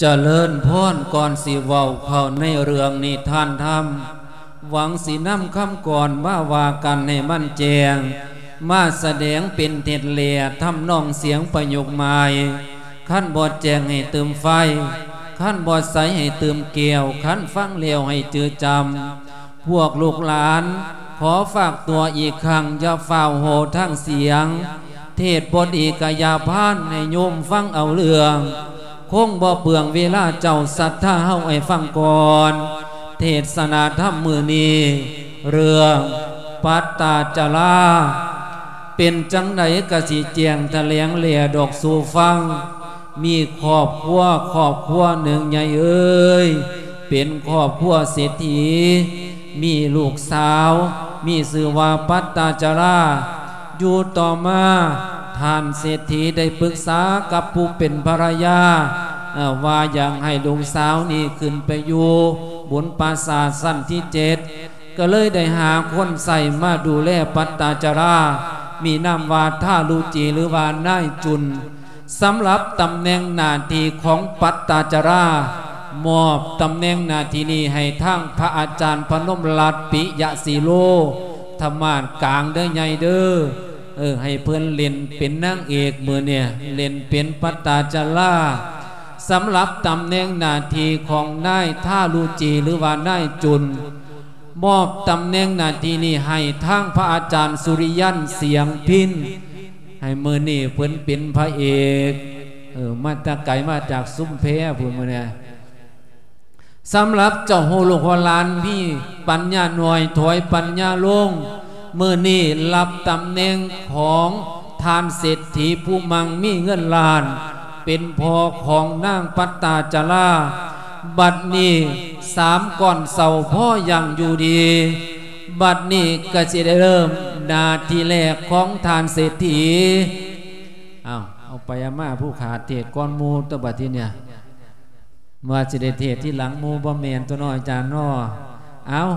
ຈະເລີນພອນ, ກ່ອນຊິເວົ້າເຂົ້າໃນເລື່ອງນິທານທຳ, ຫວັງຊິນຳຄຳກ່ອນມາວ່າກັນໃຫ້ມັນແຈ້ງ, ມາສະແດງເປັນເທັດແລະທຳນອງສຽງປະໂຫຍກໃໝ່. ຄັນບໍ່ແຈ້ງໃຫ້ຕື່ມໄຟ, ຄັນບໍ່ໃສໃຫ້ຕື່ມແກ້ວ, ຄັນຟັງແລ້ວໃຫ້ຈື່ຈຳ. ພວກລູກຫຼານ ຂໍຝາກຕົວອີກຄັ້ງ, ຢ່າຟ້າວໂຫ່ທາງສຽງ. ເທດບໍ່ດີກະຢ່າພານ, ໃຫ້ໂຍມຟັງເອົາເລື່ອງ. ຄົງບໍ່ເປືອງເວລາເຈົ້າສັດທາເຮົາໃຫ້ຟັງກ່ອນ. ເທດສະນາທຳມື້ນີ້ ເລື່ອງປັດຕາຈະລາ ເປັນຈັ່ງໃດກະຊິແຈ້ງຖະແຫຼງແລດອກສູ່ຟັງ. ມີຄອບຄົວ ຄອບຄົວໜຶ່ງໃຫຍ່ເອີຍ ເປັນຄອບຄົວເສດຖີ ມີລູກສາວ ມີຊື່ວ່າປັດຕາຈະລາ. ຢູ່ຕໍ່ມາ ທ່ານເສດຖີໄດ້ປຶກສາກັບຜູ້ເປັນພັນລະຍາ ເອີ ວ່າຢາກໃຫ້ລູກສາວນີ້ຂຶ້ນໄປຢູ່ບົນປາສາດຊັ້ນທີເຈັດ ກໍເລີຍໄດ້ຫາຄົນໃຊ້ມາດູແລປັດຕາຈະລາ ມີນາມວ່າທາລຸຈີ ຫຼືວ່ານາຍຈຸນ. ສຳລັບຕຳແໜ່ງໜ້າທີ່ຂອງປັດຕາຈະລາ ມອບຕຳແໜ່ງໜ້າທີ່ນີ້ໃຫ້ທາງພະອາຈານພະນົມລັດ ປິຍະສີໂລ ທະມາດກາງເດີໃຫຍ່ເດີ. ເອີ ໃຫ້ເພິ່ນເລ່ນເປັນນາງເອກມື້ນີ້ ເລ່ນເປັນປັດຕາຈະລາ. ສຳລັບຕຳແໜ່ງໜ້າທີ່ຂອງນາຍທາລຸຈີ ຫຼືວ່ານາຍຈຸນ ມອບຕຳແໜ່ງໜ້າທີ່ນີ້ໃຫ້ທາງພະອາຈານສຸລິຍັນ ສຽງພິນ. ໃຫ້ມື້ນີ້ເພິ່ນເປັນພະເອກ ເອີ ມາແຕ່ໄກ ມາຈາກຊຸມແພພຸ້ນມື້ນີ້. ສຳລັບເຈົ້າຮູ້ລູກຮູ້ຫຼານ ມີປັນຍາໜ້ອຍ ຖອຍປັນຍາລົງ. ມື້ນີ້ຮັບຕຳແໜ່ງຂອງທ່ານເສດຖີຜູ້ມັ່ງມີເງິນລ້ານ ເປັນພໍ່ຂອງນາງປັດຕາຈະລາ. ບັດນີ້ສາມກ້ອນເຊົາພໍຢ່າງຢູ່ດີ. ບັດນີ້ກະຊິໄດ້ເລີ່ມໜ້າທີ່ແລກຂອງທ່ານເສດຖີ. ເອົາ ເອົາໄປເອົາມາ ຜູ້ຂາດເທດກ່ອນໝູ່ຕົວະບັດທີເນີ້ຍ. ວ່າຊິໄດ້ເທດທີຫຼັງໝູ່ ບໍ່ແມ່ນຕົວະເນາະ ອາຈານເນາະ. ເອົາ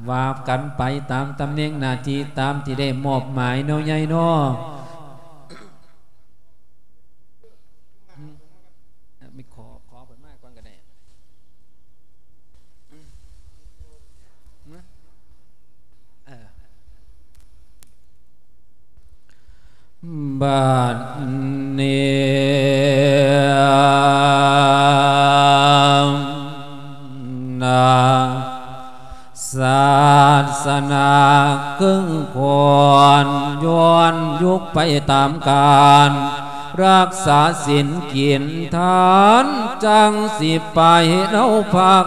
ວ່າກັນໄປຕາມຕຳແໜ່ງໜ້າທີ່ ຕາມທີ່ໄດ້ມອບໝາຍເນາະ ໃຫຍ່ເນາະ. ມີຂໍ ຂໍເພິ່ນມາກ່ອນກໍໄດ້. ເອີ ບັດນີ້ນະ ສາສະໜາເຄິ່ງຄວນ ຍ້ອນຍຸກໄປຕາມການ ຮັກສາສິນກິນທານ ຈັ່ງຊິໄປເນາະພັກ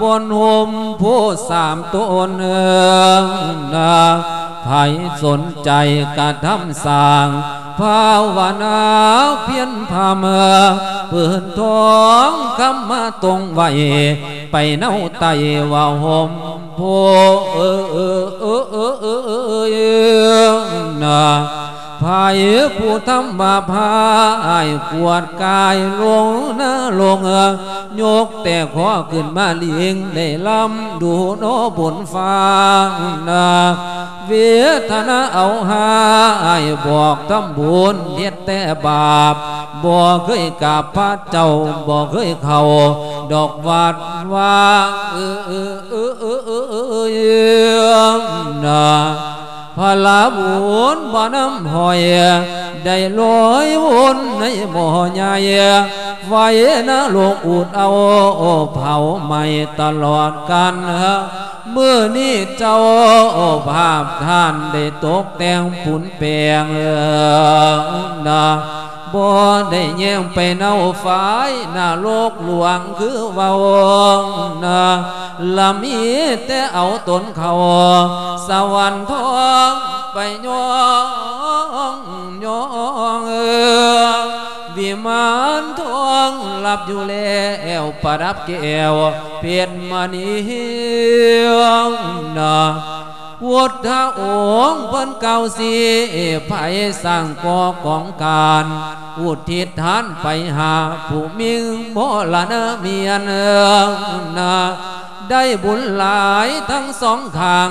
ບົນຮົ່ມໂພສາມຕົ້ນເອີງນະ. ໃຜສົນໃຈກະທຳສ້າງ ພາວະນາພຽນພາເມືອ ພື້ນທອງຄຳມາຕົງໄວ້ ໄປເນາະໄຕ້ວ່າຮົ່ມໂພເອີງນະ. ໃຜຜູ້ທຳມາພາຍ ກວດກາຍລົງນະລົງ ຍົກແຕ່ຂໍຂຶ້ນມາລິງ ໄດ້ລຳດູເນາະບົນຟ້ານະ. ເວທະນາເອົາຮ້າຍ ບອກທຳບຸນເຮັດແຕ່ບາບ ບໍ່ເຄີຍກາບພະເຈົ້າ ບໍ່ເຄີຍເຂົ້າດອກວັດວາ ເອີ ນະ. ພະລາບຸນບໍ່ນຳຫ້ອຍ ໄດ້ລອຍວົນໃນໝໍ້ໃຫຍ່ ໄຟນະລົກອູດເອົາ ເຜົາໄໝ້ຕະຫຼອດກັນ. ມື້ນີ້ເຈົ້າພາບທ່ານໄດ້ຕົກແຕ່ງປຸນແປງ ນະ. ບໍ່ໄດ້ແຍງໄປເນົາຝາຍນະລົກຫຼວງຄືເວົ້ານະ ລະມີແຕ່ເອົາຕົນເຂົ້າສະຫວັນທອງໄປຍ້ອງຍ້ອງ ວິມານທອງຫຼັບຢູ່ແລ້ວ ປະດັບແກ້ວເພັດມະນີນະ. ພຸດທະອົງເພິ່ນກ່າວຊີ້ໃຜ ສ້າງກໍ່ກອງການ ອຸທິດທານໄປຫາຜູ້ມີມໍລະນະມຽນນະ. ໄດ້ບຸນຫຼາຍທັງສອງຂ້າງ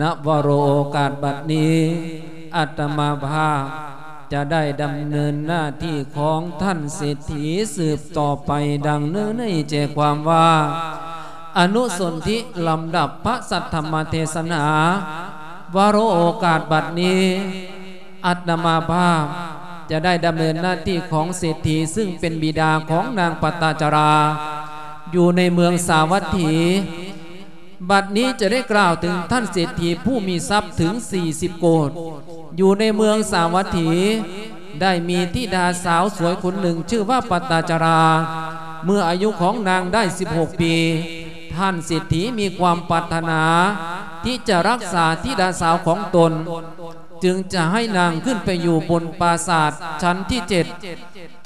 ນະວະໂລ ໂອກາດບັດນີ້ ອາດຕະມາພາບຈະໄດ້ດຳເນີນໜ້າທີ່ຂອງທ່ານເສດຖີສືບຕໍ່ໄປ ດັ່ງເນີນໃນແຈຄວາມວ່າ ອະນຸສົນທິລຳດັບພະສັດທຳມະເທສະໜາ ວະໂລ ໂອກາດບັດນີ້ ອາດຕະມາພາບຈະໄດ້ດຳເນີນໜ້າທີ່ຂອງເສດຖີ ຊຶ່ງເປັນບິດາຂອງນາງປະຕາຈາລາ ຢູ່ໃນເມືອງສາວັດຖີ. ບັດນີ້ຈະໄດ້ກ່າວເຖິງທ່ານເສດຖີຜູ້ມີຊັບເຖິງສີ່ສິບໂກດ ຢູ່ໃນເມືອງສາວັດຖີ ໄດ້ມີທິດາສາວສວຍຄົນໜຶ່ງ ຊື່ວ່າປະຕາຈາລາ. ເມື່ອອາຍຸຂອງນາງໄດ້ສິບຫົກປີ ທ່ານເສດຖີມີຄວາມປາດຖະໜາທີ່ຈະຮັກສາທິດາສາວຂອງຕົນ ຈຶ່ງຈະໃຫ້ນາງຂຶ້ນໄປຢູ່ບົນປາສາດຊັ້ນທີເຈັດ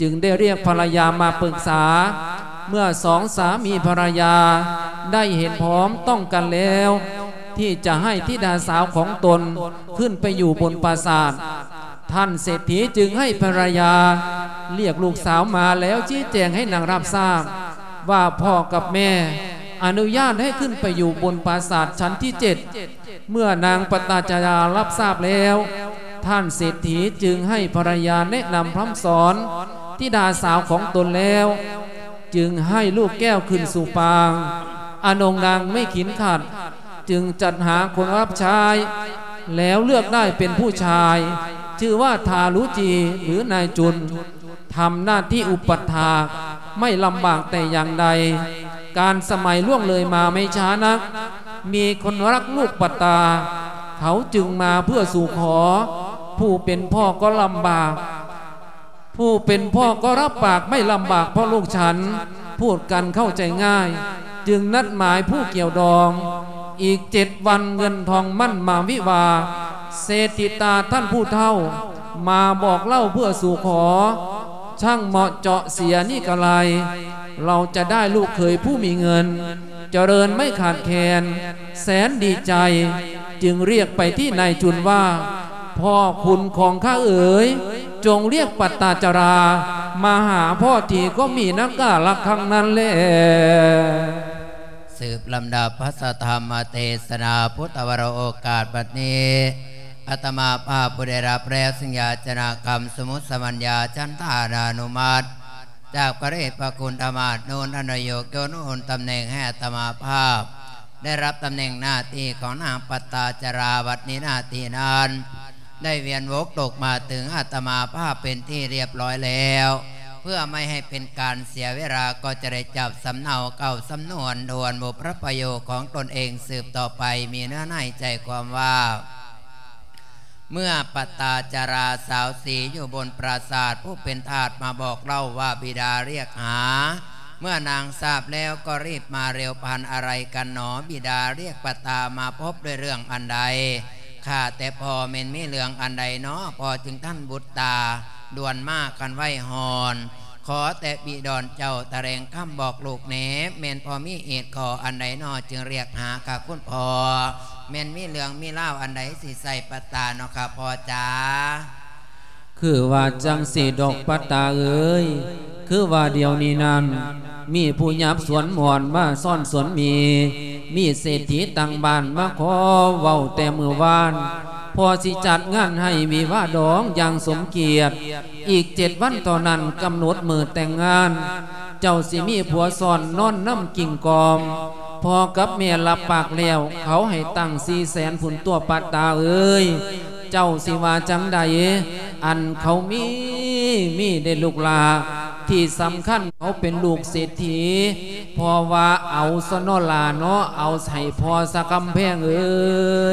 ຈຶ່ງໄດ້ຮຽກພັນລະຍາມາປຶກສາ. ເມື່ອສອງສາມີພັນລະຍາໄດ້ເຫັນພ້ອມຕ້ອງກັນແລ້ວ ທີ່ຈະໃຫ້ທິດາສາວຂອງຕົນຂຶ້ນໄປຢູ່ບົນປາສາດ, ທ່ານເສດຖີຈຶ່ງໃຫ້ພັນລະຍາຮຽກລູກສາວມາແລ້ວຊີ້ແຈງໃຫ້ນາງຮັບຊາບວ່າພໍ່ກັບແມ່ອະນຸຍາດໃຫ້ຂຶ້ນໄປຢູ່ບົນປາສາດຊັ້ນທີເຈັດ. ເມື່ອນາງປະຕາຈາລາຮັບຊາບແລ້ວ, ທ່ານເສດຖີຈຶ່ງໃຫ້ພັນລະຍາແນະນຳພຳສອນທິດາສາວຂອງຕົນແລ້ວ, ຈຶ່ງໃຫ້ລູກແກ້ວຂຶ້ນສູ່ປາງ, ອານົງນາງໄມ່ຂີນຂັດ ຈຶ່ງຈັດຫາຄົນຮັບໃຊ້ ແລ້ວເລືອກໄດ້ເປັນຜູ້ຊາຍ ຊື່ວ່າທາລຸຈີ ຫຼື ນາຍຈຸນ. ທຳໜ້າທີ່ອຸປັດຖາກ ໄມ່ລຳບາກແຕ່ຢ່າງໃດ. ການສະໄໝລ່ວງເລີຍມາໄມ່ຊ້ານັກ, ມີຄົນຮັກລູກປະຕາ ເຂົາຈຶ່ງມາເພື່ອສູ່ຂໍ. ຜູ້ເປັນພໍ່ກໍລຳບາກ, ຜູ້ເປັນພໍ່ກໍຮັບປາກໄມ່ລຳບາກເພາະລູກສັນ, ພູດກັນເຂົ້າໃຈງ່າຍ, ຈຶ່ງນັດໝາຍຜູ້ກ່ຽວດອງ. ອີກເຈັດວັນເງິນທອງໝັ້ນມາວິວາ, ເສດຖີຕາທ່ານຜູ້ເຖົ້າ ມາບອກເລົ່າເພື່ອສູ່ຂໍ, ຊ່າງເໝາະເຈາະເສຍນີ້ກະໄລ, ເຮົາຈະໄດ້ລູກເຂີຍຜູ້ມີເງິນ, ຈະເລີນໄມ່ຂາດແຄນ, ແສນດີໃຈ, ຈຶ່ງຮຽກໄປທີ່ນາຍຈຸນວ່າ, ພໍ່ຄຸນຂອງຂ້າເອີຍ, ຈົ່ງຮຽກປັດຕາຈາລາມາຫາພໍ່ທີ ກໍມີນຳກາລະຄັງນັ້ນແລ. ສືບລຳດັບພະສັດທຳມະເທສະໜາພຸດທະວະໂລ ໂອກາດບັດນີ້ ອາດຕະມາພາບຜູ້ໄດ້ຮັບແລ້ວ ຊຶ່ງຢາຈະນາຄຳສົມມຸດສະມັນຍາ ຈັນທານານຸມັດ ຈາກພະເດດພະຄຸນທຳມະໂນ ອັນນະຍົກຍົນຕຳແໜ່ງໃຫ້ອາດຕະມາພາບ ໄດ້ຮັບຕຳແໜ່ງໜ້າທີ່ຂອງນາງປັດຕາຈາລາ ບັດນີ້ໜ້າທີ່ນັ້ນ ໄດ້ວຽນວົກຕົກມາເຖິງອາດຕະມາພາບເປັນທີ່ຮຽບຮ້ອຍແລ້ວ. ເພື່ອໄມ່ໃຫ້ເປັນການເສຍເວລາ ກໍຈະໄດ້ຈັບສຳເນົາເກົ້າສຳນວນທວນບົບພະປະໂຫຍດຂອງຕົນເອງສືບຕໍ່ໄປ. ມີເນື້ອໃນໃຈຄວາມວ່າ ເມື່ອປະຕາຈາລາສາວສີຢູ່ບົນປາສາດ ຜູ້ເປັນທາດມາບອກເລົ່າວ່າບິດາຮຽກຫາ. ເມື່ອນາງຊາບແລ້ວກໍຣີບມາເລັວ ພັນອາໄລກັນໜໍ ບິດາຮຽກປະຕາມາພົບດ້ວຍເລື່ອງອັນໃດ? ຂ້າແຕ່ພໍ່ແມ່ນມີເລື່ອງອັນໃດນໍ ພໍ່ຈຶ່ງທັນບຸດຕາດ່ວນມາຄັນໄວຮ້ອນ? ຂໍແຕ່ບິດອນເຈົ້າຖະແຫຼງຄຳບອກລູກແດ່ ແມ່ນພໍ່ມີເຫດຂໍ້ອັນໃດນໍ ຈຶ່ງຮຽກຫາຂ້າຄຸນພໍ່? ແມ່ນມີເລື່ອງມີລາວອັນໃດ ຊິໃສ່ປະຕານໍຂ້າພໍ່ຈ໋າ? ຄືວ່າຈັ່ງຊີ້ດອກປະຕາເອີຍ ຄືວ່າດຽວນີ້ນັ້ນ ມີຜູ້ຫຍາບສວນມ່ອນມາຊ້ອນສວນໝີ່ ມີເສດຖີຕ່າງບ້ານມາຂໍເວົ້າແຕ່ມື້ວານ ພໍ່ຊິຈັດງານໃຫ້ວິວາດອງຢ່າງສົມກຽດ ອີກເຈັດວັນເທົ່ານັ້ນກຳນົດມື້ແຕ່ງງານ ເຈົ້າຊິມີຜົວຊ້ອນນອນນຳກິ່ງກ່ອມ ພໍ່ກັບແມ່ຮັບປາກແລ້ວ ເຂົາໃຫ້ຕັ້ງສີ່ແສນພຸ້ນຕົວະປະຕາເອີຍ ເຈົ້າຊິວ່າຈັ່ງໃດ? ອັນເຂົາມີ ມີເດ້ລູກຫຼ້າ ທີ່ສຳຄັນເຂົາເປັນລູກເສດຖີ ເພາະວ່າເອົາຊະນໍຫຼ້າເນາະ ເອົາໃຫ້ພໍ່ຊະກຳແພງເອີ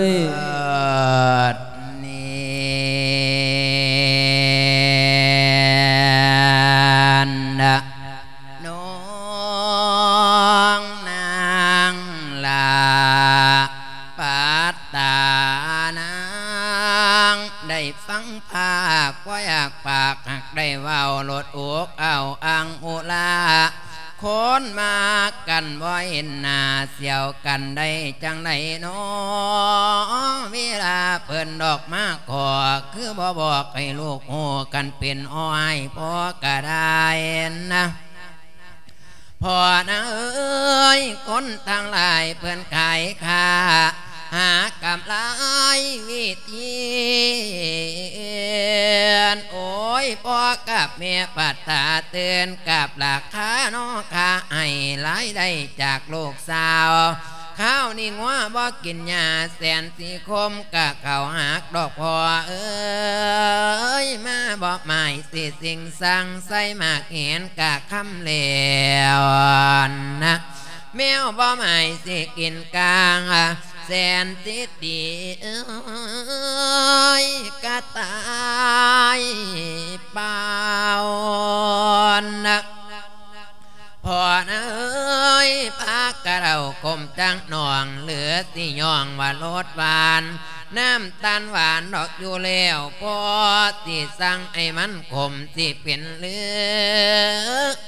ຍ. ເອີ ນີ້ນະ ນ້ອງນາງຫຼ້າ ປັດຕານາງ ໄດ້ຟັງພາກ ບໍ່ຢາກປາກ ຫາກໄດ້ເວົ້າໂລດ ອົກເອົາອັ່ງອຸລາ ຄົນມາກັນບໍ່ເຫັນໜ້າ ສຽວກັນໄດ້ຈັ່ງໃດນໍ? ເວລາເພິ່ນດອກມາຂໍ ຄືບໍ່ບອກໃຫ້ລູກຮູ້ ຄັນເປັນອ້ອຍພໍ່ກະໄດ້ນະ ພໍ່ນາເອີຍ ຄົນທັງຫຼາຍເພິ່ນຂາຍຂ້າ ຫາກຳໄລວິທີ ໂອ້ຍ ພໍ່ກັບແມ່ປັດຕາເຕືອນກັບລາຄານໍ ຂ້າໃຫ້ລາຍໄດ້ຈາກລູກສາວ ຄາວນີ້ງົວບໍ່ກິນຫຍ້າ ແສນສີຄົມກະເຂົ້າຫາກດອກພໍ່ເອີຍ ມາບໍ່ໝາຍຊິຊິງສັງ ໃສ່ໝາກແຫນກະຄຳແລ້ວນະ ແມວບໍ່ໝາຍຊິກິນກາງ ແສນສິຕີເອີຍ ກະຕາຍເປົ່ານະ ພໍ່ນາເອີຍ ພາກະເຫຼົ້າກົມຈັກໜ່ອງ ຫຼືຊິຍ້ອງວ່າລົດຫວານ ນ້ຳຕານຫວານດອກຢູ່ແລ້ວ ພໍຊິສັ່ງໃຫ້ມັນຂົມ ຊິເປັນຫຼື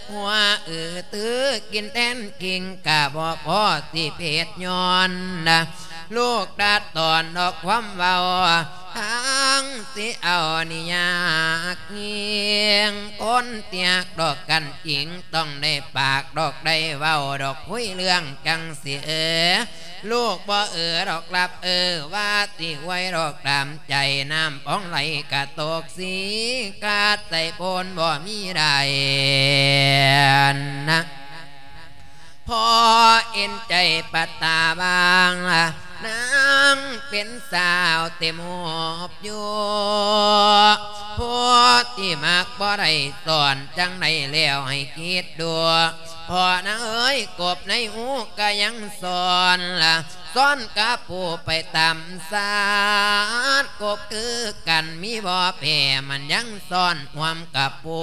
ຫົວອືຕື້ກິນແທນກິງ ກະບໍ່ພໍຊິເຜັດຍ້ອນນະ ລູກຕັດຕອນດອກຄວາມເວົ້າ ທັງຊິເອົານີ້ຍາກຍິ່ງ ຄົນທີ່ຮັກດອກກັນຈິງ ຕ້ອງໄດ້ປາກດອກໄດ້ເວົ້າດອກ ຄຸຍເລື່ອງຈັ່ງຊິເອີ ລູກບໍ່ເອີດອກລັບເອີ ວ່າຊິອວຍດອກຕາມໃຈ ນ້ຳປ່ອງໄຫຼກະຕົກສີ ກາດໃສ່ໂພນບໍ່ມີໄດ້ນະ ພໍເອັນໃຈປັດຕາບາງ ນາງເປັນສາວເຕັມຮູບຢູ່ ຜູ້ທີ່ມັກບໍ່ໄດ້ສອນ ຈັ່ງໃດແລ້ວໃຫ້ຄິດດູ ພໍ່ນາເອີຍ ກົບໃນຫູກະຍັງສອນ ສອນກະປູໄປຕາມຊາດ ກົບຄືກັນມີບໍ່ແພ້ ມັນຍັງສອນຮ່ວມກະປູ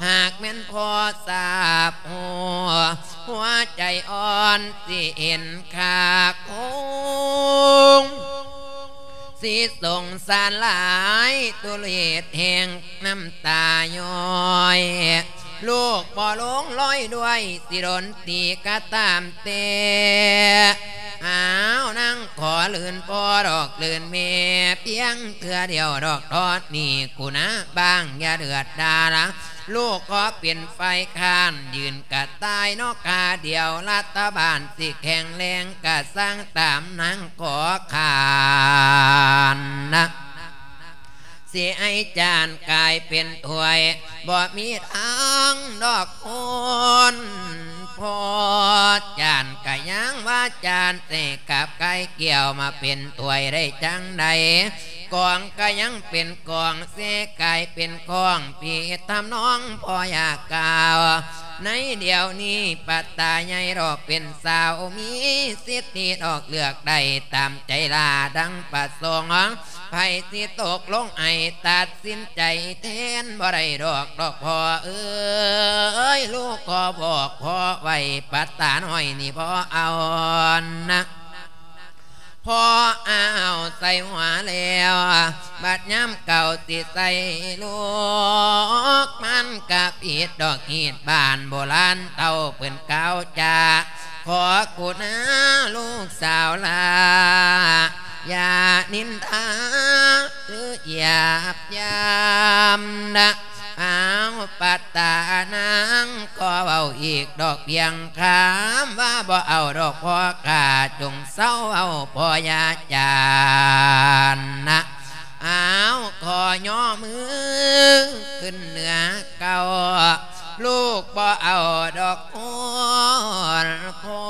ຫາກແມ່ນພໍ່ຊາບຮູ້ ຫົວໃຈອ່ອນຊິເຫັນຄາຄົງ ຊິສົງສານຫຼາຍ ຕຸເລດແຫ່ງນ້ຳຕາຍ້ອຍ ລູກບໍ່ລົງລອຍດ້ວຍ ຊິດົນຕີກະຕາມແຕ່ ອ້າວ ນາງຂໍລື່ນພໍ່ດອກ ລື່ນແມ່ພຽງເທື່ອດຽວດອກ ທອດໜີ້ກູນາບ້າງ ຢ່າເດືອດດາລະ ລູກຂໍເປັນຝ່າຍຄ້ານ ຢືນກະຕ່າຍເນາະ ຂ້າດຽວລັດຖະບານ ຊິແຂງແຮງກະສ້າງຕາມ ນາງຂໍຄ້ານນະ ຊິໃຫ້ຈານກາຍເປັນຖ້ວຍ ບໍ່ມີທາງດອກຄົນພໍ່. ຈານກະຍັງວ່າຈານ ເສກກັບກາຍແກ້ວມາເປັນຖ້ວຍໄດ້ຈັ່ງໃດ? ກອງກະຍັງເປັນກອງ ເສກກາຍເປັນກອງ ຜິດທຳນອງພໍ່ຢ່າກ່າວ. ໃນດຽວນີ້ປັດຕາໃຫຍ່ດອກເປັນສາວ ມີສິດທິດອກເລືອກໄດ້ຕາມໃຈລາດດັ່ງປະສົງ. ໃຜຊິຕົກລົງໃຫ້ຕັດສິນໃຈແທນບໍ່ໄດ້ດອກ ດອກພໍ່ເອີຍ ລູກຂໍບອກພໍ່ໄວ້ ປັດຕານ້ອຍນີ້ບໍ່ເອົານະ ພໍ່ເອົາໃສ່ຫົວແລ້ວ ບັດຍາມເກົ່າຊິໃສ່ລູກ ມັນກະຜິດດອກຮີດບ້ານ ໂບລານເຖົ້າເພິ່ນກ່າວຈາ ຂໍກຸນາລູກສາວຫຼ້າ ຢ່ານິນທາ ຫຼືຢາບຢາມນະ. ອ້າວ ປັດຕານາງ ຂໍເວົ້າອີກດອກພຽງຄຳ ວ່າບໍ່ເອົາດອກພໍ່ຂ້າ ຈົ່ງເຊົາເວົ້າພໍ່ຢ່າຈານນະ. ອ້າວ ຂໍຍໍມືຂຶ້ນເໜືອເກົ່າ ລູກບໍ່ເອົາດອກຄົນພໍ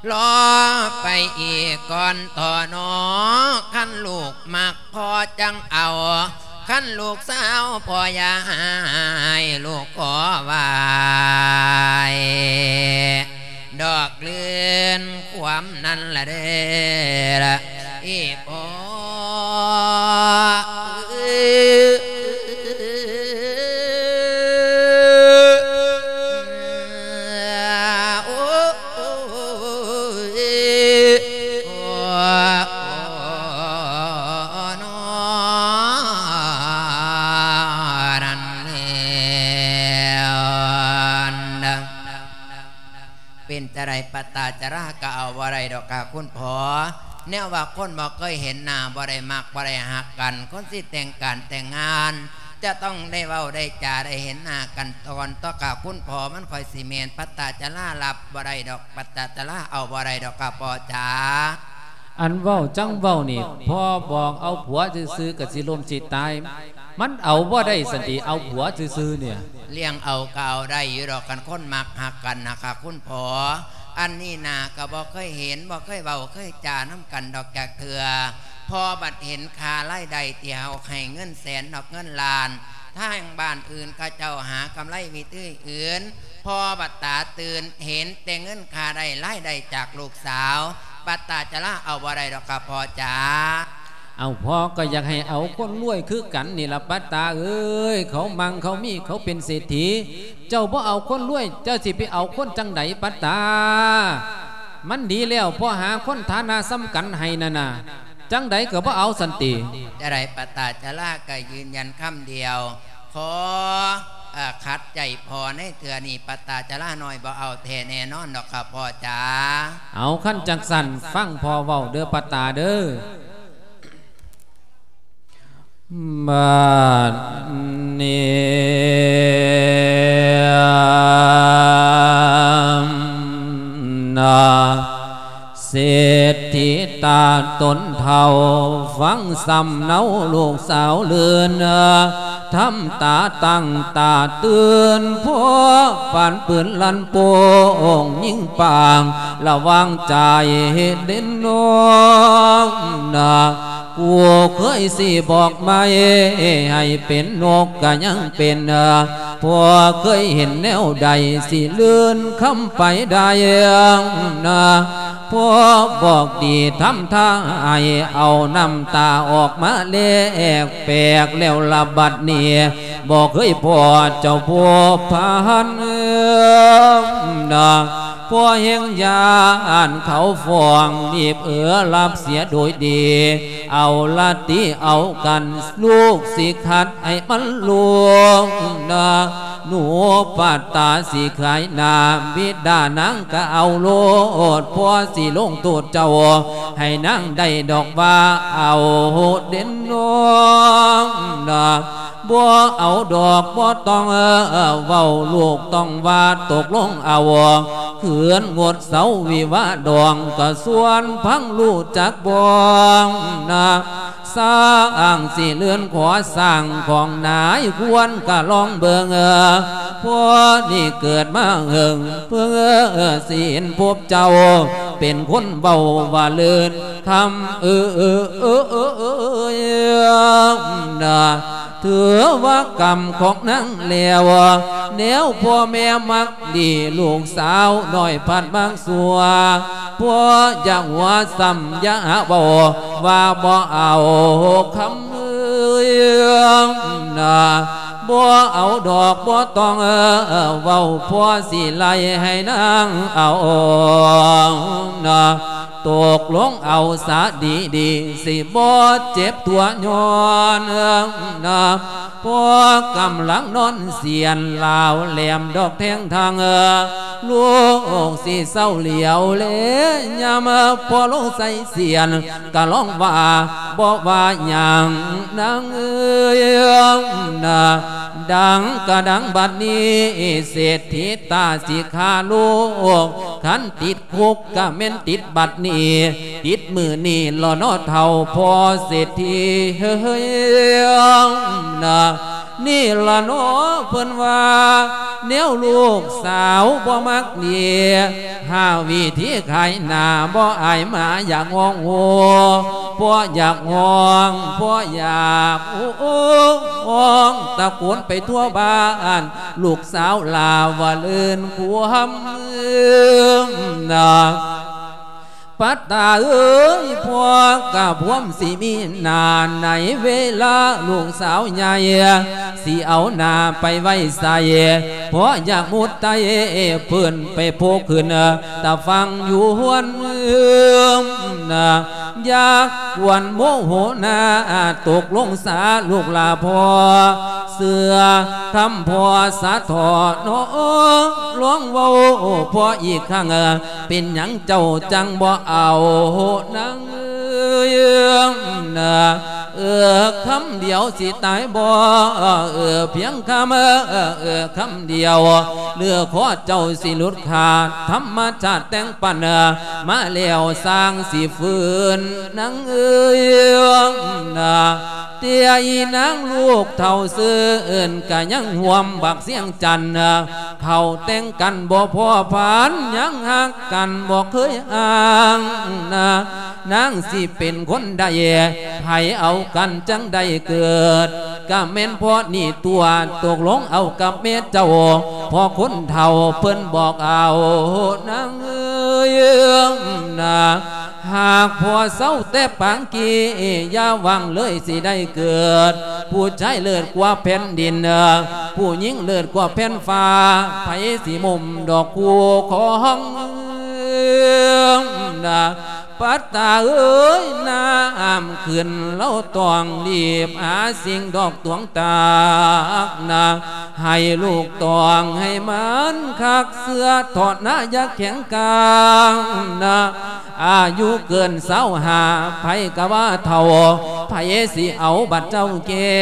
່. ລໍໄປອີກກ່ອນທໍ່ນໍ ຄັນລູກມັກພໍ່ຈັ່ງເອົາ ຄັນລູກສາວພໍ່ຢ່າໃຫ້ ລູກຂໍໄຫວ້ດອກລື່ນຄວາມນັ້ນລະເດີ ອີ່ພໍ່. ເປັນຈັ່ງໃດ ປັດຕາຈະລາກະເອົາບໍ່ໄດ້ດອກຄ່າຄຸນພໍ່. ແນວວ່າຄົນບໍ່ເຄີຍເຫັນໜ້າ ບໍ່ໄດ້ມັກ ບໍ່ໄດ້ຮັກກັນ ຄົນຊິແຕ່ງການແຕ່ງງານ ຈະຕ້ອງໄດ້ເວົ້າໄດ້ຈາ ໄດ້ເຫັນໜ້າກັນກ່ອນ ຕໍ່ຄ່າຄຸນພໍ່ ມັນຄ່ອຍຊິແມ່ນ. ປັດຕາຈະລາຮັບບໍ່ໄດ້ດອກ ປັດຕາຈະລາເອົາບໍ່ໄດ້ດອກຄ່າພໍ່ຈ໋າ. ອັນເວົ້າຈັ່ງເວົ້ານີ້ ພໍ່ບອກເອົາຜົວຊື່ໆ ກະຊິລົ້ມຊິຕາຍ ມັນເອົາບໍ່ໄດ້ຊັ້ນຕິ ເອົາຜົວຊື່ໆ ນີ້. ລ້ຽງເອົາກະເອົາໄດ້ຢູ່ດອກ ຄັນຄົນມັກຮັກກັນນະຄ່າຄຸນພໍ່. ອັນນີ້ນາກະບໍ່ເຄີຍເຫັນ ບໍ່ເຄີຍເວົ້າເຄີຍຈານຳກັນດອກຈັກເທື່ອ ພໍ່ບັດເຫັນຄ່າລາຍໄດ້ ທີ່ເຮົາໃຫ້ເງິນແສນດອກເງິນລ້ານ ທາງບ້ານອື່ນເຂົາເຈົ້າຫາກຳໄລວິທີອື່ນ ພໍ່ບັດຕາຕື່ນເຫັນແຕ່ເງິນຄ່າໄດ້ລາຍໄດ້ຈາກລູກສາວ. ປັດຕາຈະລາເອົາບໍ່ໄດ້ດອກຄ່າພໍ່ຈ໋າ. ເອົາ ພໍ່ກະຢາກໃຫ້ເອົາຄົນລວຍຄືກັນນີ້ລະປັດຕາເອີຍ ເຂົາມັ່ງເຂົາມີ ເຂົາເປັນເສດຖີ ເຈົ້າບໍ່ເອົາຄົນລວຍ ເຈົ້າຊິໄປເອົາຄົນຈັ່ງໃດປັດຕາ? ມັນດີແລ້ວ ພໍ່ຫາຄົນຖານະສ່ຳກັນໃຫ້ນັ້ນນະ ຈັ່ງໃດກະບໍ່ເອົາຊັ້ນຕິ. ຈັ່ງໃດ ປັດຕາຈະລາກະຢືນຢັນຄຳດຽວ ຂໍ ເອີ ຂັດໃຈພໍ່ໃນເທື່ອນີ້ ປັດຕາຈະລານ້ອຍບໍ່ເອົາແທ້ແນ່ນອນດອກຄ່າພໍ່ຈ໋າ. ເອົາ ຄັນຈັ່ງຊັ້ນ ຟັງພໍ່ເວົ້າເດີປັດຕາເດີ. ບັດນີ້ນະ ເສດຖີຕາຕົນເຖົ້າ ຟັງຊຳເນົາລູກສາວເລື່ອນ ທຳຕາຕັ້ງຕາຕື່ນ ພໍປານປືນລັ່ນໂປ່ງຍິງປາງ ລະວັງໃຈເດັ່ນນ້ອງນະ ກູເຄີຍຊິບອກໄມ້ ໃຫ້ເປັນນົກກະຍັງເປັນ ພໍ່ເຄີຍເຫັນແນວໃດ ຊິລື່ນຄຳໄປໄດ້ນະ ພໍ່ບອກດີທຳທ່າໃຫ້ ເອົານ້ຳຕາອອກມາແລກແປກແລ້ວລະບັດນີ້ ບໍ່ເຄີຍພໍ້ເຈົ້າພົວພັນນະ ພໍ່ແຮ່ງຢ້ານເຂົາຟ້ອງ ໜີບເອ ຮັບເສຍໂດຍດີ ເອົາລະຕິເອົາກັນ ລູກຊິຂັດໃຫ້ມັນລົງນະ ໜູປັດຕາຊິຂາຍໜ້າ ບິດານາງກະເອົາໂລດ ພໍ່ຊິລົງໂທດເຈົ້າ ໃຫ້ນາງໄດ້ດອກວ່າເອົາເດັ່ນນ້ອງນະ ບໍ່ເອົາດອກບໍ່ຕ້ອງເວົ້າ ລູກຕ້ອງວ່າຕົກລົງເອົາ ຄືນງົດເຊົາວິວາດອງ ກະຊວນພັງຮູ້ຈັກບໍ່ນະ ສ້າງຊິເລື່ອນຂໍສ້າງຂອງນາຍຄວນກະລອງເບິ່ງ ພໍນີ້ເກີດມາເຫິງ ເພິ່ງສິເຫັນພົບເຈົ້າ ເປັນຄົນເວົ້າວ່າເລີນຄຳ ເອີ ເອີ ເອີ ເອີ ເອີ ນະ ຖືວ່າກຳຂອງນາງແລ້ວ ແນວພໍ່ແມ່ມັກດີ ລູກສາວນ້ອຍພັດມັກຊົ່ວ ບໍ່ຢາກຫົວຊ້ຳຢ່າຫາເວົ້າ ວ່າບໍ່ເອົາຄຳເອີຍນະ ບໍ່ເອົາດອກບໍ່ຕ້ອງເວົ້າ ພໍ່ຊິໄລ່ໃຫ້ນາງເອົານະ ຕົກລົງເອົາສາດີໆ ຊິບໍ່ເຈັບຕົວຍ້ອນນະ ພໍ່ກຳລັງນອນສຽນ ລາວແຫຼມດອກແທງທາງ ລູກຊິເຊົາຫຼຽວແລຍາມ ພໍ່ລົງໃສ່ສຽນ ກະລອງວ່າບໍ່ວ່າຫຍັງນາງເອີຍນະ ດັງກະດັງບັດນີ້ ເສດຖີຕາຊິຂ້າລູກ ຄັນຕິດ ຄຸກກະແມ່ນຕິດບັດນີ້ ຕິດມື້ນີ້ລະເນາະເຖົ້າພໍ່ເສດຖີເອີຍນະ ນີ້ລະເນາະເພິ່ນວ່າ ແນວລູກສາວບໍ່ມັກດີ ຫາວິທີຂາຍໜ້າ ບໍ່ອາຍໝາຢາກຮ້ອງໂຮ ບໍ່ຢາກຮ້ອງ ບໍ່ຢາກໂອ້ ຮ້ອງຕະໂກນໄປທົ່ວບ້ານ ລູກສາວລາວາເລີນຄວາມນະ ປັດຕາເອີຍ ພວກກະພວມຊິມີໜ້າ ໃນເວລາລູກສາວໃຫຍ່ຊິເອົາໜ້າໄປໄວ້ໃສ ເພາະຢາກມຸດໄຕ່ເພິ່ນໄປໂພກຂຶ້ນ ຕາຝັ່ງຢູ່ຫວນເມືອງນະ ຢ່າກວນໂມໂຫນາ ຕົກລົງສາລູກຫຼ້າພໍ່ ເຊື່ອຄຳພໍ່ສາເຖາະເນາະ ລອງເວົ້າພໍ່ອີກຄັ້ງ ເປັນຫຍັງເຈົ້າຈັ່ງບໍ່ເອົານາງເອີຍນະ ເອີ ຄຳດຽວຊິຕາຍບໍ່ ເອີ ພຽງຄຳ ເອີ ຄຳດຽວ ເນື້ອຄໍເຈົ້າຊິຫຼຸດຂາດ ທຳມະຊາດແຕ່ງປັນມາແລ້ວ ສ້າງຊິຟື້ນນາງເອີຍນະ ເຕຍອີນາງລູກເຖົ້າຊື່ນ ກະຍັງຮ່ວມບັກສຽງຈັນ ເຂົ້າແຕ່ງກັນບໍ່ພໍພັນ ຍັງຮັກກັນບໍ່ເຄີຍຫ່າງນະ ນາງຊິເປັນຄົນໃດ ໃຜເອົາກັນຈັ່ງໄດ້ເກີດ ກະແມ່ນເພາະນີ້ຕົວະ ຕົກລົງເອົາກັບແມ່ເຈົ້າ ເພາະຄົນເຖົ້າເພິ່ນບອກເອົານາງເອີຍນະ ຫາກພໍ່ເຊົາແຕ່ປາງກີ້ ຢ່າຫວັງເລີຍຊິໄດ້ເກີດ ຜູ້ຊາຍເລີດກວ່າແຜ່ນດິນ ຜູ້ຍິງເລີດກວ່າແຜ່ນຟ້າ ໃຜຊິມຸມດອກຄູ່ຂອງນາ ປັດຕາເອີຍ ນ້ຳຂຶ້ນລາວຕ້ອງລີບຫາສິ່ງດອກຕວງຕາກນະ ໃຫ້ລູກຕ້ອງໃຫ້ມັນຄັກ ເຊື່ອເຖາະນາ ຢ່າແຂງກາງນະ ອາຍຸເກີນຊາວຫ້າ ໃຜກະວ່າເຖົ້າ ໃຜຊິເອົາບັດເຈົ້າແກ່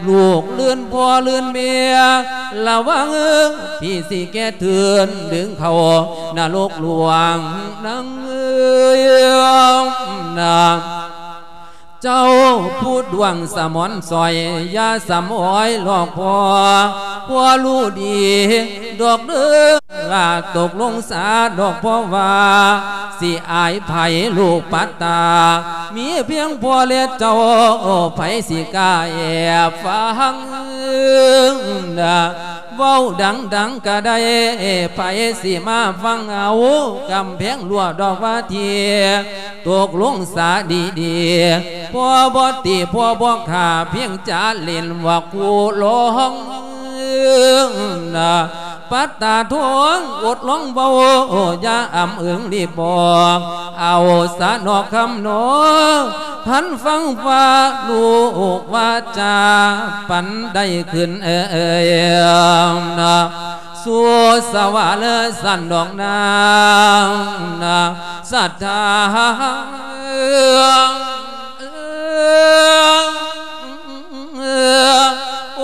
ລູກລື່ນພໍ່ລື່ນແມ່ ລະວັງພີ່ຊິແກ່ເທີນ ດຶງເຂົ້ານະລົກຫຼວງນາງເອີຍນະ ເຈົ້າຜູ້ດວງສະໝອນສອຍ ຢ່າສຳອອຍຫຼອກພໍ່ ພໍ່ຮູ້ດີດອກເດີ ລາຕົກລົງສາດອກ ເພາະວ່າຊິອາຍໃຜລູກປັດຕາ ມີພຽງພໍ່ແລະເຈົ້າ ໃຜຊິກ້າແອບຟັງນະ ເວົ້າດັງໆກະໄດ້ ໃຜຊິມາຟັງເອົາ ກຳແພງລົວດອກວ່າທີ ຕົກລົງສາດີໆ ພໍ່ບໍ່ຕີ ພໍ່ບໍ່ຂ້າ ພຽງຈະຫຼິ້ນວ່າຄູ່ລອງນະ ປັດຕາທອງອົດລອງເວົ້າ ຢ່າອຳເອິງລີບບອກ ເອົາສານອກຄຳນອງ ທັນຟັງວ່າລູກວ່າຈາ ປັນໄດ້ຂຶ້ນເອີຍນະ ສູ່ສະຫວາເລີສັນດອກນາງນະ ສັດທາ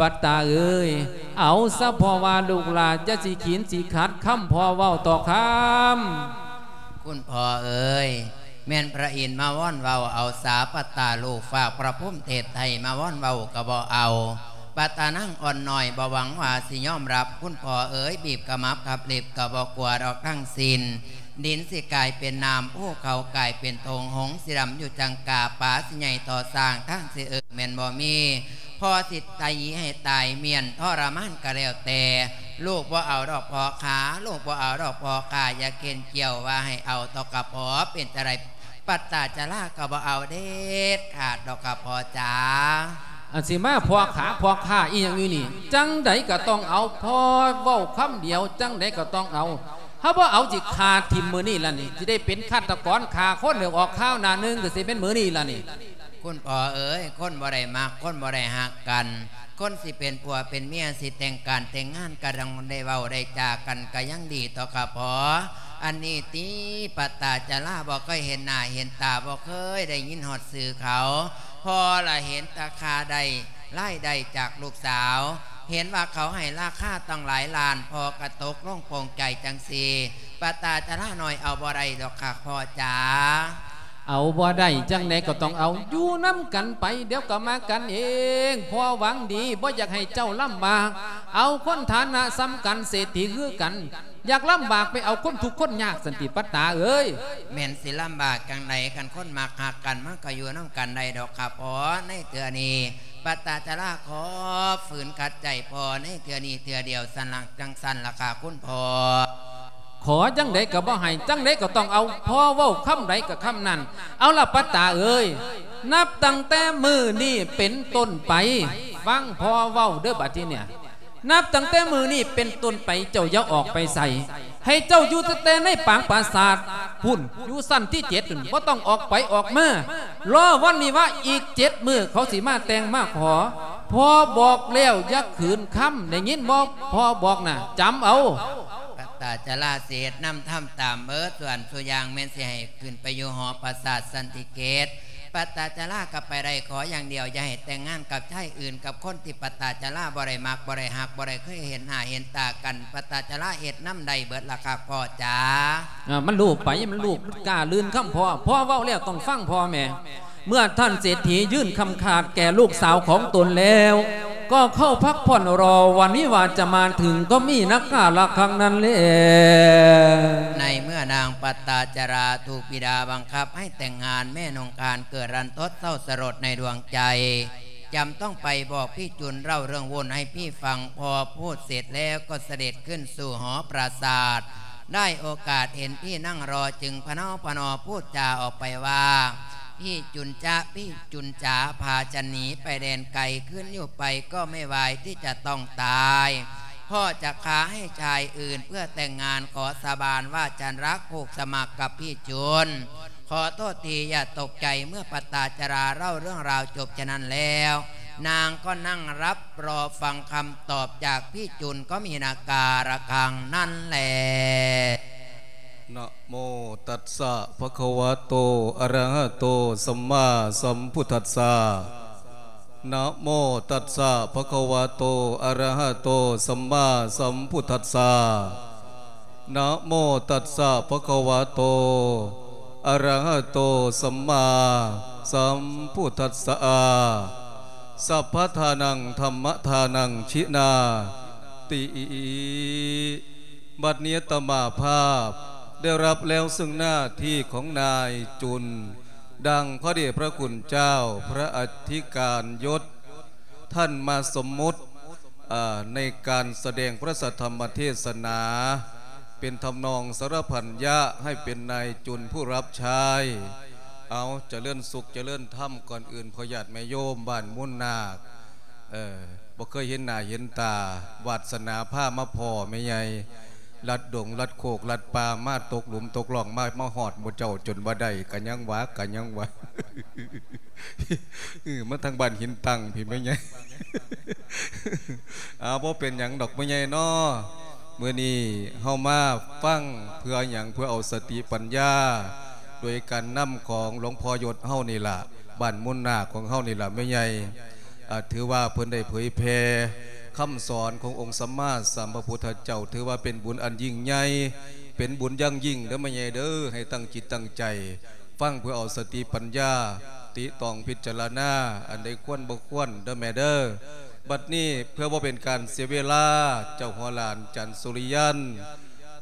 ປັດຕາເອີຍ ເອົາຊະພໍ່ວ່າລູກຫຼານ ຢ່າຊິຂີນຊິຂັດຄຳພໍ່ເວົ້າຕໍ່ຄຳ. ຄຸນພໍ່ເອີຍ ແມ່ນພະອິນມາວອນເວົ້າເອົາສາ ປັດຕາລູກຝາກພະພູມເທບໄທມາວອນເວົ້າກໍບໍ່ເອົາ. ປັດຕານາງອ່ອນນ້ອຍບໍ່ຫວັງວ່າຊິຍອມຮັບ ຄຸນພໍ່ເອີຍ ບີບຂະໝັບຂັບເລັບກໍບໍ່ກົວດອກທັງສິ້ນ. ດິນຊິກາຍເປັນນ້ຳ ພູເຂົາກາຍເປັນທົ່ງ ຫົງຊິດຳຢູ່ຈັງກາ ປາຊິໃຫຍ່ຕໍ່ຊ້າງ ທາງຊິເອີແມ່ນບໍ່ມີ. ພໍ່ຊິໄຕໃຫ້ຕາຍມ້ຽນທໍລະມານກໍແລ້ວແຕ່ ລູກບໍ່ເອົາດອກພໍ່ຂ້າ ລູກບໍ່ເອົາດອກພໍ່ຂ້າ ຢ່າເຂັນກ່ຽວວ່າໃຫ້ເອົາ ດອກກະພໍ່ ເປັນຈັ່ງໃດ ປັດຕາຈະລາກໍບໍ່ເອົາເດັດຂາດດອກກະພໍ່ຈ໋າ. ອັນຊິມາພໍ່ຂ້າ ພໍ່ຂ້າອີ່ຫຍັງຢູ່ນີ້ ຈັ່ງໃດກໍຕ້ອງເອົາ ພໍ່ເວົ້າຄຳດຽວ ຈັ່ງໃດກໍຕ້ອງເອົາ. ຖ້າບໍ່ເອົາ ຊິຂ້າຖິ້ມມື້ນີ້ລະນີ້ ຊິໄດ້ເປັນຄາດຕະກອນຂ້າຄົນ ແລ້ວອອກຂ່າວໜ້າໜຶ່ງ ກໍຊິເປັນມື້ນີ້ລະນີ້. ຄຸນພໍ່ເອີຍ ຄົນບໍ່ໄດ້ມັກ ຄົນບໍ່ໄດ້ຮັກກັນ ຄົນຊິເປັນຜົວເປັນເມຍ ຊິແຕ່ງການແຕ່ງງານ ກໍຕ້ອງໄດ້ເວົ້າໄດ້ຈາກັນ ກໍຍັງດີ ດອກກະພໍ່. ອັນນີ້ຕິ ປັດຕາຈະລາບໍ່ເຄີຍເຫັນໜ້າເຫັນຕາ ບໍ່ເຄີຍໄດ້ຍິນຮອດຊື່ເຂົາ. ພໍ່ລະເຫັນແຕ່ຄ່າໄດ້ ລາຍໄດ້ຈາກລູກສາວ ເຫັນວ່າເຂົາໃຫ້ລາຄາຕັ້ງຫຼາຍລ້ານ ພໍ່ກໍຕົກລົງໂປ່ງໃຈຈັ່ງຊີ້. ປັດຕາຈະລານ້ອຍເອົາບໍ່ໄດ້ດອກຄັກພໍ່ຈ໋າ. ເອົາບໍ່ໄດ້ ຈັ່ງໃດກໍຕ້ອງເອົາ ຢູ່ນຳກັນໄປ ດຽວກໍມາກັນເອງ. ພໍ່ຫວັງດີ ບໍ່ຢາກໃຫ້ເຈົ້າລຳບາກ ເອົາຄົນຖານະສ່ຳກັນ ເສດຖີຄືກັນ ຢາກລຳບາກໄປເອົາຄົນທຸກຄົນຍາກຊັ້ນຕິ ປັດຕາເອີຍ. ແມ່ນຊິລຳບາກຈັ່ງໃດ ຄັນຄົນມັກຮັກກັນ ມັນກໍຢູ່ນຳກັນໄດ້ດອກຄັບພໍ່. ໃນເທື່ອນີ້ ປັດຕາຈະລາຂໍຝືນຂັດໃຈພໍ່ໃນເທື່ອນີ້ເທື່ອດຽວ ຊັ້ນລະ ຈັ່ງຊັ້ນລະຄ່າຄຸນພໍ່. ຂໍຈັ່ງໃດກໍບໍ່ໃຫ້ ຈັ່ງໃດກໍຕ້ອງເອົາ ພໍ່ເວົ້າຄຳໃດກໍຄຳນັ້ນ. ເອົາລະ ປັດຕາເອີຍ ນັບຕັ້ງແຕ່ມື້ນີ້ເປັນຕົ້ນໄປ ຟັງພໍ່ເວົ້າເດີ້ບາດທີເນີ້ຍ ນັບຕັ້ງແຕ່ມື້ນີ້ເປັນຕົ້ນໄປ ເຈົ້າຢ່າອອກໄປໃສ ໃຫ້ເຈົ້າຢູ່ແຕ່ໃນປາງປາສາດພຸ້ນ ຢູ່ຊັ້ນທີເຈັດພຸ້ນ ບໍ່ຕ້ອງອອກໄປອອກມາ. ລໍວັນວິວາອີກເຈັດມື້ ເຂົາຊິມາແຕ່ງມາຂໍ. ພໍ່ບອກແລ້ວຢ່າຂືນຄຳ ໄດ້ຍິນບໍ່? ພໍ່ບອກນະ ຈຳເອົາ. ປັດຕາຈະລາສິເຮັດນຳທຳຕາມເບີດ ສ່ວນສຸຢ່າງແມ່ນຊິໃຫ້ຂຶ້ນໄປຢູ່ຫໍປາສາດຊັ້ນທີເຈັດ. ປັດຕາຈະລາກໍໄປໄດ້ ຂໍຢ່າງດຽວຢ່າໃຫ້ແຕ່ງງານກັບຊາຍອື່ນ ກັບຄົນທີ່ປັດຕາຈະລາບໍ່ໄດ້ມັກ ບໍ່ໄດ້ຮັກ ບໍ່ໄດ້ເຄີຍເຫັນໜ້າເຫັນຕາກັນ. ປັດຕາຈະລາເຮັດນຳໄດ້ເບີດລະຄັບພໍ່ຈ໋າ. ເອີ ມັນລູກໄປ ມັນລູກ ມັນກ້າລື່ນຄຳພໍ່. ພໍ່ເວົ້າແລ້ວຕ້ອງຟັງພໍ່ແມ່. ເມື່ອທ່ານເສດຖີຍື່ນຄຳຂາດແກ່ລູກສາວຂອງຕົນແລ້ວ ກໍເຂົ້າພັກຜ່ອນ ລໍວັນວິວາຈະມາເຖິງ ກໍມີນັກກາລະຄັງນັ້ນແລ. ໃນເມື່ອນາງປັດຕາຈະລາຖືກບິດາບັງຄັບໃຫ້ແຕ່ງງານ ແມ່ນົງຄານເກີດລັນທົດເສົ້າສະຫຼົດໃນດວງໃຈ. ຈຳຕ້ອງໄປບອກພີ່ຈຸນເລົ່າເລື່ອງວຸ້ນໃຫ້ພີ່ຟັງ. ພໍພູດເສັດແລ້ວກໍສະເດັດຂຶ້ນສູ່ຫໍປາສາດ. ໄດ້ໂອກາດເຫັນພີ່ນັ່ງລໍ ຈຶ່ງພະເນົາພະນໍພູດຈາອອກໄປວ່າ ພີ່ຈຸນຈະ ພີ່ຈຸນຈາ ພາຈະໜີໄປແດນໄກ ຄືນຢູ່ໄປກໍໄມ່ວາຍທີ່ຈະຕ້ອງຕາຍ. ພໍ່ຈະຂ້າໃຫ້ຊາຍອື່ນເພື່ອແຕ່ງງານ ຂໍສາບານວ່າຈະຮັກຜູກສະໝັກກັບພີ່ຈຸນ. ຂໍໂທດທີ່ຢ່າຕົກໃຈ ເມື່ອປັດຕາຈະລາເລົ່າເລື່ອງລາວຈົບຈະນັ້ນແລ້ວ ນາງກໍນັ່ງຮັບລໍຟັງຄຳຕອບຈາກພີ່ຈຸນ ກໍມີນັກກາລະຄັງນັ້ນແລ. ນະໂມຕັດສະ ພະຄະວະໂຕ ອະຣະຫະໂຕ ສຳມາສຳພຸດທັດສະ. ນະໂມຕັດສະ ພະຄະວະໂຕ ອະຣະຫະໂຕ ສຳມາສຳພຸດທັດສະ. ນະໂມຕັດສະ ພະຄະວະໂຕ ອະຣະຫະໂຕ ສຳມາສຳພຸດທັດສະ. ສັບພະທານັງ ທຳມະທານັງ ຊິນາຕິ. ບັດນີ້ອາດຕະມາພາບໄດ້ຮັບແລ້ວເຊິ່ງໜ້າທີ່ຂອງນາຍຈຸນ ດັ່ງພະເດດພະຄຸນເຈົ້າ ພະອະທິການຍົດ ທ່ານມາສົມມຸດ ເອີ ໃນການສະແດງພະສັດທຳມະເທດສະໜາ ເປັນທຳນອງສາລະພັນຍະໃຫ້ເປັນນາຍຈຸນຜູ້ຮັບໃຊ້. ເອົາ ຈະເລີນສຸກຈະເລີນທຳ. ກ່ອນອື່ນ ພໍ່ຍາດແມ່ໂຍມບ້ານມູນນາກ ເອີ ບໍ່ເຄີຍເຫັນໜ້າເຫັນຕາ ວາດສະໜາພາມາພໍ້ແມ່ໃຫຍ່ ລັດດົງລັດໂຄກລັດປ່າ ມາຕົກຫຼຸມຕົກລ່ອງ ມາ ມາຮອດໝູ່ເຈົ້າຈົນວ່າໄດ້ ກະຍັງວ່າ ກະຍັງວ່າ ເອີ ມາທາງບ້ານຫີນຕັ້ງພີ້ແມ່ໃຫຍ່. ເອົາ ບໍ່ເປັນຫຍັງດອກແມ່ໃຫຍ່ເນາະ. ມື້ນີ້ເຮົາມາຟັງເພື່ອຫຍັງ? ເພື່ອເອົາສະຕິປັນຍາ ໂດຍການນຳຂອງຫຼວງພໍ່ຍົດເຮົານີ້ລະ ບ້ານມູນນາກຂອງເຮົານີ້ລະແມ່ໃຫຍ່. ອາ ຖືວ່າເພິ່ນໄດ້ເຜີຍແຜ່ຄຳສອນຂອງອົງສຳມາສຳພະພຸດທະເຈົ້າ ຖືວ່າເປັນບຸນອັນຍິ່ງໃຫຍ່ ເປັນບຸນຢ່າງຍິ່ງເດີແມ່ໃຫຍ່ເດີ. ໃຫ້ຕັ້ງຈິດຕັ້ງໃຈ ຟັງເພື່ອເອົາສະຕິປັນຍາ ຕິຕອງພິຈາລະນາ ອັນໃດຄວນບໍ່ຄວນເດີແມ່ເດີ. ບັດນີ້ເພື່ອບໍ່ເປັນການເສຍເວລາ ເຈົ້າຫົວຫຼານຈັນສຸລິຍັນ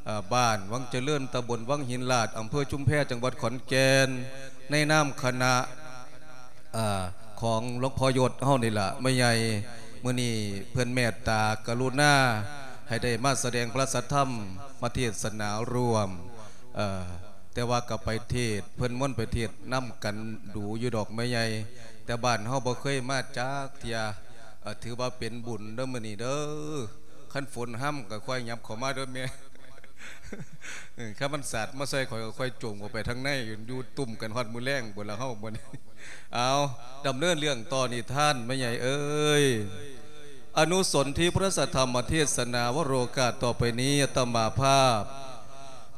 ເອີ ບ້ານວັງຈະເລີນ ຕຳບົນວັງຫີນລາດ ອຳເພີຊຸມແພ ຈັງຫວັດຂອນແກ່ນ ໃນນາມຄະນະ ເອີ ຂອງຫຼວງພໍ່ຍົດເຮົານີ້ລະແມ່ໃຫຍ່ ມື້ນີ້ເພິ່ນແມ່ດຕາກະລຸນາ ໃຫ້ໄດ້ມາສະແດງພະສັດທຳ ມາເທດສະໜາຮ່ວມ ເອີ ແຕ່ວ່າກໍໄປເທດ ເພິ່ນມ່ວນໄປເທດນຳກັນດູຢູ່ດອກແມ່ໃຫຍ່ ແຕ່ບ້ານເຮົາບໍ່ເຄີຍມາຈັກເທື່ອ. ເອີ ຖືວ່າເປັນບຸນເດີມື້ນີ້ເດີ. ຄັນຝົນຮຳກໍຄ່ອຍຫຍັບເຂົ້າມາເດີແມ່. ເອີ ຄັນມັນສາດມາໃສ່ຂ້ອຍກໍຄ່ອຍໂຈງອອກໄປທາງໃນ ຢູ່ຕຸ້ມກັນຮອດມື້ແລງພຸ້ນລະເຮົາບັດນີ້. ເອົາ ດຳເນີນເລື່ອງຕໍ່ນິທານແມ່ໃຫຍ່ເອີຍ. ອະນຸສົນທິພະສັດທຳມະເທດສະໜາວະໂລກາດຕໍ່ໄປນີ້ ອາດຕະມາພາບ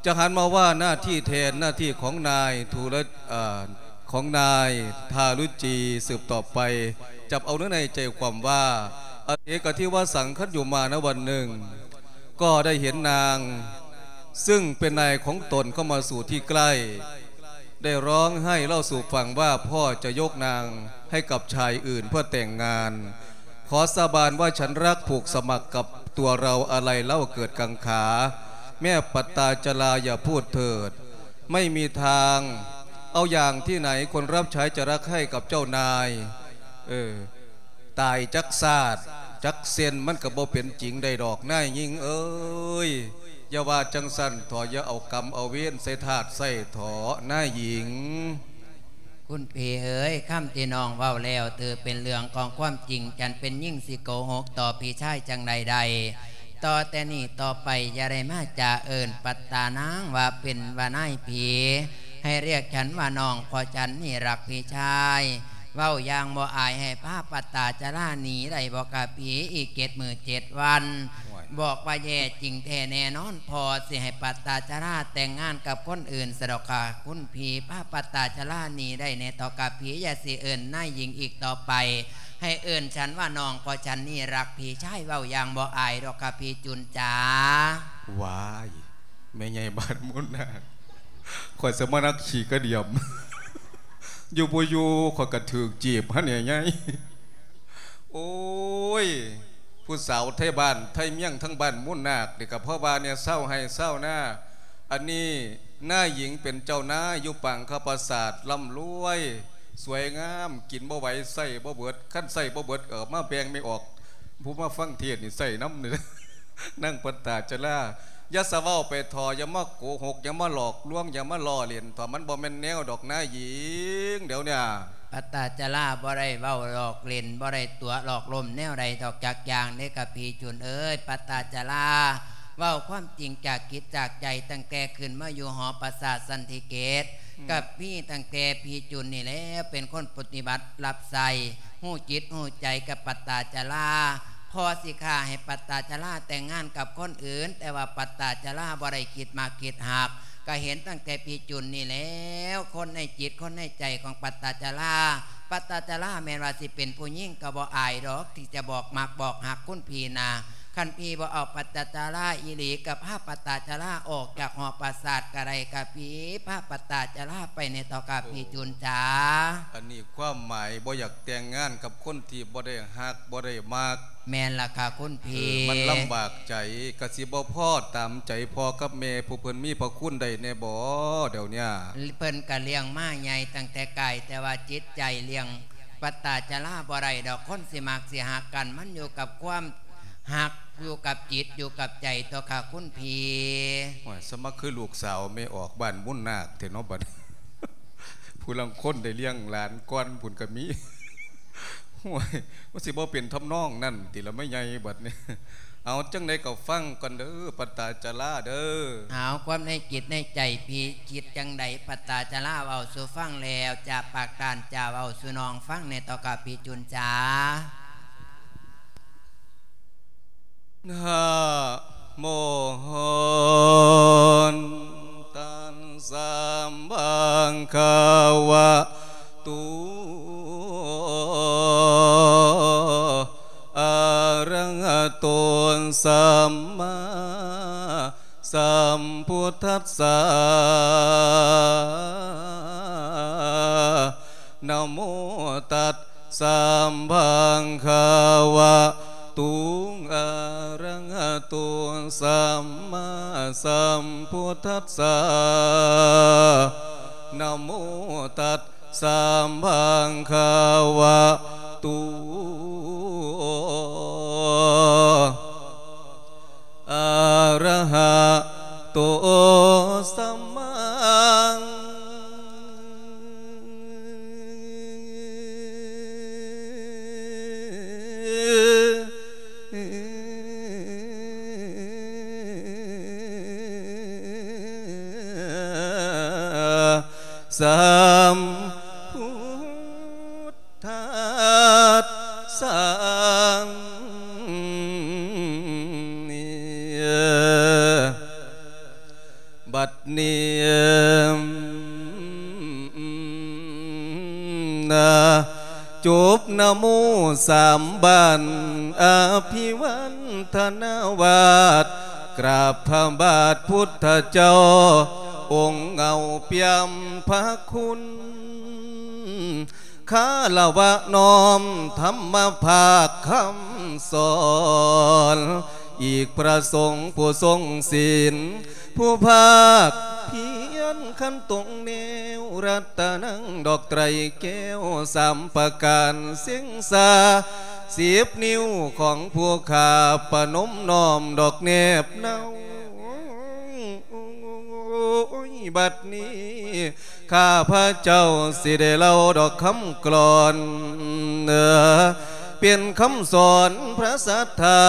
ຈະຫັນມາວ່າໜ້າທີ່ແທນໜ້າທີ່ຂອງນາຍທຸລະ ເອີ ຂອງນາຍທາລຸຈີສືບຕໍ່ໄປ ຈັບເອົາເນື້ອໃນໃຈຄວາມວ່າ ອະເສກະທິວະສັງຄັນຢູ່ມານະວັນໜຶ່ງ ກໍໄດ້ເຫັນນາງ ຊຶ່ງເປັນນາຍຂອງຕົນເຂົ້າມາສູ່ທີ່ໃກ້ ໄດ້ຮ້ອງໄຫ້ເລົ່າສູ່ຟັງວ່າ ພໍ່ຈະຍົກນາງໃຫ້ກັບຊາຍອື່ນເພື່ອແຕ່ງງານ. ຂໍສາບານວ່າ "ฉันรักผูกสมัครกับตัวเรา" ອາໄລເລົ່າເກີດກັງຂາ. ແມ່ປັດຕາຈະລາ ຢ່າพูดเถิด ไม่มีทาง เอาอย่างที่ไหน คนรับใช้จะรักให้กับเจ้านาย เออ ตายจักชาติจักเส้น มันก็บ่เป็นจริงได้ดอก นายหญิงเอ้ย อย่าว่าจั่งซั้นเถาะ อย่าเอากรรมเอาเวรใส่ทาสใส่เถาะ นายหญิง คุณพี่เอ๋ย คำที่น้องเว้าแล้ว ถือเป็นเรื่องของความจริง ฉันเป็นหญิงสิโกหกต่อพี่ชายจั่งใดได้ ต่อแต่นี้ต่อไปอย่าได้มาจะเอิ้นปัตตานางว่าเป็นว่านายพี่ ให้เรียกฉันว่าน้อง เพราะฉันนี่รักพี่ชาย เว้าอย่างบ่อาย ให้พาปัตตาจาราหนีได้บ่กะพี่ อีกเจ็ดมื้อเจ็ดวัน โอ้ย บอกว่าแย่จริงแท้แน่นอน พ่อสิให้ปัตตาจาราแต่งงานกับคนอื่นซะดอกค่ะ คุณพี่ พาปัตตาจาราหนีได้แน่เถาะกะพี่ อย่าสิเอิ้นนายหญิงอีกต่อไป ให้เอิ้นฉันว่าน้อง เพราะฉันนี่รักพี่ชาย เว้าอย่างบ่อายดอกค่ะพี่จุนจ๋า ว้าย แม่ใหญ่บ้านมุ่นนา ข้อยสะมานักขี้กระเดียม อยู่บ่อยู่ข้อยก็ถืกจีบหั่นแหน่ใหญ่ โอ้ย ผู้สาวไทบ้านไทเมียงทั้งบ้านมุ่นนาคนี่ก็เพราะว่าเนี่ยเซาไฮ่เซานา อันนี้นายหญิงเป็นเจ้านายอยู่ปางคปราสาท ร่ำรวย สวยงาม กินบ่ไหว ใช้บ่เบิด คันใช้บ่เบิดก็เอามาแบ่งแม่ออก ผู้มาฟังเทศน์นี่ใช้นำนี่ นางปัตตาจารา อย่าสะเว้าไปเถาะ อย่ามาโกหก อย่ามาหลอกลวง อย่ามาล้อเล่นเถาะ มันบ่แม่นแนวดอกนายหญิง เดี๋ยวเนี่ย ปัตตาจาราบ่ได้เว้าหลอกเล่น บ่ได้ตั๋วหลอกลมแนวใดดอกจักอย่างเด้กะพี่จุนเอ๋ย ปัตตาจาราเว้าความจริงจากจิตจากใจ ตั้งแต่ขึ้นมาอยู่หอปราสาทสันติเกต อืม กะมีตั้งแต่พี่จุนนี่แหละเป็นคนปฏิบัติรับใช้ ฮู้จิตฮู้ใจกับปัตตาจารา พ่อสิฆ่าให้ปัตตาจาราแต่งงานกับคนอื่น แต่ว่าปัตตาจาราบ่ได้คิดมักคิดฮัก ก็เห็นตั้งแต่พี่จุนนี่แหล้ว คนในจิตคนในใจของปัตตาจารา ปัตตาจาราแม่นว่าสิเป็นผู้หญิงก็บ่อายดอก ที่จะบอกมักบอกฮักคุณพี่นา คันพี่บ่เอาปัตตาจาราอีหลี ก็พาปัตตาจาราออกจากหอปราสาทก็ได้กะพี่ พาปัตตาจาราไปแหน่เถาะกะพี่จุนจ๋า อันนี้ความหมายบ่อยากแต่งงานกับคนที่บ่ได้ฮักบ่ได้มัก แม่นล่ะค่ะคุณพี่ เออ มันลำบากใจ ก็สิบ่พอตามใจพ่อกับแม่ผู้เพิ่นมีพระคุณได้แหน่บ่ เดี๋ยวเนี้ย เพิ่นก็เลี้ยงมาใหญ่ตั้งแต่ไกล แต่ว่าจิตใจเลี้ยงปัตตาจาราบ่ได้ดอก คนสิมักสิฮักกัน มันอยู่กับความฮัก อยู่กับจิต อยู่กับใจเถาะค่ะคุณพี่ โอ้ย สะมาคือลูกสาวแม่ออกบ้านมุ่นนาคแท้เนาะบัด ผู้ลางคนได้เลี้ยงหลานก่อนพุ้นก็มี โอ้ย มันสิบ่เป็นทำนองนั้นติล่ะแม่ใหญ่บัดนี้ เอาจั่งใดก็ฟังก่อนเด้อ ปัตตาจาราเด้อ เอาความในจิตในใจพี่คิดจั่งใด ปัตตาจาราเว้าสู่ฟังแล้ว จากปากต้านจาเว้าสู่น้องฟังแหน่เถาะกะพี่จุนจ๋า นะ ໂມ ຕັດສະ ພະຄະວະໂຕ ອະຣະຫະໂຕ ສຳມາສຳພຸດທັດສະ ນະໂມຕັດສະ ພະຄະວະໂຕ ອະຣະຫະໂຕ ສຳມາສຳພຸດທັດສະ ນະໂມຕັດສະ ພະຄະວະໂຕ ອະຣະຫະໂຕ ສຳມາສຳພຸດ ທັດສະ ນີ້ ບັດນີ້ ນະ ຈົບນະໂມສາມບານ ອະພິວັນທະນາວາດ ກາບພະບາດພຸດທະເຈົ້າ ອົງເງົາປ່ຽມພະຄຸນ ຄາລະວະນ້ອມທຳມະພາກຄຳສອນ ອີກພະສົງຜູ້ຊົງສິນ ຜູ້ພາກພຽນຂັນຕົງແນວ ລັດຕະນັງດອກໄຕແກ້ວສາມປະການ ເສັງສາສິບນິ້ວຂອງຜູ້ຂ້າ ປະນົມນ້ອມດອກແນບເນົາ ໂອ້ຍ ບັດນີ້ ຂ້າພະເຈົ້າຊິໄດ້ເລົ່າດອກຄຳກລອນ ເປັນຄຳສອນພະສັດທາ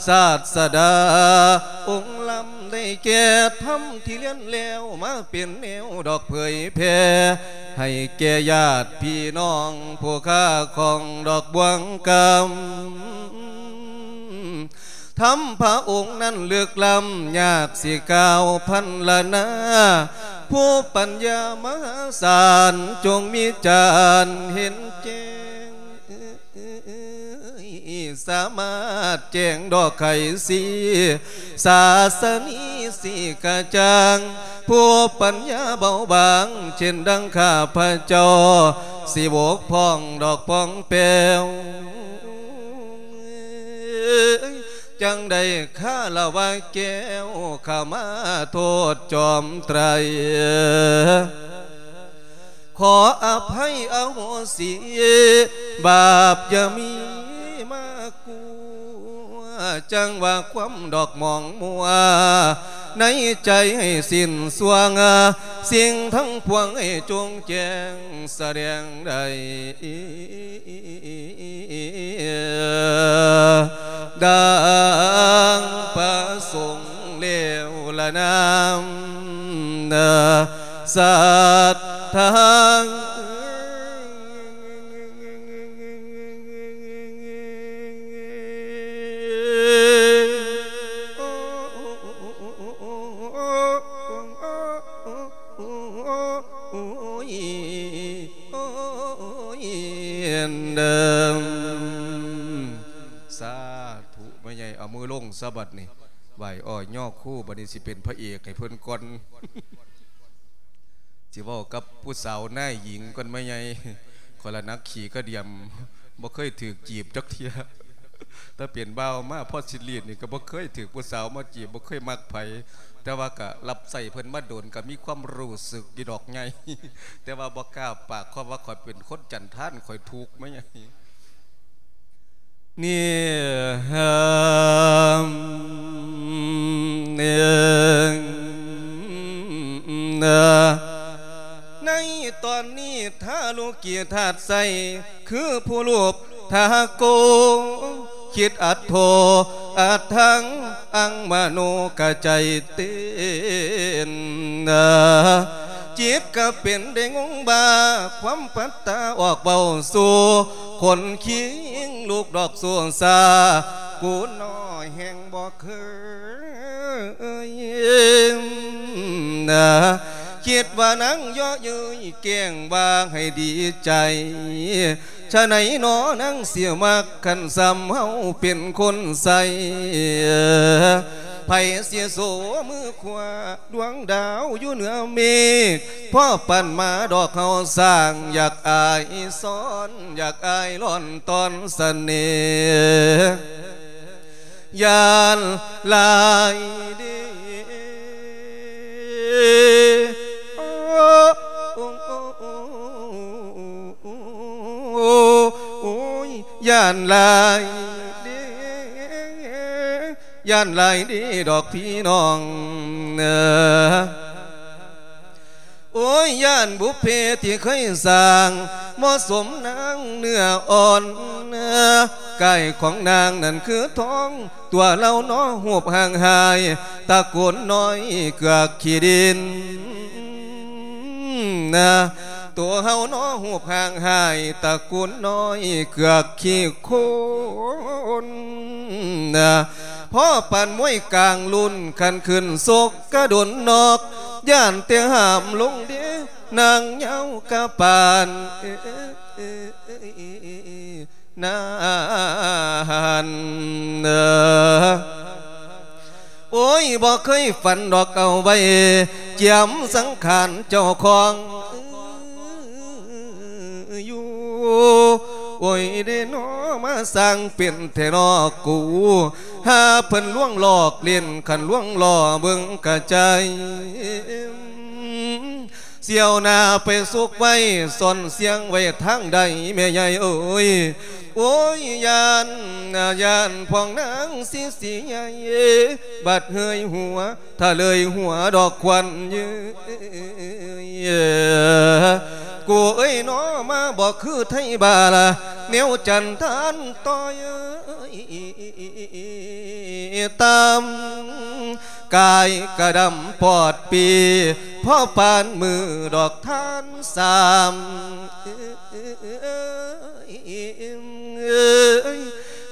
ສາດສະດາອົງລຳ ໄດ້ແກ່ທຳທີ່ລຽນແລ້ວ ມາເປັນແນວດອກເຜີຍແຜ່ ໃຫ້ແກ່ຍາດພີ່ນ້ອງຜູ້ຄ້າຂອງດອກບ່ວງກຳ ທຳພະອົງນັ້ນເລິກລ້ຳ ຍາກຊິກ່າວພັນລະນາ ຜູ້ປັນຍາມະຫາສານ ຈົ່ງມີຈານເຫັນແຈ້ງ ສາມາດແຈ້ງດອກໄຂສີ ສາສະນີສີກະຈ່າງ ຜູ້ປັນຍາເບົາບາງ ເຊັ່ນດັ່ງຂ້າພະເຈົ້າ ຊິບົກຜ່ອງດອກປ່ອງແປວ ຈັ່ງໄດ້ຄາລະວະແກ້ວ ຂະມາໂທດຈອມໄຕ ຂໍອະໄພອະໂຫສິ ບາບຢ່າມີມາກົວ ຈັ່ງວ່າຄວາມດອກໝອງມົວ ໃນໃຈໃຫ້ສິ້ນຊ່ວງ ສິ່ງທັງປວງໃຫ້ຈົ່ງແຈ້ງສະແດງໄດ້ ດັ່ງປະສົງແລ້ວລະນາ ສັດທາ ສາທຸ ແມ່ໃຫຍ່ ເອົາມືລົງຊະບັດນີ້ ໄຫວ້ອ້ອຍຍໍຄູ ບັດນີ້ຊິເປັນພະເອກໃຫ້ເພິ່ນກ່ອນ ຊິເວົ້າກັບຜູ້ສາວນາຍຍິງກ່ອນ ແມ່ໃຫຍ່ ຂ້ອຍລະໜັກຂີ້ກະດຽມ ບໍ່ເຄີຍຖືກຈີບຈັກເທື່ອ ແຕ່ເປັນບ່າວມາ ພໍຊິລີດນີ້ກໍບໍ່ເຄີຍຖືກຜູ້ສາວມາຈີບ ບໍ່ເຄີຍມັກໃຜ ແຕ່ວ່າກໍຮັບໃຊ້ເພິ່ນມາດົນ ກໍມີຄວາມຮູ້ສຶກຢູ່ດອກໃຫຍ່ ແຕ່ວ່າບໍ່ກ້າປາກຄວາມວ່າຂ້ອຍເປັນຄົນຈັນທານ ຂ້ອຍທຸກ ແມ່ໃຫຍ່. ນີ້ ໃນຕອນນີ້ ທາລຸກີທາດໄຊ ຄືຜູ້ຮູບທາໂກ ຄິດອັດໂທ ອັດທັງ ອັງມະໂນກະໃຈເຕັ້ນ ຈິດກະເປັນໄດ້ງົງບ້າ ຄວາມປັດຕາອອກເວົ້າສູ່ ຂົນຄີງລູກດອກຊູຊາ ກູນ້ອຍແຮ່ງບໍ່ເຄີຍ ย นะ คิดว่านางเยาะเย้ยแกล้งว่าให้ดีใจ ฉะไหนหนอนางสิมัก คันส่ำเฮาเป็นคนใส่ ไผสิโสมือขวา ดวงดาวอยู่เหนือเมฆ พอปันมาดอกเฮาสร้าง อยากอายซ้อน อยากอายล่อนตอนเสน่ห์ ย่านหลายเด้ โอ้ โอ้ โอ้ โอ้ โอ้ย ย่านหลายเด้ ย่านหลายเด้ดอกพี่น้องเอ้อ โอ้ย ย่านบุพเพที่เคยสร้าง เหมาะสมนางเนื้ออ่อน กายของนางนั้นคือทอง ตัวเล่าน้อฮูปห่างหาย ตระกูลน้อยเกือกขี้ดิน นะ ตัวเฮาน้อฮูปห่างหาย ตระกูลน้อยเกือกขี้โคลน นะ พอปานมวยกลางรุ่น คันขึ้นชกกะโดนนอก ย่านแต่ห้ามลงเด้ นางเหย้ากะปาน เอ้ย นานเด้อ โอ้ย บ่เคยฝันดอกเอาไว้ เจียมสังขารเจ้าของอยู่ โอ้ย เด้น้อ มาสร้างเป็นแท้น้อกู หาเพิ่นลวงหลอกเล่น คันลวงหล่อเบิ่งกะใจ เสี่ยวหน้าไปซุกไว้ ซ่อนเสียงไว้ทางใด แม่ใหญ่เอ๋ย โอ้ย ย่าน ย่านพ้องนางสิเสียใหญ่ บัดเฮยหัว ถ้าเลยหัวดอกควันเย้ย กูเอ้ยน้อ มาบ่คือไทบ้าละ แนวจันทานต่อย ตาม กายกะดำปอดปี พอปานมือดอกทานสาม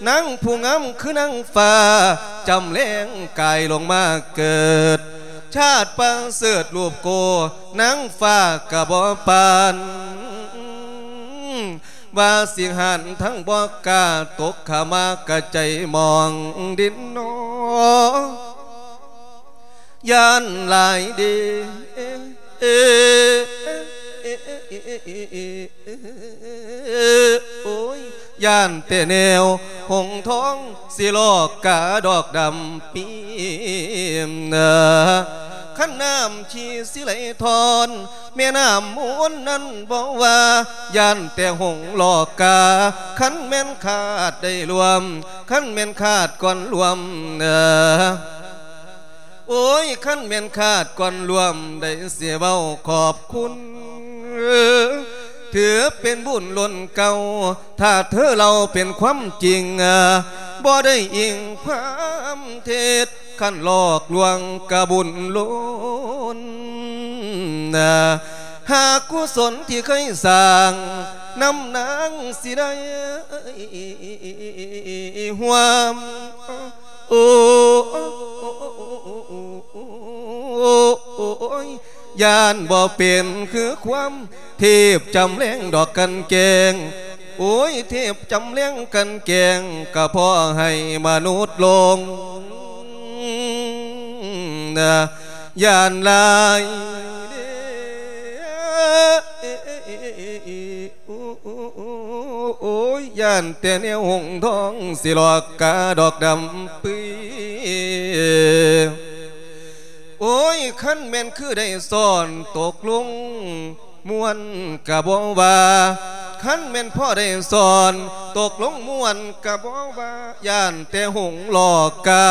นางผู้งามคือนางฟ้า จำแรงกายลงมาเกิด ชาติประเสริฐรูปโก นางฟ้ากะบ่ปาน ว่าสิหันทั้งบ่กล้า ตกขามากะใจมองดินนอ ย่านหลายเด้ โอ้ย ย่านแต่แนวหงส์ทอง สิหลอกกาดอกดำปีม คันน้ำชีสิไหลทอน แม่น้ำมูลนั้นบ่ว่า ย่านแต่หงส์หลอกกา คันแม่นคาดได้ร่วม คันแม่นคาดก่อนร่วม โอ้ย คันแม่นคาดก่อนร่วม ได้สิเว้าขอบคุณ ถือเป็นบุญล้นเก่า ถ้าเธอเล่าเป็นความจริง บ่ได้อิงความเท็จ คันหลอกลวงกะบุญล้น หากกุศลที่เคยสร้าง นำนางสิได้ร่วม โอ้ โอ้ย ย่านบ่เป็นคือความ เทพจำแรงดอกกันแกล้ง โอ้ย เทพจำแรงกันแกล้ง กะพอให้มนุษย์หลง ย่านหลายเด้ โอ้ย ย่านแต่แนวหงส์ทอง สิหลอกกาดอกดำปื้อ โอ้ย คันแม่นคือได้ซ่อน ตกลงม่วนกะบ่ว่า คันแม่นพอได้ซ่อน ตกลงม่วนกะบ่ว่า ย่านแต่หงส์หลอกกา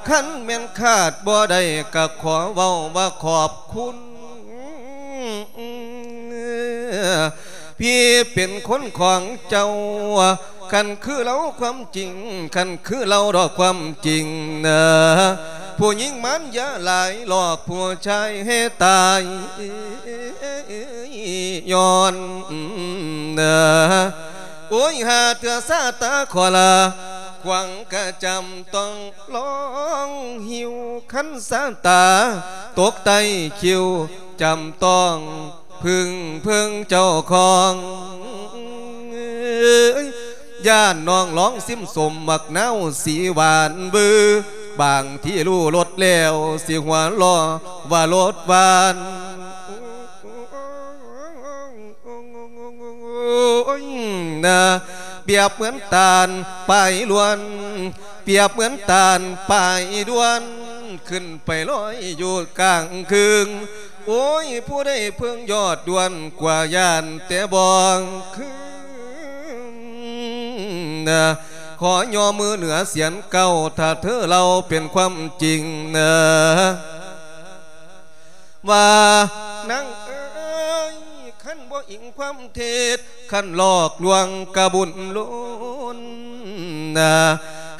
คันแม่นคาดบ่ได้ กะขอเว้าว่าขอบคุณ พี่เป็นคนของเจ้า คันคือเล่าความจริง คันคือเล่าดอกความจริงนะ ผู้หญิงมันอย่าหลาย หลอกผู้ชายให้ตายย้อนนะ โอ้ย หาเถื่อซาตาขอลา ຂວາງກະຈຳຕ້ອງລອງຫິວ ຄັນສາຕາຕົກໃຕ້ຄິວ ຈຳຕ້ອງ ເພິ່ງເພິ່ງເຈົ້າຂອງ ຢ້ານນ້ອງລອງຊິມສົ້ມໝາກນາວສີຫວານບື ບາງທີຮູ້ລົດແລ້ວ ຊິຫົວລໍ້ວ່າລົດຫວານ ນະ ປຽບເໝືອນຕານປາຍລວນ ປຽບເໝືອນຕານປາຍດວນ ຂຶ້ນໄປລອຍຢູ່ກາງເຄິ່ງ ໂອ້ຍ ຜູ້ໃດເພິ່ງຍອດດວນ ກວ່າຢ້ານແຕ່ບໍ່ຄືນ ຂໍຍໍມືເໜືອສຽນເກົ້າ ຖ້າເທີເລົ່າເປັນຄວາມຈິງ ວ່ານາງເອີຍ ຄັນບໍ່ອີງຄວາມເທັດ ຄັນຫຼອກລວງກະບຸນລຸນ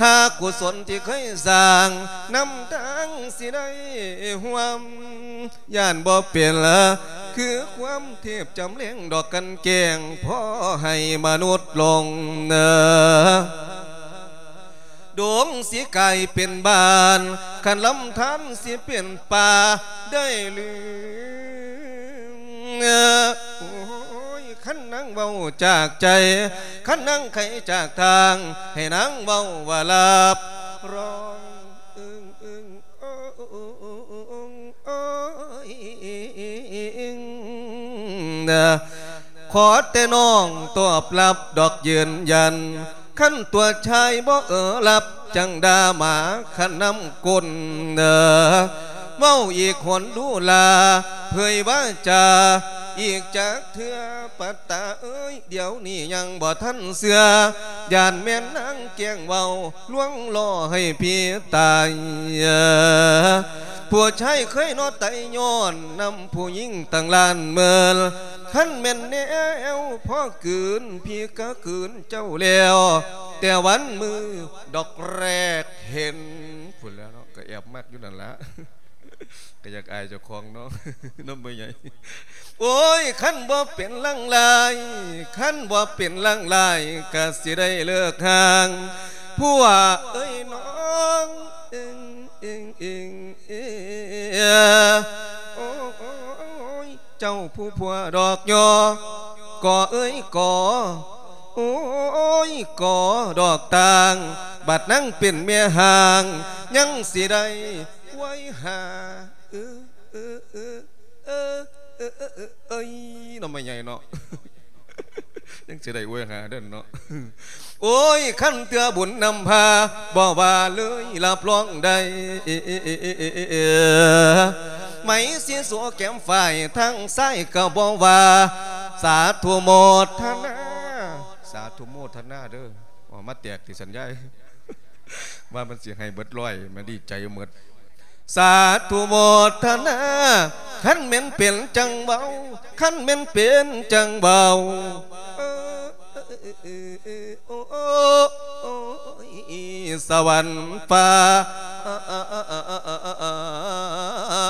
ຫາກຸສົນທີ່ເຄີຍສ້າງ ນຳທາງຊິໄດ້ຮ່ວມ ຢ້ານບໍ່ເປັນ ຄືຄວາມເທບຈຳແລງດອກກັນແກ້ງ ພໍໃຫ້ມະນຸດຫຼົງ ດົງຊິກາຍເປັນບ້ານ ຄັນລຳທານຊິເປັນປ່າໄດ້ຫຼື ໂອ້ຍ ຄັນນາງເວົ້າຈາກໃຈ ຄັນນາງໄຂຈາກທາງ ໃຫ້ນາງເວົ້າວ່າຮັບຮອງ ອຶ້ງ ອຶ້ງ ໂອ້ຍ ຂໍແຕ່ນ້ອງຕອບຮັບດອກຢືນຢັນ ຄັນຕົວຊາຍບໍ່ເອີຮັບ ຈັ່ງດ່າໝາຄັນນຳກົ້ນ ເວົ້າອີກຫົນດູລາ ເຜີຍວາຈາອີກຈັກເທື່ອ ປັດຕາເອີຍ ດຽວນີ້ຍັງບໍ່ທັນເຊື່ອ ຢ້ານແມ່ນນາງແກ້ງເວົ້າ ລວງລໍ້ໃຫ້ພີ່ຕາຍ ຜູ້ຊາຍເຄີຍເນາະໄຕຍ້ອນນຳຜູ້ຍິງຕັ້ງລ້ານໝື່ນ ຄັນແມ່ນແນວພໍກືນ ພີ່ກະກືນເຈົ້າແລ້ວ ແຕ່ວັນມື້ດອກແລກເຫັນ ພຸ້ນແລ້ວເນາະ ກະແອບມັກຢູ່ນັ້ນລະ ກະຢາກອາຍເຈົ້າຂອງເນາະ ນຳແມ່ໃຫຍ່ ໂອ້ຍ ຄັນບໍ່ເປັນລາງລາຍ ຄັນບໍ່ເປັນລາງລາຍ ກະຊິໄດ້ເລີກຮ່າງ ຜົວເອີຍນ້ອງ ເອີງ ເອີງ ເອີງ ເອີ ໂອ້ຍ ເຈົ້າຜູ້ຜົວດອກຍໍ ກໍເອີຍກໍ ໂອ້ຍ ກໍດອກຕ່າງ ບັດນາງເປັນແມ່ຮ້າງ ຍັງຊິໄດ້ໄວ້ຫາ ເອີ ເອີ ເອີ ເອີ ເອີ ເອີ ເອີຍ ເນາະ ແມ່ໃຫຍ່ເນາະ ຍັງຊິໄດ້ອວຍຫາເດີເນາະ ໂອ້ຍ ຄັນເທື່ອບຸນນຳພາ ບໍ່ວ່າເລີຍ ຮັບຮອງໄດ້ ໄໝສີໂສແກ້ມຝ້າຍ ທາງຊ້າຍກໍບໍ່ວ່າ ສາທຸໂມທະນາ ສາທຸໂມທະນາເດີ ອອກມາແຕກຕິສັນຍາຍ ວ່າມັນຊິໃຫ້ເບິດຮ້ອຍ ມັນດີໃຈເໝິດ ສາທຸໂມທະນາ ຄັນແມ່ນເປັນຈັ່ງເວົ້າ ຄັນແມ່ນເປັນຈັ່ງເວົ້າ ເອີ ໂອ້ຍ ສະຫວັນຟ້າ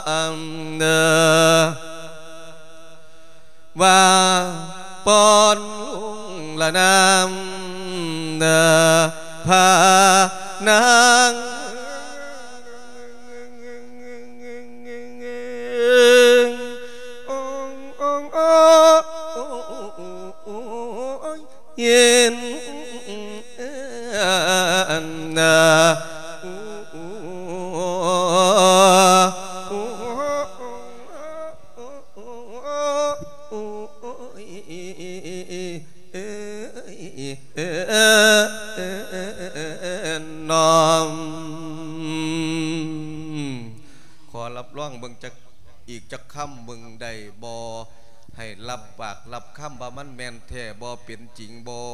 ເອີ ວ່າປ້ອນລຸງລະນາມ ພານາງ ເຢັນ ນ້ອມ ຂໍຮັບຮອງເບິ່ງຈັກ ອີກຈັກຄຳເບິ່ງໄດ້ບໍ່? ໃຫ້ຮັບປາກຮັບຄຳວ່າມັນແມ່ນແທ້ບໍ່ ເປັນຈິງບໍ່?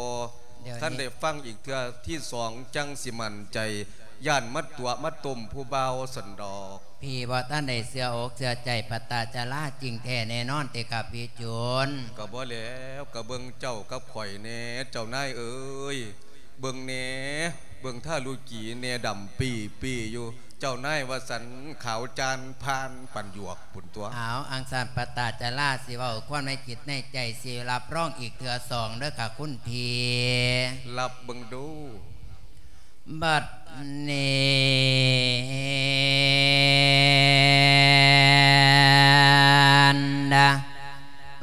ຄັນໄດ້ຟັງອີກເທື່ອທີສອງ ຈັ່ງຊິໝັ້ນໃຈ ຢ້ານມາຕົວະມາຕົ້ມຜູ້ບ່າວຊັ້ນດອກ. ພີ່ບໍ່ທັນໄດ້ເຊື່ອອົກເຊື່ອໃຈ ປະຕາຈາລາຈິງແທ້ແນ່ນອນຕິຄັບພີ່ໂຈນ? ກໍບໍ່ແລ້ວ ກໍເບິ່ງເຈົ້າກັບຂ້ອຍແດ່ ເຈົ້ານາຍເອີຍ ເບິ່ງແດ່ ເບິ່ງທາລຸກີແດ່ ດຳປີ້ປີ້ຢູ່ ເຈົ້ານາຍວ່າຊັ້ນ ຂາວຈານພານປານຢວກພຸ້ນຕົວະ. ເອົາ ອັງຊັ້ນປະຕາຈາລາຊິເວົ້າຄວາມໃນຈິດໃນໃຈ ຊິຮັບຮອງອີກເທື່ອສອງເດີຄ່ະຄຸນພີ່. ຮັບເບິ່ງດູ. ບັດນີ້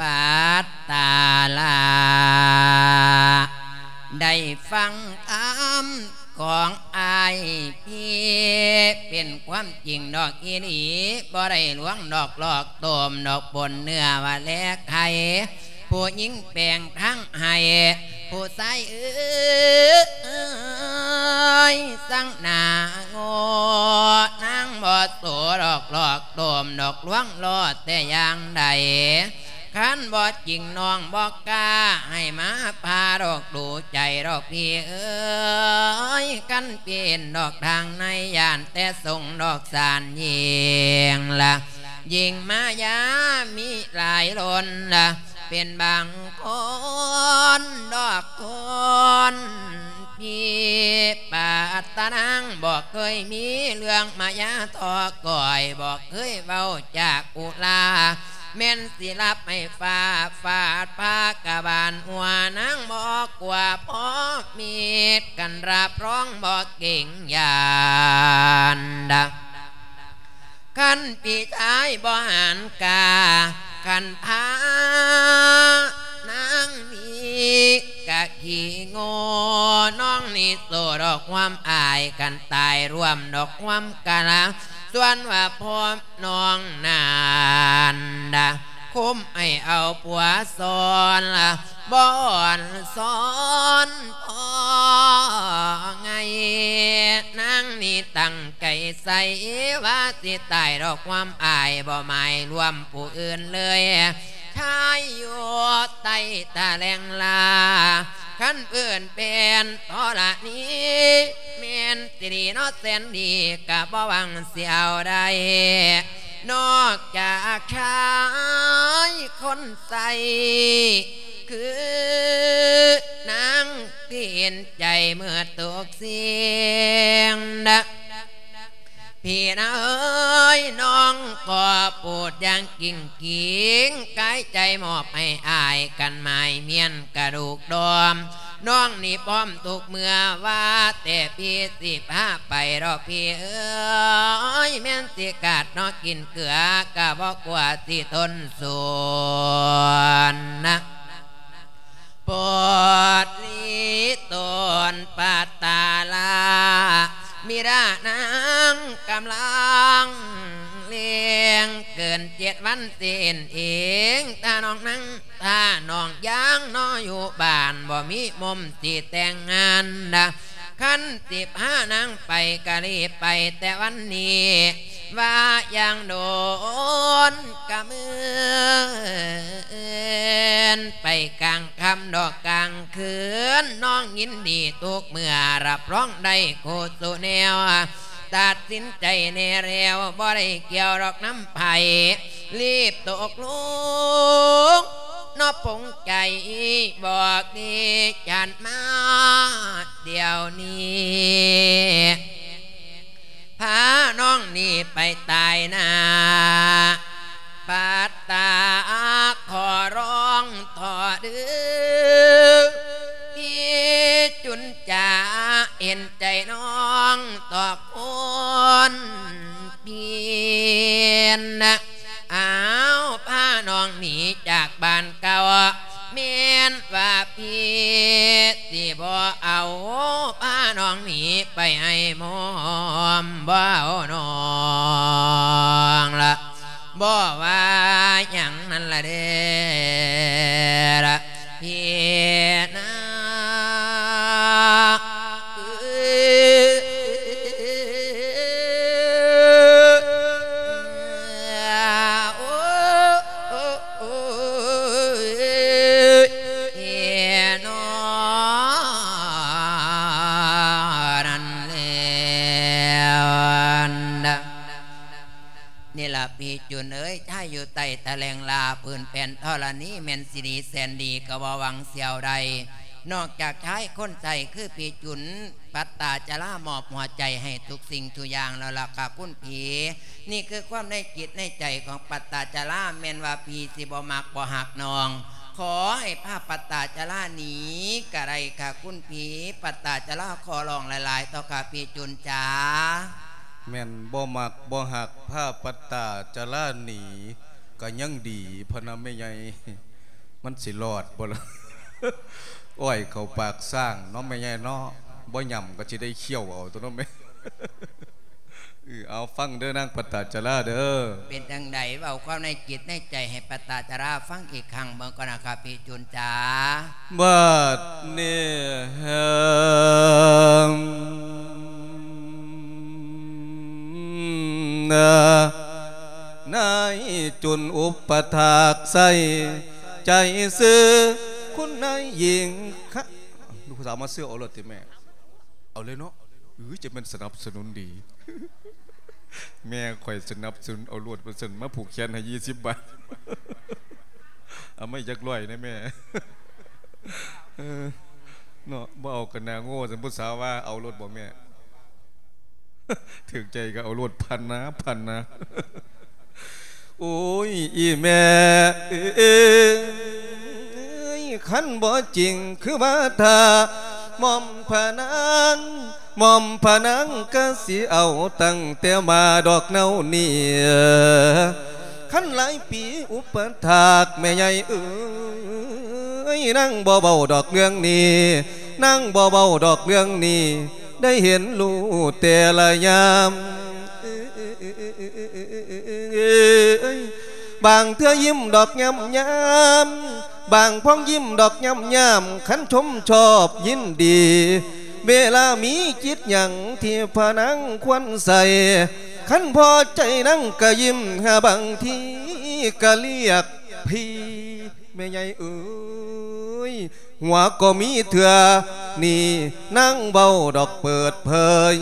ປັດຕາລະ ໄດ້ຟັງຄຳຂອງອ້າຍພີ່ ເປັນຄວາມຈິງດອກອີ່ຫຼີ ບໍ່ໄດ້ລວງດອກຫຼອກໂຕມດອກ ປົນເນື້ອວ່າແລກໄຂ່ ຜູ້ຍິງແປງທັງໃຫ້ ຜູ້ຊາຍເອີຍ ສັງໜ້າໂງ່ ນາງບໍ່ໂສດອກຫຼອກໂຕມດອກ ລວງຫຼໍ່ແຕ່ຢ່າງໃດ ຄັນບໍ່ຈິງນ້ອງບໍ່ກ້າໃຫ້ມາພາດອກດູໃຈດອກພີ່ເອີຍ ຄັນເປັນດອກທາງໃນຢ້ານແຕ່ຊົງດອກສານຍິງລະ ຍິງມາຢາມີຫຼາຍລົ້ນລະ ເປັນບາງຄົນດອກຄົນ ພີ່ປາດຕານາງບໍ່ເຄີຍມີເລື່ອງມາຢາທໍ່ກ້ອຍ ບໍ່ເຄີຍເວົ້າຈາກອຸລາ ແມ່ນຊິລັບໃຫ້ຟ້າຟາດພາກະບານຫົວ ນາງບໍ່ກົວພໍມີດກັນ ຮັບຮອງບໍ່ເກງຢ້ານດາ ຄັນພີ່ຊາຍບໍ່ຫັນກາ ຄັນພານາງມີກະຂີ້ໂງ່ ນ້ອງນີ້ໂສດອກຄວາມອາຍ ຄັນຕາຍຮ່ວມດອກຄວາມກະລາ ສ່ວນວ່າພໍ່ນ້ອງນັ້ນດາ ຄຸມໃຫ້ເອົາຜົວຊ້ອນລະ ບໍ່ອ່ອນຊ້ອນພໍໄງ ນາງນີ້ຕັ້ງໃຈໃສ່ວ່າຊິຕາຍດອກຄວາມອາຍ ບໍ່ໝາຍລວມຜູ້ອື່ນເລີຍ ຊາຍຢູ່ໃຕ້ຕະແຫຼງລາ ຄັນເອີ້ນເປັນທໍລະນີ ແມ່ນຊິດີເນາະແສນດີ ກະບໍ່ຫວັງຊິເອົາໄດ້ ນອກຈາກຊາຍຄົນໃຊ້ ຄືນາງທີ່ເຫັນໃຈເໝິດທຸກສິ່ງນະ ພີ່ນາເອີຍ ນ້ອງກໍໂປດຢ່າງກິ່ງກິງ ກາຍໃຈມອບໃຫ້ອ້າຍ ກັນໝາຍມ້ຽນກະດູກດອມ ນ້ອງນີ້ພ້ອມທຸກເມື່ອ ວ່າແຕ່ພີ່ຊິພາໄປດອກພີ່ເອີຍ ແມ່ນຊິກາດເນາະກິນເກືອ ກະບໍ່ກົວຊິທົນສູນນະ ໂປດລີໂຕນປັດຕາລາ ບິດານາງກຳລັງລ້ຽງ ເກີນເຈັດວັນເຕັມເອງ ຖ້ານ້ອງນາງ ຖ້ານ້ອງຢ່າງເນາະຢູ່ບ້ານ ບໍ່ມີມຸມຊິແຕ່ງງານນະ ຄັນຊິພານາງໄປກະລີບໄປແຕ່ວັນນີ້ ວ່າຢ່າງໂດນກະເມີນ ໄປກາງຄ່ຳດອກກາງຄືນ ນ້ອງຍິນດີທຸກເມື່ອ ຮັບຮອງໄດ້ຄູ່ສູ່ແນວ ຕັດສິນໃຈແນ່ແລ້ວ ບໍ່ໄດ້ກ່ຽວດອກນຳໃຜ ລີບຕົກລົງເນາະປົງໃຈ ບອກດີຈັນມາດຽວນີ້ ພານ້ອງນີ້ໄປຕາຍໜ້າ ປັດຕາຂໍຮ້ອງທໍ່ເດີ ພີ່ຈຸນຈາເຫັນໃຈນ້ອງຕໍ່ຄົນ ເພນນະ ອ້າວ ພານ້ອງໜີຈາກບ້ານເກົ່າ ແມ່ນວ່າພີ່ຊິບໍ່ເອົາ ພານ້ອງໜີໄປໃຫ້ໝອມ ບໍ່ເອົານ້ອງລະ ບໍ່ວ່າຫຍັງນັ້ນລະເດ້ລະ ພີ່ນາງເອີຍ ໂອ້ ໂອ້ ໂອ້ຍ ເນາະ ນັ້ນແລ້ວ ນີ້ລະພີ່ຈຸນເອີຍ ຊາຍຢູ່ໃຕ້ຕະແຫຼງລາ ຜືນແຜ່ນທໍລະນີ ແມ່ນຊິດີແສນດີ ກະບໍ່ຫວັງສຽວໃດ ນອກຈາກຊາຍຄົນໃຊ້ຄືພີ່ຈຸນ ປັດຕາຈະລາ ມອບຫົວໃຈໃຫ້ທຸກສິ່ງທຸກຢ່າງແລ້ວລະກະຄຸນພີ່ ນີ້ຄືຄວາມໃນຈິດໃນໃຈຂອງປັດຕາຈະລາ ແມ່ນວ່າພີ່ຊິບໍ່ມັກບໍ່ຮັກນ້ອງ ຂໍໃຫ້ພາປັດຕາຈະລາໜີກະໄດ້ຄ່ະຄຸນພີ່. ປັດຕາຈະລາຂໍຮ້ອງຫຼາຍໆ ເຖາະຄ່ະພີ່ຈຸນຈ໋າ. ແມ່ນບໍ່ມັກບໍ່ຮັກພາປັດຕາຈະລາໜີກະຍັງດີພະນະແມ່ໃຫຍ່. ມັນຊິລອດບໍ່ລະ? ອ້ອຍເຂົ້າປາກຊ້າງເນາະແມ່ໃຫຍ່ເນາະ. ບໍ່ຫຍ້ຳກະຊິໄດ້ຄ້ຽວເອົາຕົວເນາະແມ່. ເອີ ເອົາຟັງເດີນາງປັດຕາຈະລາເດີ. ເປັນຈັ່ງໃດ ເວົ້າຄວາມໃນຈິດໃນໃຈໃຫ້ປັດຕາຈະລາຟັງອີກຄັ້ງເບິ່ງກ່ອນນະຄັບພີ່ຈຸນຈ໋າ. ບັດນີ້ ນາຍຈຸນອຸປະຖາກໃສ່ໃຈຊື່ຄຸນນາຍຍິງຄະ ລູກສາວມາຊື້ເອົາໂລດຕິແມ່. ເອົາເລີຍເນາະ. ເອີ ຈະແມ່ນສະໜັບສະໜູນດີ. ແມ່ຂ້ອຍສະໜັບສະໜູນເອົາໂລດວ່າຊັ້ນ ມາຜູກແຂນໃຫ້ ຊາວບາດ. ເອົາມາຈັກຮ້ອຍແດ່ແມ່. ເອີ ເນາະ ບໍ່ເອົາກະໜ້າໂງ່ຊັ້ນ ຜູ້ສາວວ່າ. ເອົາໂລດບໍ່ແມ່? ຖືກໃຈກະເອົາໂລດ ພັນນາ ພັນນາ. ໂອ້ຍ ອີ່ແມ່ເອີຍ ຄັນບໍ່ຈິງຄືວ່າຖ້າ ໝ່ອມພະນາງ ໝ່ອມພະນາງກະຊິເອົາຕັ້ງແຕ່ມາດອກແນວນີ້. ຄັນຫຼາຍປີອຸປະຖາກແມ່ໃຫຍ່ເອີຍ ນາງບໍ່ເວົ້າດອກເລື່ອງນີ້ ນາງບໍ່ເວົ້າດອກເລື່ອງນີ້ ໄດ້ເຫັນຮູ້ແຕ່ລະຍາມ. ບາງເທື່ອຍິ້ມດອກຍາມຍາມ ບາງພອງຍິ້ມດອກຍາມຍາມ ຄັນຊົມຊອບຍິນດີ ເວລາມີຈິດຫຍັງທີ່ພະນາງຄວນໃສ່ ຄັນພໍໃຈນາງກະຍິ້ມ ຫາບາງທີກະລຽກພີ່ ແມ່ໃຫຍ່ເອີຍ. ຫົວກໍມີເທື່ອນີ້ ນາງເວົ້າດອກເປີດເຜີຍ.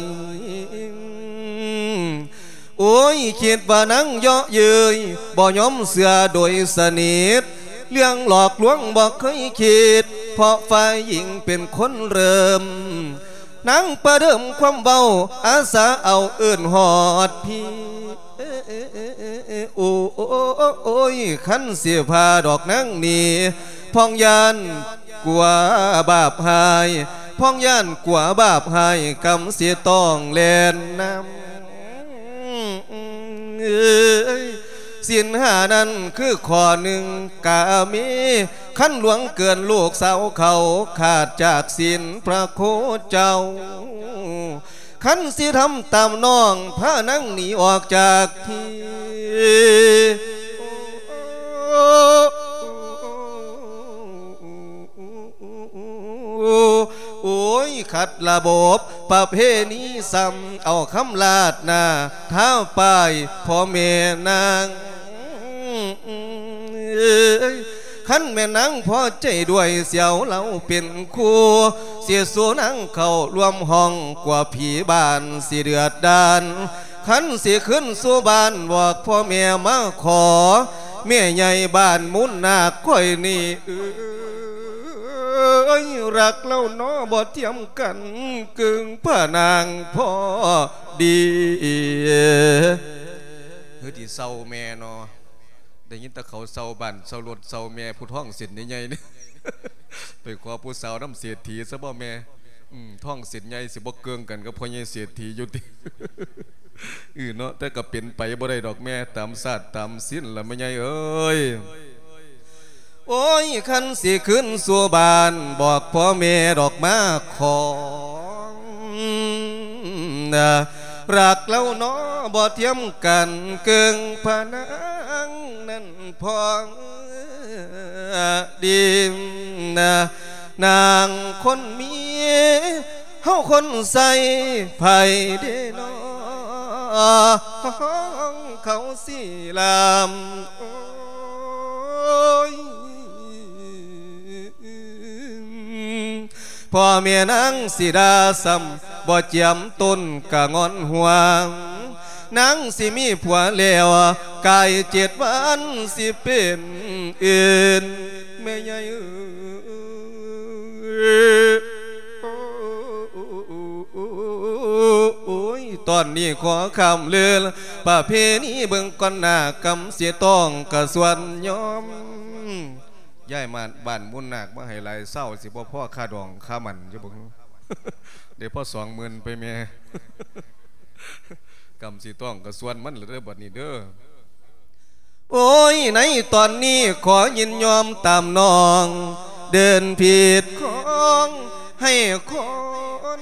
ໂອ້ຍ ຄິດວ່ານາງເຍາະເຍີ້ຍ ບໍ່ຍອມເຊື່ອໂດຍສະໜິດ ເລື່ອງຫຼອກລວງບໍ່ເຄີຍຄິດ ເພາະຝ່າຍຍິງເປັນຄົນເລີ່ມ. ນາງປະເດີມຄວາມເວົ້າ ອາສາເອົາເອີ້ນຮອດພີ່. ໂອ້ຍ ຄັນຊິພາດອກນາງໜີ ພອງຢ້ານ ກົວບາບຮ້າຍ ພອງຢ້ານກົວບາບຮ້າຍ ກຳຊິຕ້ອງແລ່ນນຳ. ເອີຍ ສິນຫ້ານັ້ນຄືຂໍ້ໜຶ່ງກາເມ ຄັນຫຼວງເກີນລູກສາວເຂົາ ຂາດຈາກສິນພະໂຄເຈົ້າ. ຄັນຊິທຳຕາມນ້ອງ ພານາງໜີອອກຈາກທີ່. ໂອ້ຍ ຂັດລະບົບປະເພນີ ຊ້ຳເອົາຄຳລາດໜ້າ ທາປ້າຍພໍ່ແມ່ນາງ. ຄັນແມ່ນນາງພໍໃຈດ້ວຍ ສຽວລາວເປັນຄູ່ ຊິສູ່ນາງເຂົ້າຮ່ວມຫ້ອງ ກວ່າຜີບ້ານຊິເດືອດດານ. ຄັນຊິຄືນສູ່ບ້ານ ບອກພໍ່ແມ່ມາຂໍ ແມ່ໃຫຍ່ບ້ານມູນນາກຂ້ອຍນີ້ເອີຍ ຮັກລາວໜໍບໍ່ທຽມກັນ ເກິ່ງພະນາງພໍດີ. ຄືຊິເຊົາແມ່ເນາະ ໄດ້ຍິນແຕ່ເຂົາເຊົ່າບ້ານເຊົ່າລົດເຊົ່າແມ່ ຜູ້ທ້ອງເສັ້ນໃຫຍ່ໆນີ້. ໄປຂໍຜູ້ສາວນຳເສດຖີຊະບໍ່ແມ່? ອືມ ທ້ອງເສັ້ນໃຫຍ່ຊິບໍ່ເກິ່ງກັນກັບພໍ່ໃຫຍ່ເສດຖີຢູ່ຕິ? ອື ເນາະ ແຕ່ກໍເປັນໄປບໍ່ໄດ້ດອກແມ່ ຕາມຊາດຕາມສິນລະແມ່ໃຫຍ່ເອີຍ. ໂອ້ຍ ຄັນຊິຄືນສູ່ບ້ານ ບອກພໍ່ແມ່ດອກມາຂໍ ນະ ຮັກລາວໜໍບໍ່ທຽມກັນ ເກິ່ງພະນາງນັ້ນພໍດີນະ ນາງຄົນມີ ເຮົາຄົນໃສ່ ໃຜເດນໍ ເຂົາຊິລາມ ໂອ້ຍ ພໍ່ແມ່ນາງຊິດ່າຊ້ຳ ບໍ່ຈຽມຕົ້ນກະງອນຫົວ ນາງຊິມີຜົວແລ້ວ ກາຍເຈັດວັນຊິເປັນອື່ນ ແມ່ໃຫຍ່ເອີຍ. ໂອ້ຍ ຕອນນີ້ຂໍຂ້າມເລີນປະເພນີເບິ່ງກ່ອນໜ້າ ກຳຊິຕ້ອງກະຊວນຍອມ ຍ້າຍມາບ້ານມູນນາກມາໃຫ້ຫຼາຍເຊົາ ຊິບໍ່ພໍຄ່າດອງຄ່າໝັ້ນຢູ່ບໍ່? ໄດ້ພໍສອງໝື່ນໄປແມ່. ກຳຊິຕ້ອງກະສ່ວນມັນລະເດີ້ ບັດນີ້ເດີ້. ໂອ້ຍ ໃນຕອນນີ້ຂໍຍິນຍອມຕາມນ້ອງ ເດີນຜິດຂອງໃຫ້ຄົນ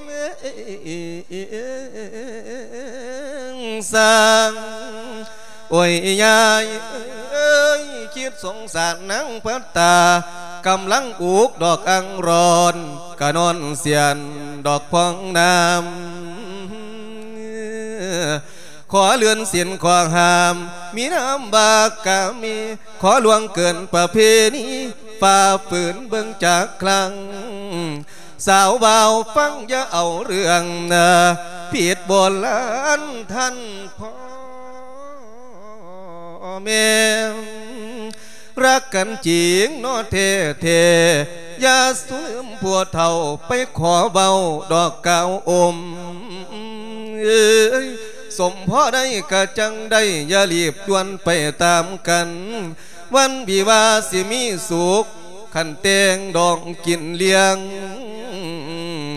ສ້າງ. ໂອ້ຍ ຍາຍເອີຍ ຄິດສົງສານນາງພັດຕາ ກຳລັງອຸກດອກອັ່ງຣອນ ກະນອນສຽນດອກພອງນ້ຳ. ຂໍເລື່ອນສິນຂໍຫ້າມ ມີນາມວ່າກາມີ ຂໍລ່ວງເກີນປະເພນີ ຝ່າຝືນເບິ່ງຈັກຄັ້ງ. ສາວບ່າວຟັງຢ່າເອົາເລື່ອງນາ ຜິດໂບລານທ່ານພໍ່ແມ່ ລັກກັນຈິງເນາະແທ້ໆ ຢ່າສຸມຜູ້ເຖົ້າ ໄປຂໍເວົ້າດອກກ່າວອົມເອີຍ ສົມພໍໄດ້ກະຈັ່ງໄດ້ ຢ່າລີບດ່ວນໄປຕາມກັນ ວັນວິວາສິມີສຸກ ຄັນແຕ່ງດອງກິນລ້ຽງ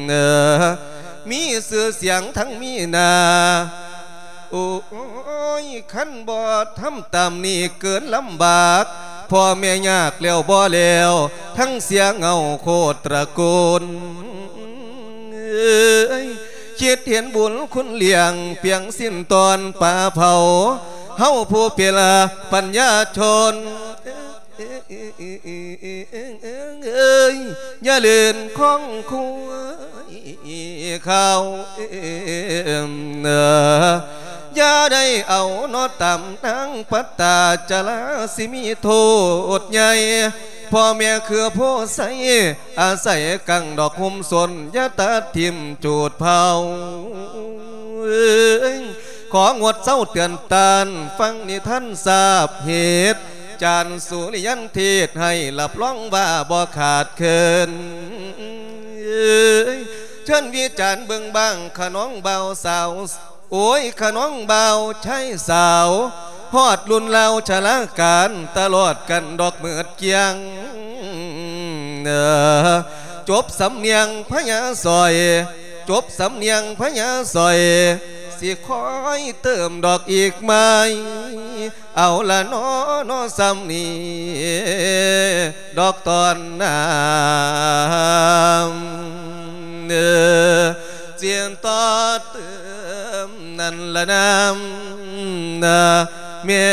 ເອີ ມີຊື່ສຽງທັງມີໜ້າ. ໂອ້ຍ ຄັນບໍ່ທຳຕາມນີ້ເກີນລຳບາກ ພໍ່ແມ່ຍາກແລ້ວບໍ່ແລ້ວ ທັງເສຍເງົາໂຄດຕະໂກນເອີຍ ຄິດເຫັນບຸນຄຸນລ້ຽງ ປຽງສິ້ນຕອນປາເຜົາ ເຮົາຜູ້ເປັນປັນຍາຊົນ ເອີຍ ຢ່າເລ່ນຂອງຄວາຍເຂົາ ເອີ ຢ່າໄດ້ເອົາເນາະຕາມນາງປັດຕາຈະລາ ຊິມີໂທດໃຫຍ່ ພໍ່ແມ່ຄືໂພໄຊ ອາໄສກັງດອກຮົ່ມຊົນ ຢ່າຕັດຖິ້ມຈູດເຜົາ ເອີຍ ຂໍງົດເຊົາເຕືອນຕ້ານ ຟັງນິທານຊາບເຫດ ຈານສຸລິຍັນເທດໃຫ້ ຮັບຮອງວ່າບໍ່ຂາດເຂີນ ເອີຍ ເຊີນວິຈານເບິ່ງບ້າງ ຂະນ້ອງບ່າວສາວ ໂອ້ຍ ຂະນ້ອງບ່າວຊາຍສາວ ຮອດລຸ້ນລາວຊະລາການ ຕະຫຼອດກັນດອກມືດກຽງ ເອີ ຈົບສຳນຽງພະຍາສອຍ ຈົບສຳນຽງພະຍາສອຍ ຊິຄອຍເຕີມດອກອີກໄໝ ເອົາລະເນາະ ເນາະສ່ຳນີ້ດອກຕອນນາ ເອີ ຈຽນຕໍ່ເຕີມນັ້ນລະນາ ນາແມ່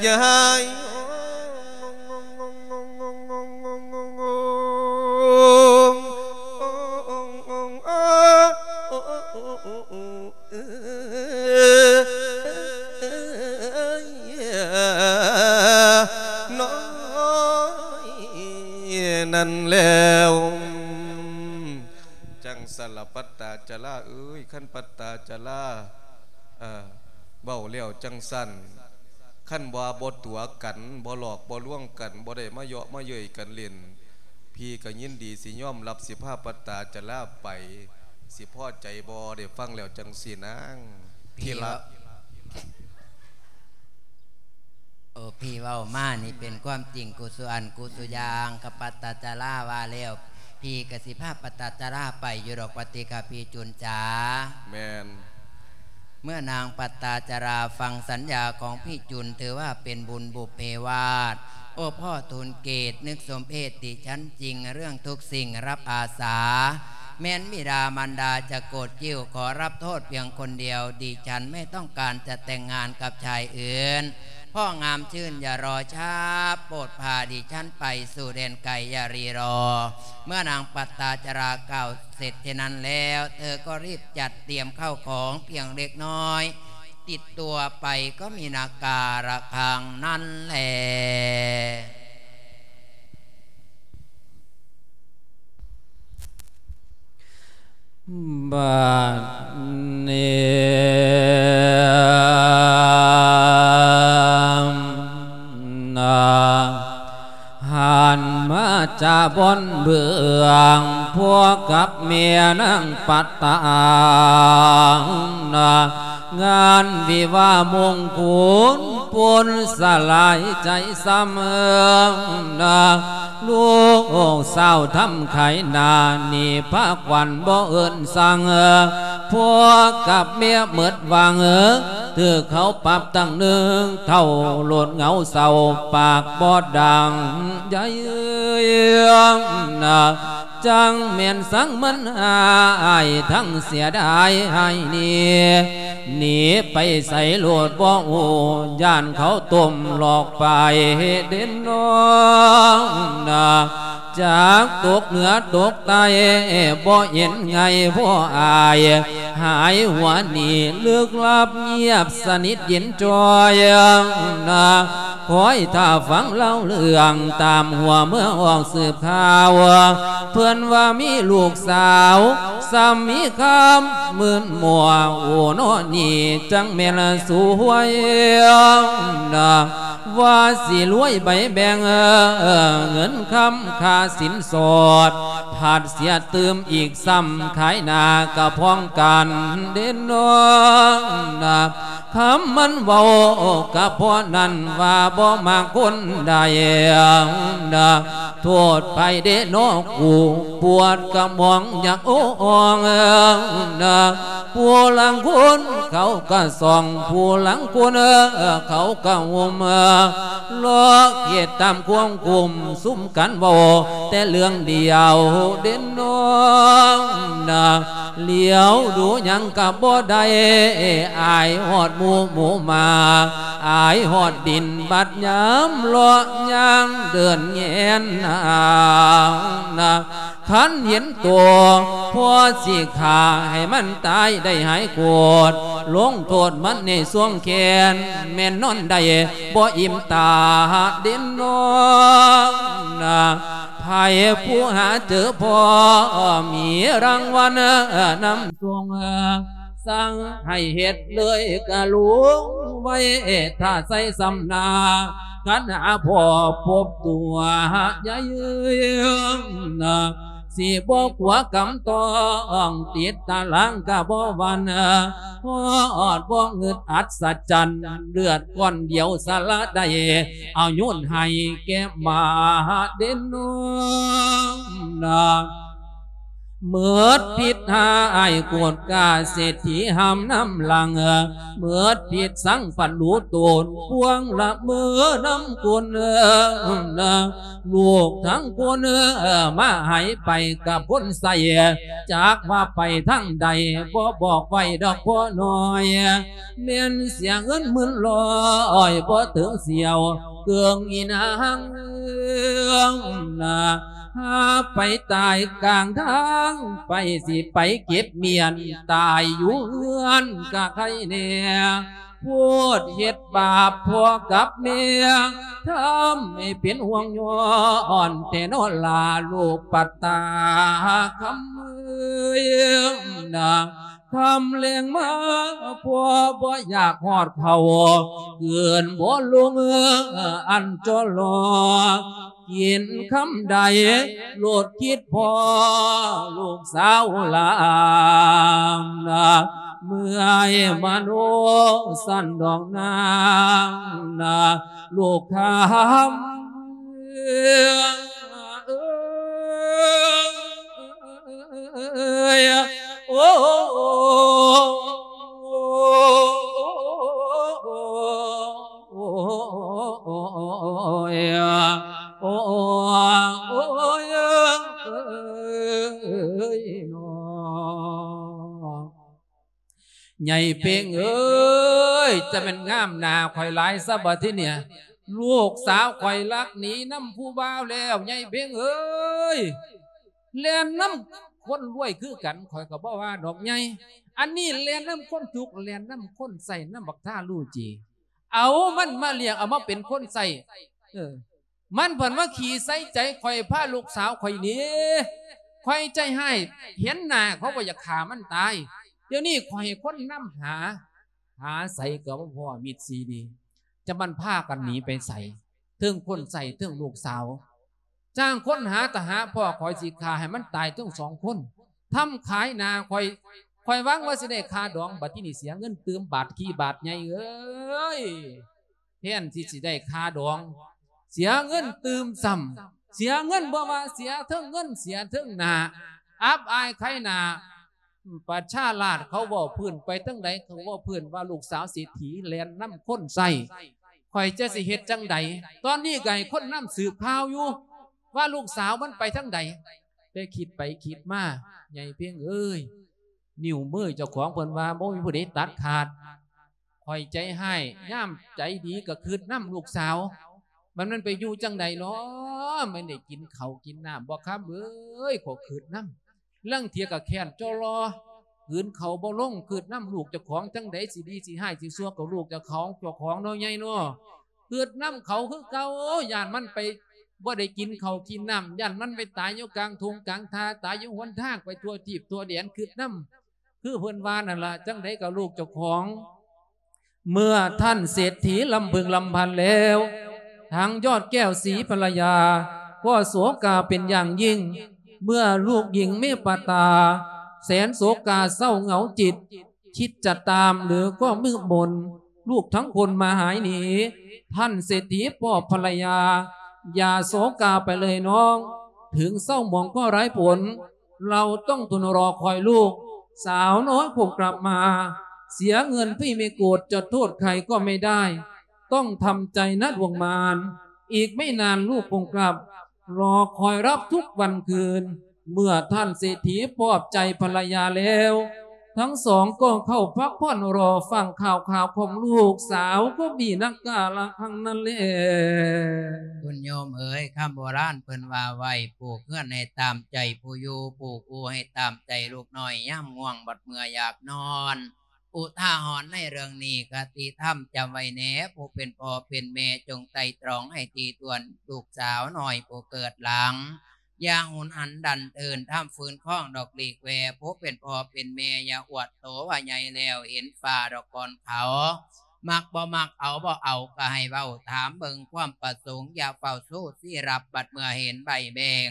ຍາຍ. ນ້ອຍນັ້ນແລ້ວ ຈັ່ງຊັ້ນລະປັດຕາຈະລາເອີຍ ຄັນປັດຕາຈະລາ ເອີ ເວົ້າແລ້ວຈັ່ງຊັ້ນ ຄັນວ່າບໍ່ຕົວະກັນ ບໍ່ຫຼອກບໍ່ລວງກັນ ບໍ່ໄດ້ມາເຍາະມາເຍີ້ຍກັນຫຼິ້ນ ພີ່ກໍຍິນດີຊິຍອມຮັບ ຊິພາປັດຕາຈະລາໄປ ຊິພໍໃຈບໍ່? ໄດ້ຟັງແລ້ວຈັ່ງຊີ້ນາງ ທີ່ລະ ໂອ້ ພີ່ເວົ້າມານີ້ເປັນຄວາມຈິງ ກຸສຸອັນກຸສຸຢ່າງ ກະປັດຕາຈະລາວ່າແລ້ວ ພີ່ກະຊິພາປັດຕາຈະລາໄປຢູ່ດອກ ວ່າຕິກະພີ່ຈຸນຈ໋າ. ແມ່ນ. ເມື່ອນາງປັດຕາຈະລາຟັງສັນຍາຂອງພີ່ຈຸນ ຖືວ່າເປັນບຸນບຸບເພວາດ ໂອ້ ພໍ່ທູນເກດ ນຶກສົມເພດດິສັນຈິງ ເລື່ອງທຸກສິ່ງຮັບອາສາ ແມ່ນບິດາມານດາຈະໂກດຄິ້ວ ຂໍຮັບໂທດພຽງຄົນດຽວ ດິສັນໄມ່ຕ້ອງການຈະແຕ່ງງານກັບຊາຍອື່ນ ພໍ່ງາມຊື່ນຢ່າລໍຊ້າ ໂປດພາດິສັນໄປສູ່ແດນໄກຢ່າຣີລໍ. ເມື່ອນາງປັດຕາຈະລາກ່າວເສັດເຊັ່ນນັ້ນແລ້ວ ເທີກໍຣີບຈັດຕຽມເຂົ້າຂອງພຽງເລັກນ້ອຍ ຕິດຕົວໄປກໍມີນາກາລະຄັງນັ້ນແລ. ບາດນີ້ນາ ຫັນມາຈາບ່ອນເບື້ອງ ພວກກັບແມ່ນາງປັດຕານາ ງານວິວາມງຄຸນ ປຸນສະຫຼາຍໃຈຊ້ຳນະ ລູກສາວທຳຂາຍໜ້າ ໜີພາກວັນບໍ່ເອີ້ນສັ່ງ ພວກກັບເມຍໝົດຫວັງ ຖືກເຂົາປັບຕັ້ງໜຶ່ງເທົ່າ ໂລດເຫງົາເສົ້າ ປາກບໍ່ດັງໃຫຍ່ນະ ຈັ່ງແມ່ນສັງມັນອາຍ ທັງເສຍດາຍໃຫ້ໜີ ໜີໄປໃສໂລດບໍ່ຮູ້ ຢ້ານເຂົາຕົ້ມຫຼອກໄປເດ້ນ້ອງນະ ຈາກຕົກເໜືອຕົກໃຕ້ ບໍ່ເຫັນໄງພໍ່ອາຍ ຫາຍຫົວໜີລຶກລັບ ງຽບສະໜິດເຢັນຈ່ອຍນະ ຄອຍຖ້າຟັງເລົ່າເລື່ອງ ຕາມຫົວເມືອອອກສືບຂ່າວ ເພິ່ນວ່າມີລູກສາວ ສ່ຳມີຄຳມື່ນມົວ ໂອນໍນີ້ ຈັ່ງແມ່ນສວຍນະ ວ່າຊິລວຍໃບແບ່ງ ເງິນຄຳຄ່າສິນສອດ ຜັດເສຍຕື່ມອີກຊ້ຳ ຂາຍໜ້າກະພ້ອງກັນເດ້ນ້ອງນະ ຄຳມັນເວົ້າກະພໍນັ້ນ ວ່າບໍ່ມັກຄົນໃດນະ ໂທດໃຜເດ້ນໍກູ ປວດກະໝອງຢາກໂອ້ອອງນະ ຜູ້ລາງຄົນເຂົາກະສ່ອງ ຜູ້ລາງຄົນເຂົາກະໂຮມ ລອກເຮັດຕາມຄວາມກຸມ ຊຸມກັນເວົ້າແຕ່ເລື່ອງດຽວເດ້ນ້ອງນະ ຫຼຽວດູຫຍັງກະບໍ່ໄດ້ ອາຍຮອດໝູ່ໝູມາ ອາຍຮອດດິນ ບັດຍາມເລາະຍ່າງເດີນແຍນນາງນະ ຄັນເຫັນໂຕ ພໍຊິຂ້າໃຫ້ມັນຕາຍໄດ້ຫາຍໂກດ ລົງໂທດມັນໃນຊ່ວງແຂນ ແມ່ນນອນໄດ້ບໍ່ອີ່ມຕາເດ້ນ້ອງນະ ໃຜຜູ້ຫາເຈີພໍ ມີລາງວັນນຳສົ່ງ ສັ່ງໃຫ້ເຮັດເລີຍກະລຸງໄວ້ ຖ້າໃສ່ຊຳນາ ຄັນຫາພໍພົບຕົວໃຫຍ່ນະ ຊິບໍ່ກົວກຳຕ້ອງ ຕິດຕາລາງກະບໍ່ຫວັ່ນ ຮອດບໍ່ງຶດອັດສະຈັນ ເລືອດກ້ອນດຽວສະລະໄດ້ ເອົາໂຍນໃຫ້ແກ່ໝາເດັ່ນນອນນະ ເໝິດພິດຫາອ້າຍໂກດກ້າເສດຖີຫ້າມນຳຫຼັງ ເໝິດພິດສັງພັນຮູ້ໂຕນ ພວງລະເມີນຳຄົນ ລູກທັງຄົນມາຫາຍໄປກັບຄົນໃຊ້ ຈັກວ່າໄປທາງໃດ ບໍ່ບອກໄວ້ດອກພໍ່ນ້ອຍ ແມ່ນເສຍເງິນໝື່ນຮ້ອຍ ບໍ່ເຖິງສຽວເຄື່ອງອີນາງນາ ຫາໄປຕາຍກາງທາງ ໃຜຊິໄປເກັບມ້ຽນ ຕາຍຢູ່ເຮືອນກະໄຄແນ່ ໂພດເຮັດບາບພໍ່ກັບແມ່ ທຳໃຫ້ເປັນຫ່ວງຍ້ອນແຕ່ນໍລາລູກປັດຕາຄຳເອີຍນາ ຄຳແລງມາພໍ່ບໍ່ຢາກຮອດເຂົ້າ ເກີນບໍ່ລົງອັນຈໍລໍ ກິນຄຳໃດໂລດຄິດພໍລູກສາວຫຼານນາ ເມື່ອຍມະໂນສັນດອກນາງນາ ລູກຄຳເອີຍ ໂອ້ ໂອ້ຍ ໂອ້ຍ ໂອ້ຍ ຍ ຍາຍເພັງເອີຍ ຈະແມ່ນງາມໜ້າຂ້ອຍຫຼາຍຊະບັດທີເນີ້ຍ ລູກສາວຂ້ອຍລັກໜີນຳຜູ້ບ່າວແລ້ວ ຍາຍເພັງເອີຍ ແລ່ນນຳຄົນລວຍຄືກັນ ຂ້ອຍກໍບໍ່ວ່າດອກຍາຍ ອັນນີ້ແລ່ນນຳຄົນທຸກ ແລ່ນນຳຄົນໃຊ້ ນຳບັກທາລູຈີ ເອົາມັນມາລ້ຽງ ເອົາມາເປັນຄົນໃຊ້ ເອີ ມັນເພິ່ນມາຂີ້ໃສ່ໃຈຂ້ອຍ ພາລູກສາວຂ້ອຍໜີ ຂ້ອຍໃຈຮ້າຍ ເຫັນໜ້າເຂົາກໍຢາກຂ້າມັນຕາຍ ດຽວນີ້ຂ້ອຍໃຫ້ຄົນນຳຫາ ຫາໃສກໍບໍ່ພໍ້ມິດຊີດີ ຈະມັນພາກັນໜີໄປໃສ ເທິງຄົນໃຊ້ເທິງລູກສາວ ຈ້າງຄົນຫາ ຖ້າຫາພໍ້ຂ້ອຍຊິຂ້າໃຫ້ມັນຕາຍທັງສອງຄົນ ທຳຂາຍໜ້າຂ້ອຍ ຂ້ອຍຫວັງວ່າຊິໄດ້ຄ່າດອງ ບັດທີນີ້ເສຍເງິນຕື່ມບາດຂີ້ບາດໃຫຍ່ເອີຍ. ແທນທີ່ຊິໄດ້ຄ່າດອງ ເສຍເງິນຕື່ມຊ້ຳ. ເສຍເງິນບໍ່ວ່າ ເສຍເທິງເງິນ ເສຍເທິງໜ້າ ອັບອາຍຂາຍໜ້າ. ປະຊາລາດເຂົາເວົ້າພື້ນໄປທາງໃດ ເຂົາເວົ້າພື້ນວ່າລູກສາວເສດຖີແລ່ນນຳຄົນໃຊ້. ຂ້ອຍຈະຊິເຮັດຈັ່ງໃດ? ຕອນນີ້ກໍໃຫ້ຄົນນຳສືບຂ່າວຢູ່ ວ່າລູກສາວມັນໄປທາງໃດ. ແຕ່ຄິດໄປຄິດມາ ໃຫຍ່ເພັງເອີຍ ນິ້ວມືເຈົ້າຂອງເພິ່ນວ່າບໍ່ມີຜູ້ໃດຕັດຂາດ. ຂ້ອຍໃຈຮ້າຍ ຍາມໃຈດີກໍຄິດນຳລູກສາວ ມັນ ມັນໄປຢູ່ຈັ່ງໃດເນາະ? ມັນໄດ້ກິນເຂົ້າກິນນ້ຳບໍ່ ຄຳເອີຍ? ກໍຄິດນຳ. ລາງເທື່ອກໍແຄ້ນຈໍລໍ ກືນເຂົ້າບໍ່ລົງ ຄິດນຳລູກເຈົ້າຂອງ ຈັ່ງໃດຊິດີຊິຮ້າຍຊິຊົ່ວກໍລູກເຈົ້າຂອງ ເຈົ້າຂອງເນາະ ໃຫຍ່ເນາະ. ຄິດນຳເຂົາຄືເກົ່າ ຢ້ານມັນໄປບໍ່ໄດ້ກິນເຂົ້າກິນນ້ຳ ຢ້ານມັນໄປຕາຍຢູ່ກາງທົ່ງກາງທ່າ ຕາຍຢູ່ຫົນທາງ ໄປທົ່ວທີບທົ່ວແດນ ຄິດນຳ ຄືເພິ່ນວ່ານັ້ນລະ ຈັ່ງໃດກໍລູກເຈົ້າຂອງ. ເມື່ອທ່ານເສດຖີລຳບຶງລຳພັນແລ້ວ ທາງຍອດແກ້ວສີພັນລະຍາ ກໍໂສກາເປັນຢ່າງຍິ່ງ ເມື່ອລູກຍິງເມປາຕາ ແສນໂສກາເສົ້າເຫງົາຈິດ ຄິດຈະຕາມຫຼືກໍມືດມົນ ລູກທັງຄົນມາຫາຍໜີ. ທ່ານເສດຖີປອບພັນລະຍາ ຢ່າໂສກາໄປເລີຍນ້ອງ ເຖິງເສົ້າໝອງກໍໄຮ້ຜົນ ເຮົາຕ້ອງທົນລໍຄອຍລູກ ສາວນ້ອຍຄົງກັບມາ ເສຍເງິນພີ່ໄມ່ໂກດ ຈະໂທດໃຄກໍໄມ່ໄດ້ ຕ້ອງທຳໃຈນະດວງມານ ອີກໄມ່ນານລູກຄົງກັບ ລໍຄອຍຮັບທຸກວັນຄືນ. ເມື່ອທ່ານເສດຖີປອບໃຈພັນລະຍາແລ້ວ ທັງສອງກໍເຂົ້າພັກຜ່ອນລໍຟັງຂ່າວຄາວຂອງລູກສາວກໍມີນັກກາລະຄັ້ງນັ້ນແລ. ຄຸນໂຍມເອີຍ ຄຳໂບລານເພິ່ນວ່າໄວ້ ປູກເຮືອນໃຫ້ຕາມໃຈຜູ້ຢູ່ ປູກອູ່ໃຫ້ຕາມໃຈລູກນ້ອຍ ຍາມງ່ວງບັດເມື່ອຢາກນອນ. ອຸທາຫອນໃນເລື່ອງນີ້ ຄະຕິທຳຈຳໄວ້ແດ່ ຜູ້ເປັນພໍ່ເປັນແມ່ ຈົ່ງໄຕ່ຕຣອງໃຫ້ຖີ່ຖ້ວນ ລູກສາວນ້ອຍຜູ້ເກີດຫຼັງ ຢ່າຫຸນຫັນດັນເທີນ ທຳຝືນຄອງດອກຫຼີກແວ່ ຜູ້ເປັນພໍ່ເປັນແມ່ ຢ່າອວດໂຕວ່າໃຫຍ່ແລ້ວເຫັນຟ້າດອກກ່ອນເຂົາ ມັກບໍ່ມັກ ເອົາບໍ່ເອົາກໍໃຫ້ເວົ້າ ຖາມເບິ່ງຄວາມປະສົງ ຢ່າເຝົ້າຊູ້ຊີ້ຮັບ ບັດເມື່ອເຫັນໃບແບງ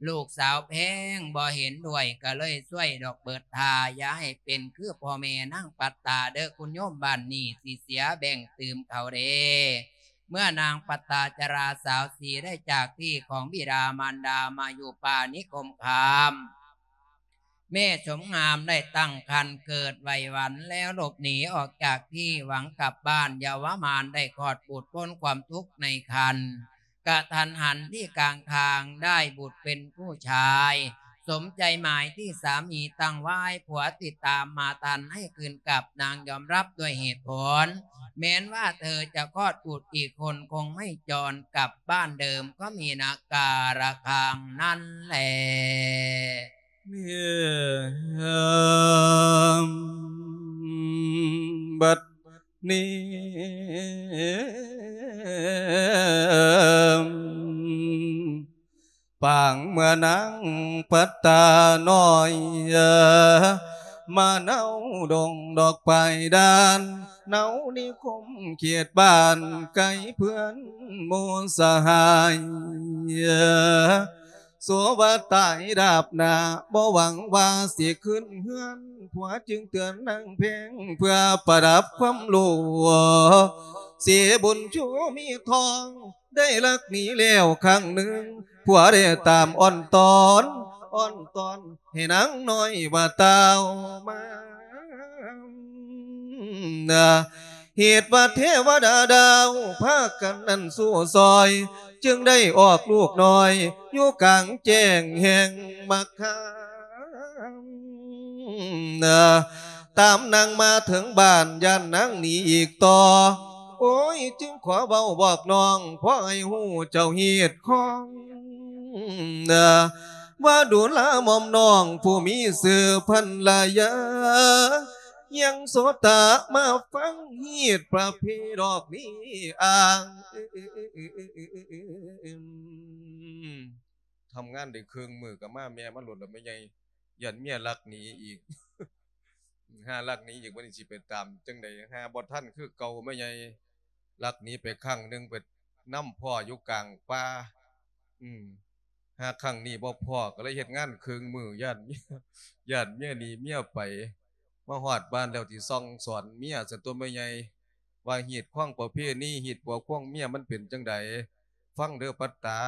ລູກສາວແພງບໍ່ເຫັນດ້ວຍ ກໍເລີຍຊ່ວຍດອກເບີດທ່າ ຢ່າໃຫ້ເປັນຄືພໍ່ແມ່ນາງປັດຕາເດີ້ ຄຸນໂຍມ ບ້ານນີ້ຊິເສຍແບ່ງຕື່ມເຂົາເດ້. ເມື່ອນາງປັດຕາຈະລາສາວສີໄດ້ຈາກທີ່ຂອງບິດາມານດາມາຢູ່ປ່ານິຄົມຄາມ ແມ່ສົມງາມໄດ້ຕັ້ງຄັນເກີດໄວວັນແລ້ວ ຫຼົບໜີອອກຈາກທີ່ຫວັງກັບບ້ານ ເຍົາວະມານໄດ້ຄອດບຸດພົ້ນຄວາມທຸກໃນຄັນ ກະທັນຫັນທີ່ກາງທາງໄດ້ບຸດເປັນຜູ້ຊາຍ ສົມໃຈໝາຍທີ່ສາມີຕັ້ງໄວ້ ຜົວຕິດຕາມມາທັນໃຫ້ຄືນກັບ ນາງຍອມຮັບດ້ວຍເຫດຜົນ ແມ່ນວ່າເທີຈະຄອດບຸດອີກຄົນຄົງໄມ່ຈອນກັບບ້ານເດີມ ກໍມີນາກາລະຄັງນັ້ນແລ. ບັດນີ້ ປາງເມື່ອນາງປັດຕານ້ອຍ ມາເນົາດົງດອກປາຍດານ ເນົານິຄົມເຂດບ້ານ ໄກເພື່ອນໝູ່ສະຫາຍ ໂສວ່າຕາຍດາບໜ້າ ບໍ່ຫວັງວ່າຊິຄືນເຮືອນ ຜົວຈຶ່ງເຕືອນນາງແພງ ເພື່ອປະດັບຄວາມຮູ້ ເສບຸນຊູມີທອງ ໄດ້ລັກໜີແລ້ວຄັ້ງໜຶ່ງ ຜົວໄດ້ຕາມອ້ອນຕອນ ອ້ອນຕອນໃຫ້ນາງນ້ອຍວ່າຕ່າວມາ ເຫດວ່າເທວະດາດາວ ພາກັນນັ້ນສູ້ຊ່ອຍ ຈຶ່ງໄດ້ອອກລູກນ້ອຍ ຢູ່ກາງແຈ້ງແຫ່ງມະຄາມ ຕາມນາງມາເຖິງບ້ານ ຢ້ານນາງໜີອີກຕໍ່ ໂອ້ຍ ຈຶ່ງຂໍເວົ້າບອກນ້ອງ ພໍໃຫ້ຮູ້ເຈົ້າຮີດຄອງ ວ່າດູລາໝ່ອມນ້ອງ ຜູ້ມີຊື່ພັນລະຍາ ຍັງໂສຕະມາຟັງຮີດປະເພດອກນີ້ອ້າງ. ທຳງານໄດ້ເຄິ່ງມື້ກໍມາແມ່ມາໂລດລະແມ່ໃຫຍ່ ຢ້ານເມຍລັກໜີອີກ ຫາລັກໜີອີກ ບັດນີ້ຊິໄປຕາມຈັ່ງໃດ ຫາບໍ່ທັນຄືເກົ່າແມ່ໃຫຍ່ ລັກໜີໄປຄັ້ງໜຶ່ງ ໄປນຳພໍ່ຢູ່ກາງປ່າ ອືມ ຫາຄັ້ງນີ້ບໍ່ພໍ້ ກໍເລີຍເຮັດງານເຄິ່ງມື້ ຢ້ານເມຍ ຢ້ານເມຍໜີເມຍໄປ ມາຮອດບ້ານແລ້ວຊິສັ່ງສອນເມຍຊັ້ນຕົວະແມ່ໃຫຍ່ ວ່າຮີດຄອງປະເພນີ ຮີດຜົວຄອງເມຍມັນເປັນຈັ່ງໃດ. ຟັງເດີປັດຕາ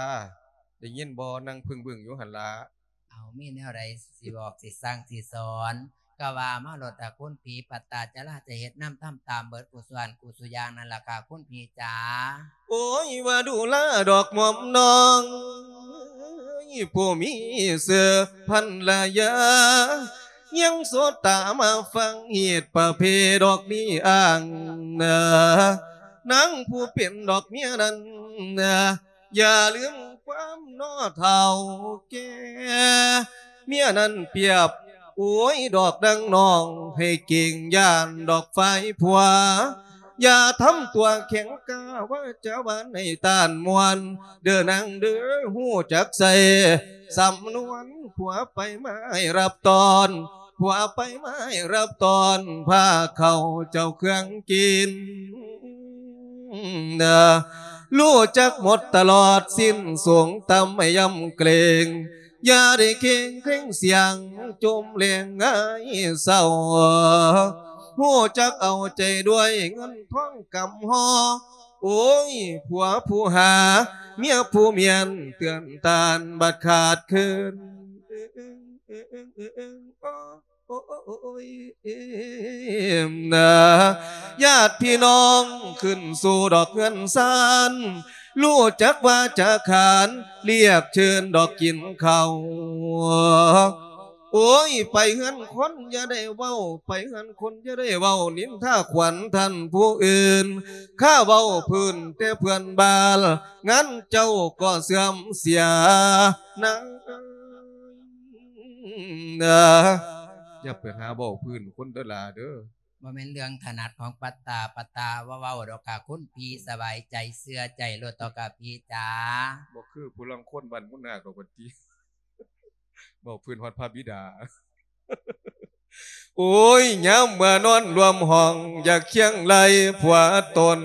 ໄດ້ຍິນບໍ່? ນັ່ງເພິ່ງບຶ້ງຢູ່ຫັ້ນລະ. ເອົາ ມີແນວໃດຊິບອກ ຊິສັ່ງ ຊິສອນ ກໍວ່າມາໂລດ ຕາຄຸນຜີ. ປັດຕາຈະລາຈະເຮັດນຳ ທຳຕາມເບິດ ກູ່ສ່ວນ ກູ່ສູ່ຢ່າງນັ້ນລະ ກະຄຸນຜີຈ໋າ. ໂອ້ຍ ວ່າດູລາດອກໝອມນ້ອງ ຜູ້ມີຊື່ພັນລະຍາ ຍັງໂສດຕາມາຟັງຮີດປະເພດອກນີ້ອ້າງນາ ນາງຜູ້ເປັນດອກເມຍນັ້ນນາ ຢ່າລືມຄວາມນໍເຖົ້າແກ່ ເມຍນັ້ນປຽບ ໂອ້ຍ ດອກດັ່ງນ້ອງ ໃຫ້ເກງຢ້ານດອກຝ່າຍຜົວ ຢ່າທຳຕົວແຂງກ້າ ວາຈາຫວານໃຫ້ຕ້ານມ່ວນ ເດີນາງເດີ ຮູ້ຈັກໃຊ້ສຳນວນ ຜົວໄປມາໃຫ້ຮັບຕ້ອນ ຜົວໄປມາໃຫ້ຮັບຕ້ອນ ພາເຂົ້າເຈົ້າເຄື່ອງກິນ ຮູ້ຈັກໝົດຕະຫຼອດ ສິ້ນສູງຕ່ຳໃຫ້ຢ້ຳເກງ ຢ່າໄດ້ເຄງເຄງສຽງ ຈົ່ມແລງຫງາຍເສົ້າ ຮູ້ຈັກເອົາໃຈດ້ວຍ ເງິນທອງກຳຫໍ່ ໂອ້ຍ ຜົວຜູ້ຫາ ເມຍຜູ້ມ້ຽນ ເຕືອນຕ້ານບັດຂາດເຂີນ ໂອ້ຍ ນາ ຍາດພີ່ນ້ອງຂຶ້ນສູ່ດອກເຮືອນຊານ ຮູ້ຈັກວາຈາຂານ ລຽກເຊີນດອກກິນເຂົ້າ ໂອ້ຍ ໄປເຮືອນຄົນຢ່າໄດ້ເວົ້າ ໄປເຮືອນຄົນຢ່າໄດ້ເວົ້າ ນິນທາຂວັນທ່ານຜູ້ອື່ນ ຂ້າເວົ້າພື້ນແຕ່ເພື່ອນບ້ານ ງານເຈົ້າກໍເສື່ອມເສຍນາງເອີຍນາ. ຢ່າໄປຫາເວົ້າພື້ນຄົນເດີຫຼ້າເດີ. ບໍ່ແມ່ນເລື່ອງຖະໜັດຂອງປັດຕາ, ປັດຕາບໍ່ເວົ້າດອກກະຄຸນພີ່, ສະບາຍໃຈເຊື່ອໃຈໂລດເຖາະກະພີ່ຈ໋າ. ບໍ່ຄືຜູ້ລາງຄົນບ້ານມຸນນາກດອກບັດນີ້. ເວົ້າພື້ນຮອດພະບິດາ. ໂອ້ຍ ຍາມເມື່ອນອນລວມຫ້ອງ ຢາກຄຽງໄລ່ຜົວຕົນ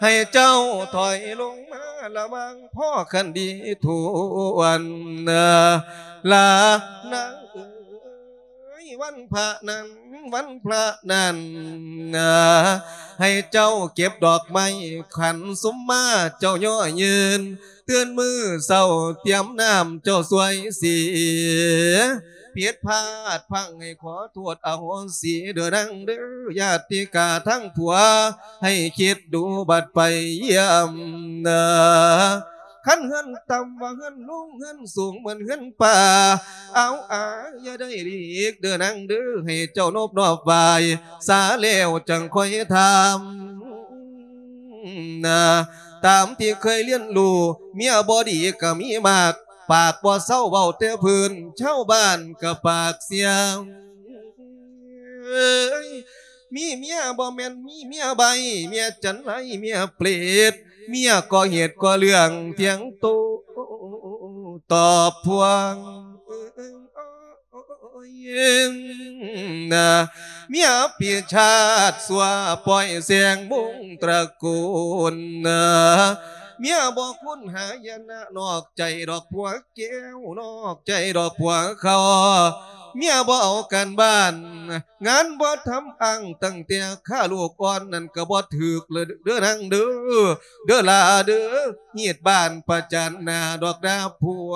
ໃຫ້ເຈົ້າຖອຍລົງມາລະວັງ ພໍຄັນດີທວນ ລານາງເອີຍ. ວັນພະນັ້ນ ວັນພະນັ້ນ ໃຫ້ເຈົ້າເກັບດອກໄມ້ຂັນສຸມມາ ເຈົ້າຍໍຍືນ ຕື່ນມື້ເຊົ້າຕຽມນ້ຳເຈົ້າຊ່ວຍສີ ຜິດພາດພລັ້ງໃຫ້ຂໍໂທດອະໂຫສີເດີນາງເດີ ຍາດຕິກາທັງຜົວໃຫ້ຄິດດູບັດໄປຢ້ຽມນາ. ຄັນເຮືອນຕ່ຳວ່າເຮືອນລຸງ ເຮືອນສູງເໝືອນເຮືອນປ່າ ເອົາອາຢ່າໄດ້ຫຼີກເດີນາງເດີ ໃຫ້ເຈົ້ານົບນອບໄຫວ້ສາແລ້ວຈັ່ງຄ່ອຍຖາມນາ. ຕາມທີ່ເຄີຍຮຽນຮູ້ ເມຍບໍ່ດີກໍມີມາກ ປາກບໍ່ເຊົາເວົ້າແຕ່ພື້ນ ຊາວບ້ານກໍປາກສຽງ. ມີເມຍບໍ່ແມ່ນມີເມຍໃບ້ ເມຍຈັນໄລ ເມຍເປດ ເມຍກໍ່ເຫດກໍ່ເລື່ອງ ຖຽງໂຕ້ຕອບພວງ. ໂອ້ຍ ນາ ເມຍປີຊາດຊົ່ວ ປ່ອຍແສງວົງຕະກູນນາ. ເມຍບໍ່ຄຸນຫາຍະນະ ນອກໃຈດອກຜົວແກ້ວ ນອກໃຈດອກຜົວເຂົາ. ເມຍບໍ່ເອົາການບ້ານ ງານບໍ່ທຳ ອ້າງຕັ້ງແຕ່ຂ້າລູກອ່ອນ ນັ້ນກໍບໍ່ຖືກເລີຍເດີນາງເດີ ເດີຫຼ້າເດີ ຮີດບ້ານປະຈັນໜ້າດອກດາຜົວ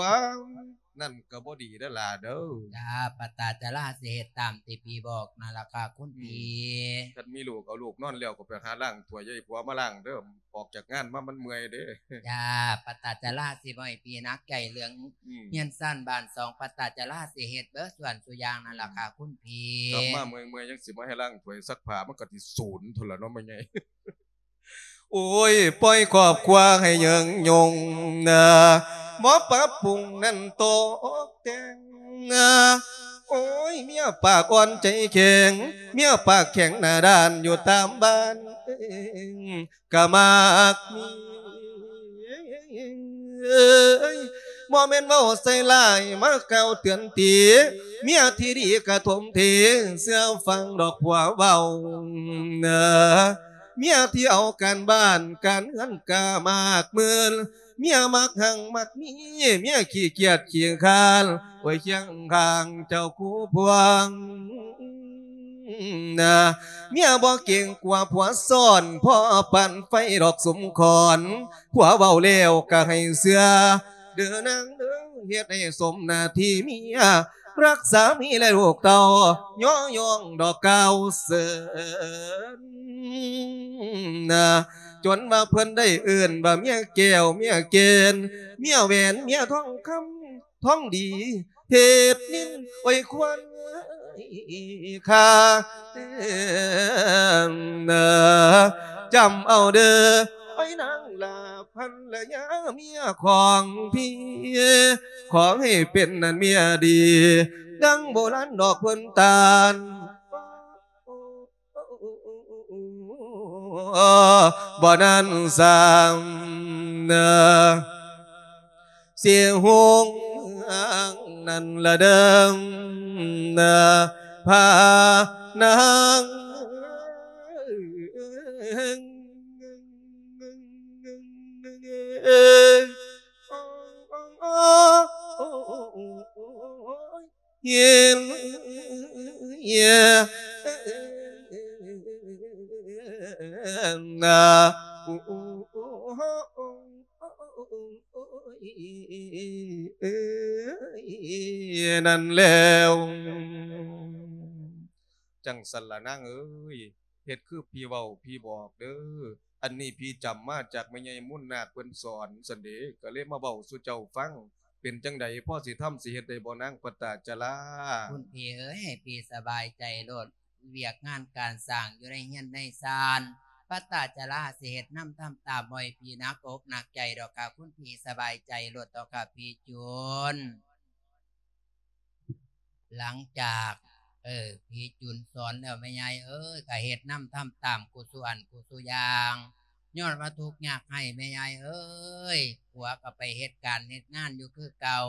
ນັ້ນກໍບໍ່ດີເດີຫຼ້າເດີ. ຈ້າ ປັດຕາຈະລາຊິເຮັດຕາມທີ່ພີ່ບອກນັ້ນລະຄ່ະຄຸນພີ່. ອືມ ຄັນມີລູກ ເອົາລູກນອນແລ້ວກໍໄປຫາລ້າງຖ້ວຍ ຢ່າໃຫ້ຜົວມາລ້າງເດີ ອອກຈາກງານມາມັນເມື່ອຍເດ້. ຈ້າ ປັດຕາຈະລາຊິບໍ່ໃຫ້ພີ່ໜັກໃຈເລື່ອງ ອືມ ເຮືອນຊານບ້ານຊ່ອງ ປັດຕາຈະລາຊິເຮັດເບິດສ່ວນສູ່ຢ່າງນັ້ນລະຄ່ະຄຸນພີ່. ກັບມາເມື່ອຍໆ ຍັງຊິມາໃຫ້ລ້າງຖ້ວຍຊັກຜ້າ ມັນກໍຊິສູນພຸ້ນລະເນາະແມ່ໃຫຍ່. ໂອ້ຍ ປ່ອຍຄອບຄົວໃຫ້ເຢິງຍົງນາ ບໍ່ປັບປຸງນັ້ນຕົກແຕ່ງນາ. ໂອ້ຍ ເມຍປາກອ່ອນໃຈແຂງ ເມຍປາກແຂງໜ້າດ້ານຢູ່ຕາມບ້ານ ກະມັກມີ ບໍ່ແມ່ນເວົ້າໃສ່ຮ້າຍ ມາກ່າວເຕືອນຕີ ເມຍທີ່ດີກະຖົມເທ ເຊື່ອຟັງດອກຜົວເວົ້ານາ. ເມຍທີ່ເອົາການບ້ານການເຮືອນກະມາກໝື່ນ ເມຍມັກຮັ່ງມັກມີ ເມຍຂີ້ກຽດຂີ້ຄ້ານ ໂອ້ຍ ຄຽງຂ້າງເຈົ້າຄູ່ພວງນະ ເມຍບໍ່ເກງກົວຜົວຊ້ອນ ພໍປານໄຟດອກສົມຄອນ ຜົວເວົ້າແລ້ວກໍໃຫ້ເຊື່ອ ເດີນາງເດີ ເຮັດໃຫ້ສົມໜ້າທີ່ເມຍ ຮັກສາມີແລະລູກເຕົ້າ ຍໍຍ້ອງດອກກ່າວເຊີນນະ ຈົນວ່າເພິ່ນໄດ້ເອີ້ນວ່າເມຍແກ້ວເມຍແກ່ນ ເມຍແຫວນເມຍທອງຄຳທອງດີ ເພັດນິນ ໂອ້ຍ ຄວັນຄ່າ ນະ ຈຳເອົາເດີ ໂອ້ຍ ນາງລາພັນລະຍາເມຍຂອງພີ່ ຂໍໃຫ້ເປັນນັ້ນເມຍດີ ດັ່ງໂບລານດອກເພິ່ນຕານ ບໍ່ນັ້ນຊ້ຳເນີ ຊິຮຸ່ງນັ້ນລະເດີ ພານາງ ເຫັນ ເອີ ນາ ນັ້ນແລ້ວ ຈັ່ງຊັ້ນລະນາງເອີຍ ເຮັດຄືພີ່ເວົ້າພີ່ບອກເດີ ອັນນີ້ພີ່ຈຳມາຈາກແມ່ໃຫຍ່ມູນນາກເພິ່ນສອນຊັ້ນເດ ກໍເລີຍມາເວົ້າສູ່ເຈົ້າຟັງ ເປັນຈັ່ງໃດ ພໍຊິທຳຊິເຮັດໄດ້ບໍ່ນາງປັດຕາຈະລາ? ຄຸນພີ່ເອີຍ ໃຫ້ພີ່ສະບາຍໃຈໂລດ ວຽກງານການສ້າງຢູ່ໃນເຮືອນໃນຊານ ປັດຕາຈະລາຊິເຮັດນຳທຳຕາມ ບໍ່ໃຫ້ພີ່ໜັກອົກໜັກໃຈດອກຄ່ະ ຄຸນພີ່ສະບາຍໃຈໂລດເຖາະຄ່ະ ພີ່ຈູນ. ຫຼັງຈາກ ເອີ ພີ່ຈູນສອນແລ້ວ ແມ່ໃຫຍ່ເອີຍ ກະເຮັດນຳທຳຕາມກູສູ່ອັນກູສູ່ຢ່າງ ຍ້ອນວ່າທຸກຍາກໄຮ້ ແມ່ໃຫຍ່ເອີຍ ຜົວກໍໄປເຮັດການເຮັດງານຢູ່ຄືເກົ່າ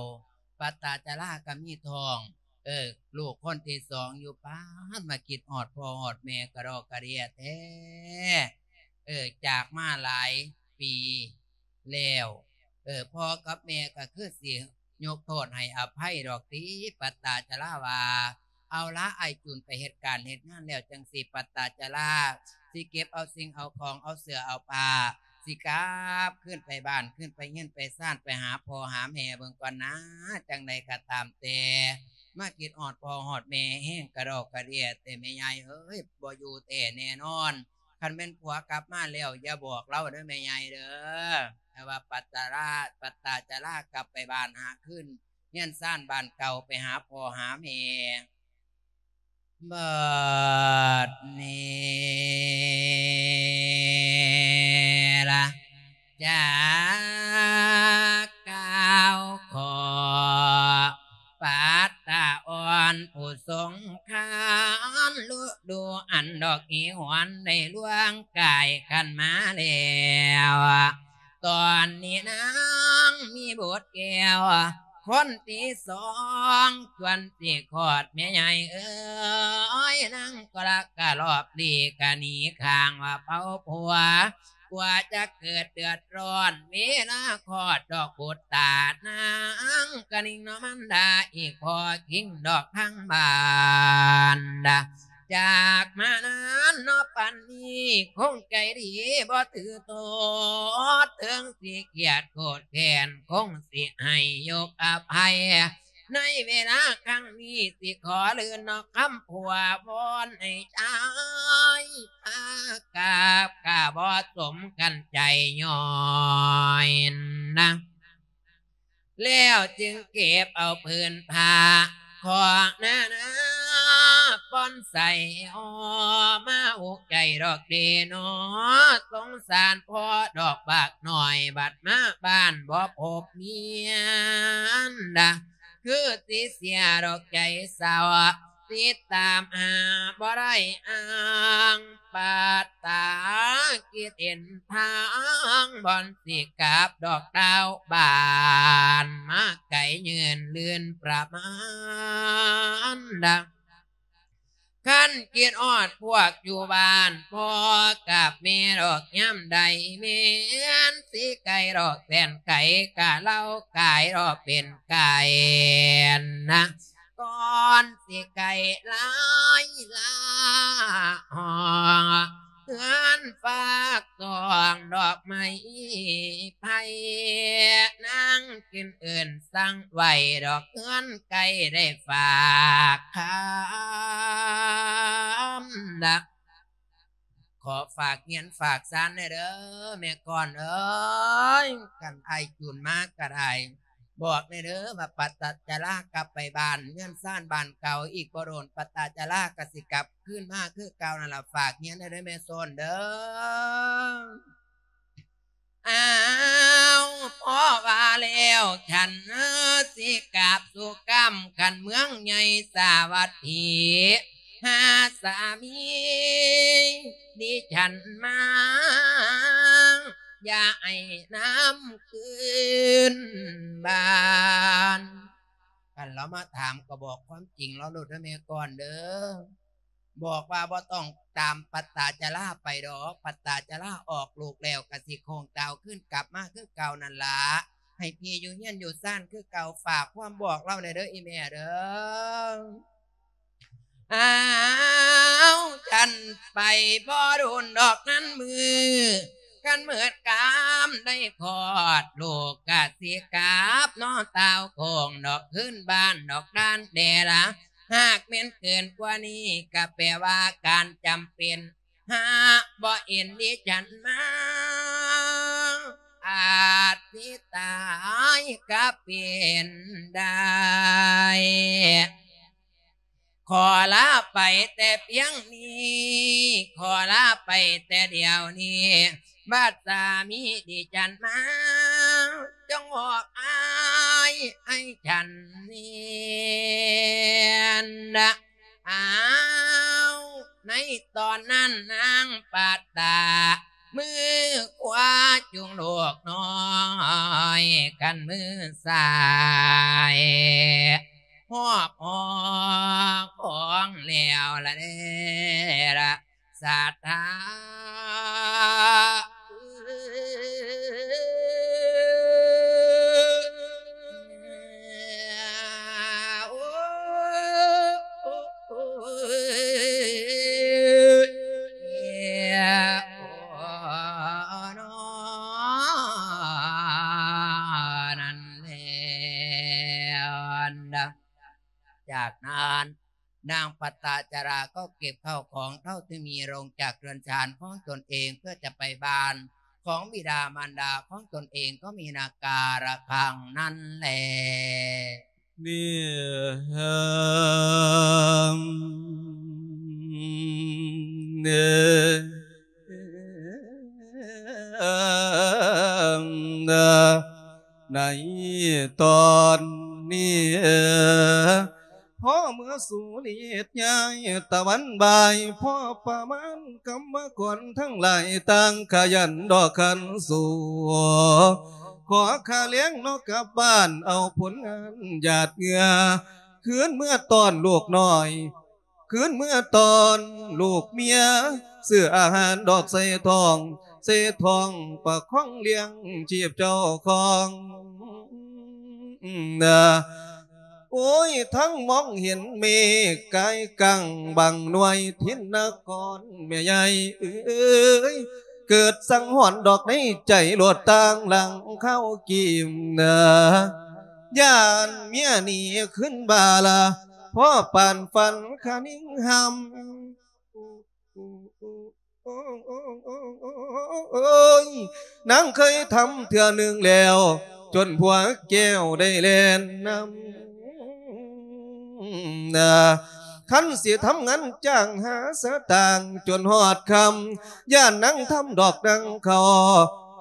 ປັດຕາຈະລາກໍມີທ້ອງ ເອີ ລູກຄົນທີສອງຢູ່ ປາດ ມາຄິດຮອດພໍ່ຮອດແມ່ກະດອກກະເດຍແທ້ ເອີ ຈາກມາຫຼາຍປີແລ້ວ ເອີ ພໍ່ກັບແມ່ກໍຄືຊິ ຍົກໂທດໃຫ້ອະໄພດອກຕິ ປັດຕາຈະລາວ່າ ເອົາລະ ອ້າຍຈູນໄປເຮັດການເຮັດງານແລ້ວ ຈັ່ງຊີ້ປັດຕາຈະລາຊິເກັບເອົາສິ່ງເອົາຂອງ ເອົາເສື້ອເອົາຜ້າ ຊິກັບຄືນໄປບ້ານ ຄືນໄປເຮືອນໄປຊານ ໄປຫາພໍ່ຫາແມ່ເບິ່ງກ່ອນນາ ຈັ່ງໃດກໍຕາມແຕ່ ມາຄິດຮອດພໍ່ຮອດແມ່ແຮງກະດອກກະເດຍແທ້ ແມ່ໃຫຍ່ເອີຍ ບໍ່ຢູ່ແທ້ແນ່ນອນ ຄັນແມ່ນຜົວກັບມາແລ້ວ ຢ່າບອກລາວເດີແມ່ໃຫຍ່ເດີ ໃຫ້ວ່າປັດຕາລາ ປັດຕາຈະລາກັບໄປບ້ານຫາຄືນ ເຮືອນຊານບ້ານເກົ່າ ໄປຫາພໍ່ຫາແມ່. ບັດນີ້ລະ ຈາກກ່າວຂໍປັດຕາອ່ອນຜູ້ຊົງຄານ ລະດູອັນດອກອີຫວນໄດ້ລ່ວງກາຍຄັນມາແລ້ວ ຕອນນີ້ນາງມີບຸດແກ້ວຄົນທີສອງ ຈວນຊິຄອດແມ່ໃຫຍ່ເອີຍ ນາງກໍລະກະລອບຫຼີກກະໜີຂ້າງວ່າເຜົາຜົວ ກວ່າຈະເກີດເດືອດຮ້ອນ ເວລາຄອດດອກບຸດຕາ ນາງກະນິງເນາະມານດາ ອີກພໍຄິງດອກທາງບ້ານດາ ຈາກມານານເນາະປານນີ້ ຄົງໃຈດີບໍ່ຖືໂທດ ເຖິງຊິກຽດໂກດແຄ້ນ ຄົງຊິໃຫ້ຍົກອະໄພ ໃນເວລາຄັ້ງນີ້ ຊິຂໍລື່ນເນາະຄຳຜົວ ວອນໃຫ້ຊາຍພາກາບ ກະບໍ່ສົມກັນໃຈຍ້ອຍນະ ແລ້ວຈຶ່ງເກັບເອົາຜືນຜ້າຂອງນານາ ປ່ອນໃສ່ຫໍ່ມາອຸກໃຈດອກເດເນາະ ສົງສານພໍ່ດອກບັກນ້ອຍ ບັດມາບ້ານບໍ່ພົບເມຍນດາ ຄືຊິເສຍດອກໃຈເສົ້າ ຕິດຕາມຫາບໍ່ໄດ້ອ້າງ ປັດຕາກິດເຫັນທາງ ບ່ອນຊິກັບດອກດາວບ້ານ ມາໄກຍືນລື່ນປະມານດາ ຄັນຄິດຮອດພວກຢູ່ບ້ານ ພໍ່ກັບແມ່ດອກຍາມໃດ ແມ່ນຊິໄກດອກແສນໄກ ກະເລົ່າກາຍດອກເປັນໄກນະ ກ່ອນຊິໄກຫຼາຍລາ ຮອດເຮືອນຝາກຕ້ອງດອກໄມ້ໄຜ່ ນາງຈຶ່ງເອີ້ນສັ່ງໄວ້ ດອກເຮືອນໃກ້ໄດ້ຝາກຄຳນະ ຂໍຝາກເຮືອນຝາກຊານແດ່ເດີ ແມ່ກ່ອນເອີຍ ຄັນອ້າຍຈູນມາກະໄດ້ ບອກແດ່ເດີວ່າປະຕາຈະລາກັບໄປບ້ານເຮືອນຊານບ້ານເກົ່າ ອີກບໍ່ດົນປະຕາຈະລາກະຊິກັບຄືນມາຄືເກົ່ານັ້ນລະ ຝາກເຮືອນແດ່ເດີແມ່ໂຊນເດີ. ອ້າວ ພໍວ່າແລ້ວ ສັນເອີ ຊິກາບສູ່ກຳ ຄັນເມືອງໃຫຍ່ສາວັດຖີ ຫາສາມີດິສັນມາ ຢ່າໃຫ້ນຳຄືນບ້ານ. ຄັນລາວມາຖາມກໍບອກຄວາມຈິງລາວໂລດເດີແມ່ກ່ອນເດີ. ບອກວ່າບໍ່ຕ້ອງຕາມປະຕາຈະລາໄປດອກ, ປະຕາຈະລາອອກລູກແລ້ວກະຊິໂຄ້ງຕາວຄືນກັບມາຄືເກົ່ານັ້ນລະ. ໃຫ້ພີ່ຢູ່ເຮືອນຢູ່ຊານຄືເກົ່າ, ຝາກຄວາມບອກລາວແດ່ເດີອີ່ແມ່ເດີ. ອ້າວ ຄັນໄປບໍ່ດົນດອກນັ້ນມື້ ຄັນເມີດກາມໄດ້ຄອດ ລູກກະຊິກັບເນາະຕາວໂຄ້ງດອກ ຄືນບ້ານດອກດ້ານແດ່ລະ. ຫາກແມ່ນເກີນກວ່ານີ້ ກະແປວ່າການຈຳເປັນ ຫາບໍ່ເຫັນດິສັນມາ ອາດຊິຕາຍກະເປັນໄດ້. ຂໍລາໄປແຕ່ພຽງນີ້ ຂໍລາໄປແຕ່ດຽວນີ້ ບາດສາມີດິສັນມາ ຈົ່ງບອກອ້າຍໃຫ້ສັນແມ່ນນະ. ອ້າວ ໃນຕອນນັ້ນນາງປັດຕາ ມືຂວາຈູງລູກນ້ອຍ ຄັນມືຊ້າຍ ຮອບຫໍຂອງແລ້ວລະເດລະ ສາທາ. จากนั้นนางปัตตาจาราก็เก็บข้าวของเท่าที่มีลงจากเรือนชานของตนเองเพื่อจะไปบ้านของบิดามารดาของตนเองก็มีนาการะคังนั้นแล นี่ เอ่อ เอ่อ ในตอนนี้ พอเมื่อสูเลียดย้ายตะวันบ่าย พอประมาณกำมะกอนทั้งหลายต่างขยันดอกขันสู ขอข้าเลี้ยงนอกกลับบ้านเอาผลงานหยาดเหงื่อ คืนเมื่อตอนลูกน้อย คืนเมื่อตอนลูกเมีย ซื้ออาหารดอกใส่ท้อง ใส่ท้องประคองเลี้ยงชีพเจ้าของ โอ้ย ทั้งมองเห็นเมฆกายกังบังหน่วยทินนครแม่ใหญ่เอ้ย เกิดสังหรณ์ดอกในใจโลดต่างหลังเข้ากีมนะ ย่านเมียหนีขึ้นบาลา พ่อปานฝันคะนิ่งหำ โอ้ย นางเคยทำเทื่อหนึ่งแล้ว จนผัวแก้วได้แล่นนำ คันสิทำงานจ้างหาสตางค์จนฮอดค่ำ ย่านนางทำดอกดังเขา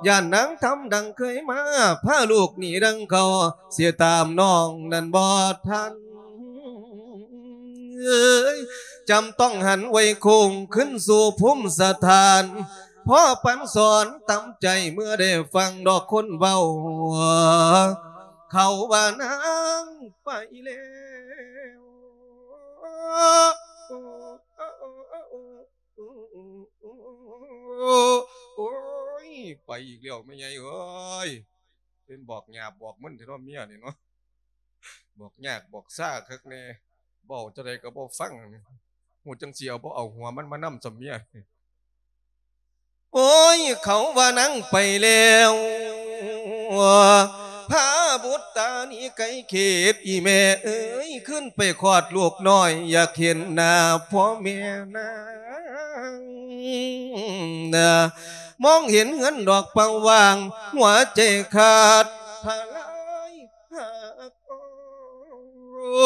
ย่านนางทำดังเคยมา พาลูกหนีดังเขา สิตามน้องนั้นบ่ทัน เอ้ย จำต้องหันไว้โค้งขึ้นสู่ภูมิสถาน พ่อปันสอนตำใจเมื่อได้ฟังดอกคนเว้า เขาว่านางไปแล้ว ໂອ້ຍ ໄປອີກແລ້ວແມ່ໃຫຍ່ເອີຍ ເປັນບອກຫຍາບບອກມຶນແທ້ເນາະເມຍນີ້ເນາະ ບອກຍາກບອກຊາຄັກແນ່ ເວົ້າຈັ່ງໃດກໍບໍ່ຟັງ ຮູ້ຈັ່ງຊິເອົາບໍ່ເອົາຫົວມັນມານຳຊໍເມຍ. ໂອ້ຍ ເຂົາວ່ານາງໄປແລ້ວ ພາບຸດຕາໜີໄກເຂດ ອີແມ່ເອີຍ ຄືນໄປຄອດລູກນ້ອຍ ຢາກເຫັນໜ້າພໍ່ແມ່ນາງ ນາ ມອງເຫັນເຮືອນດອກເປົ່າວ່າງ ຫົວໃຈຂາດທະລາຍຫາກ. ໂອ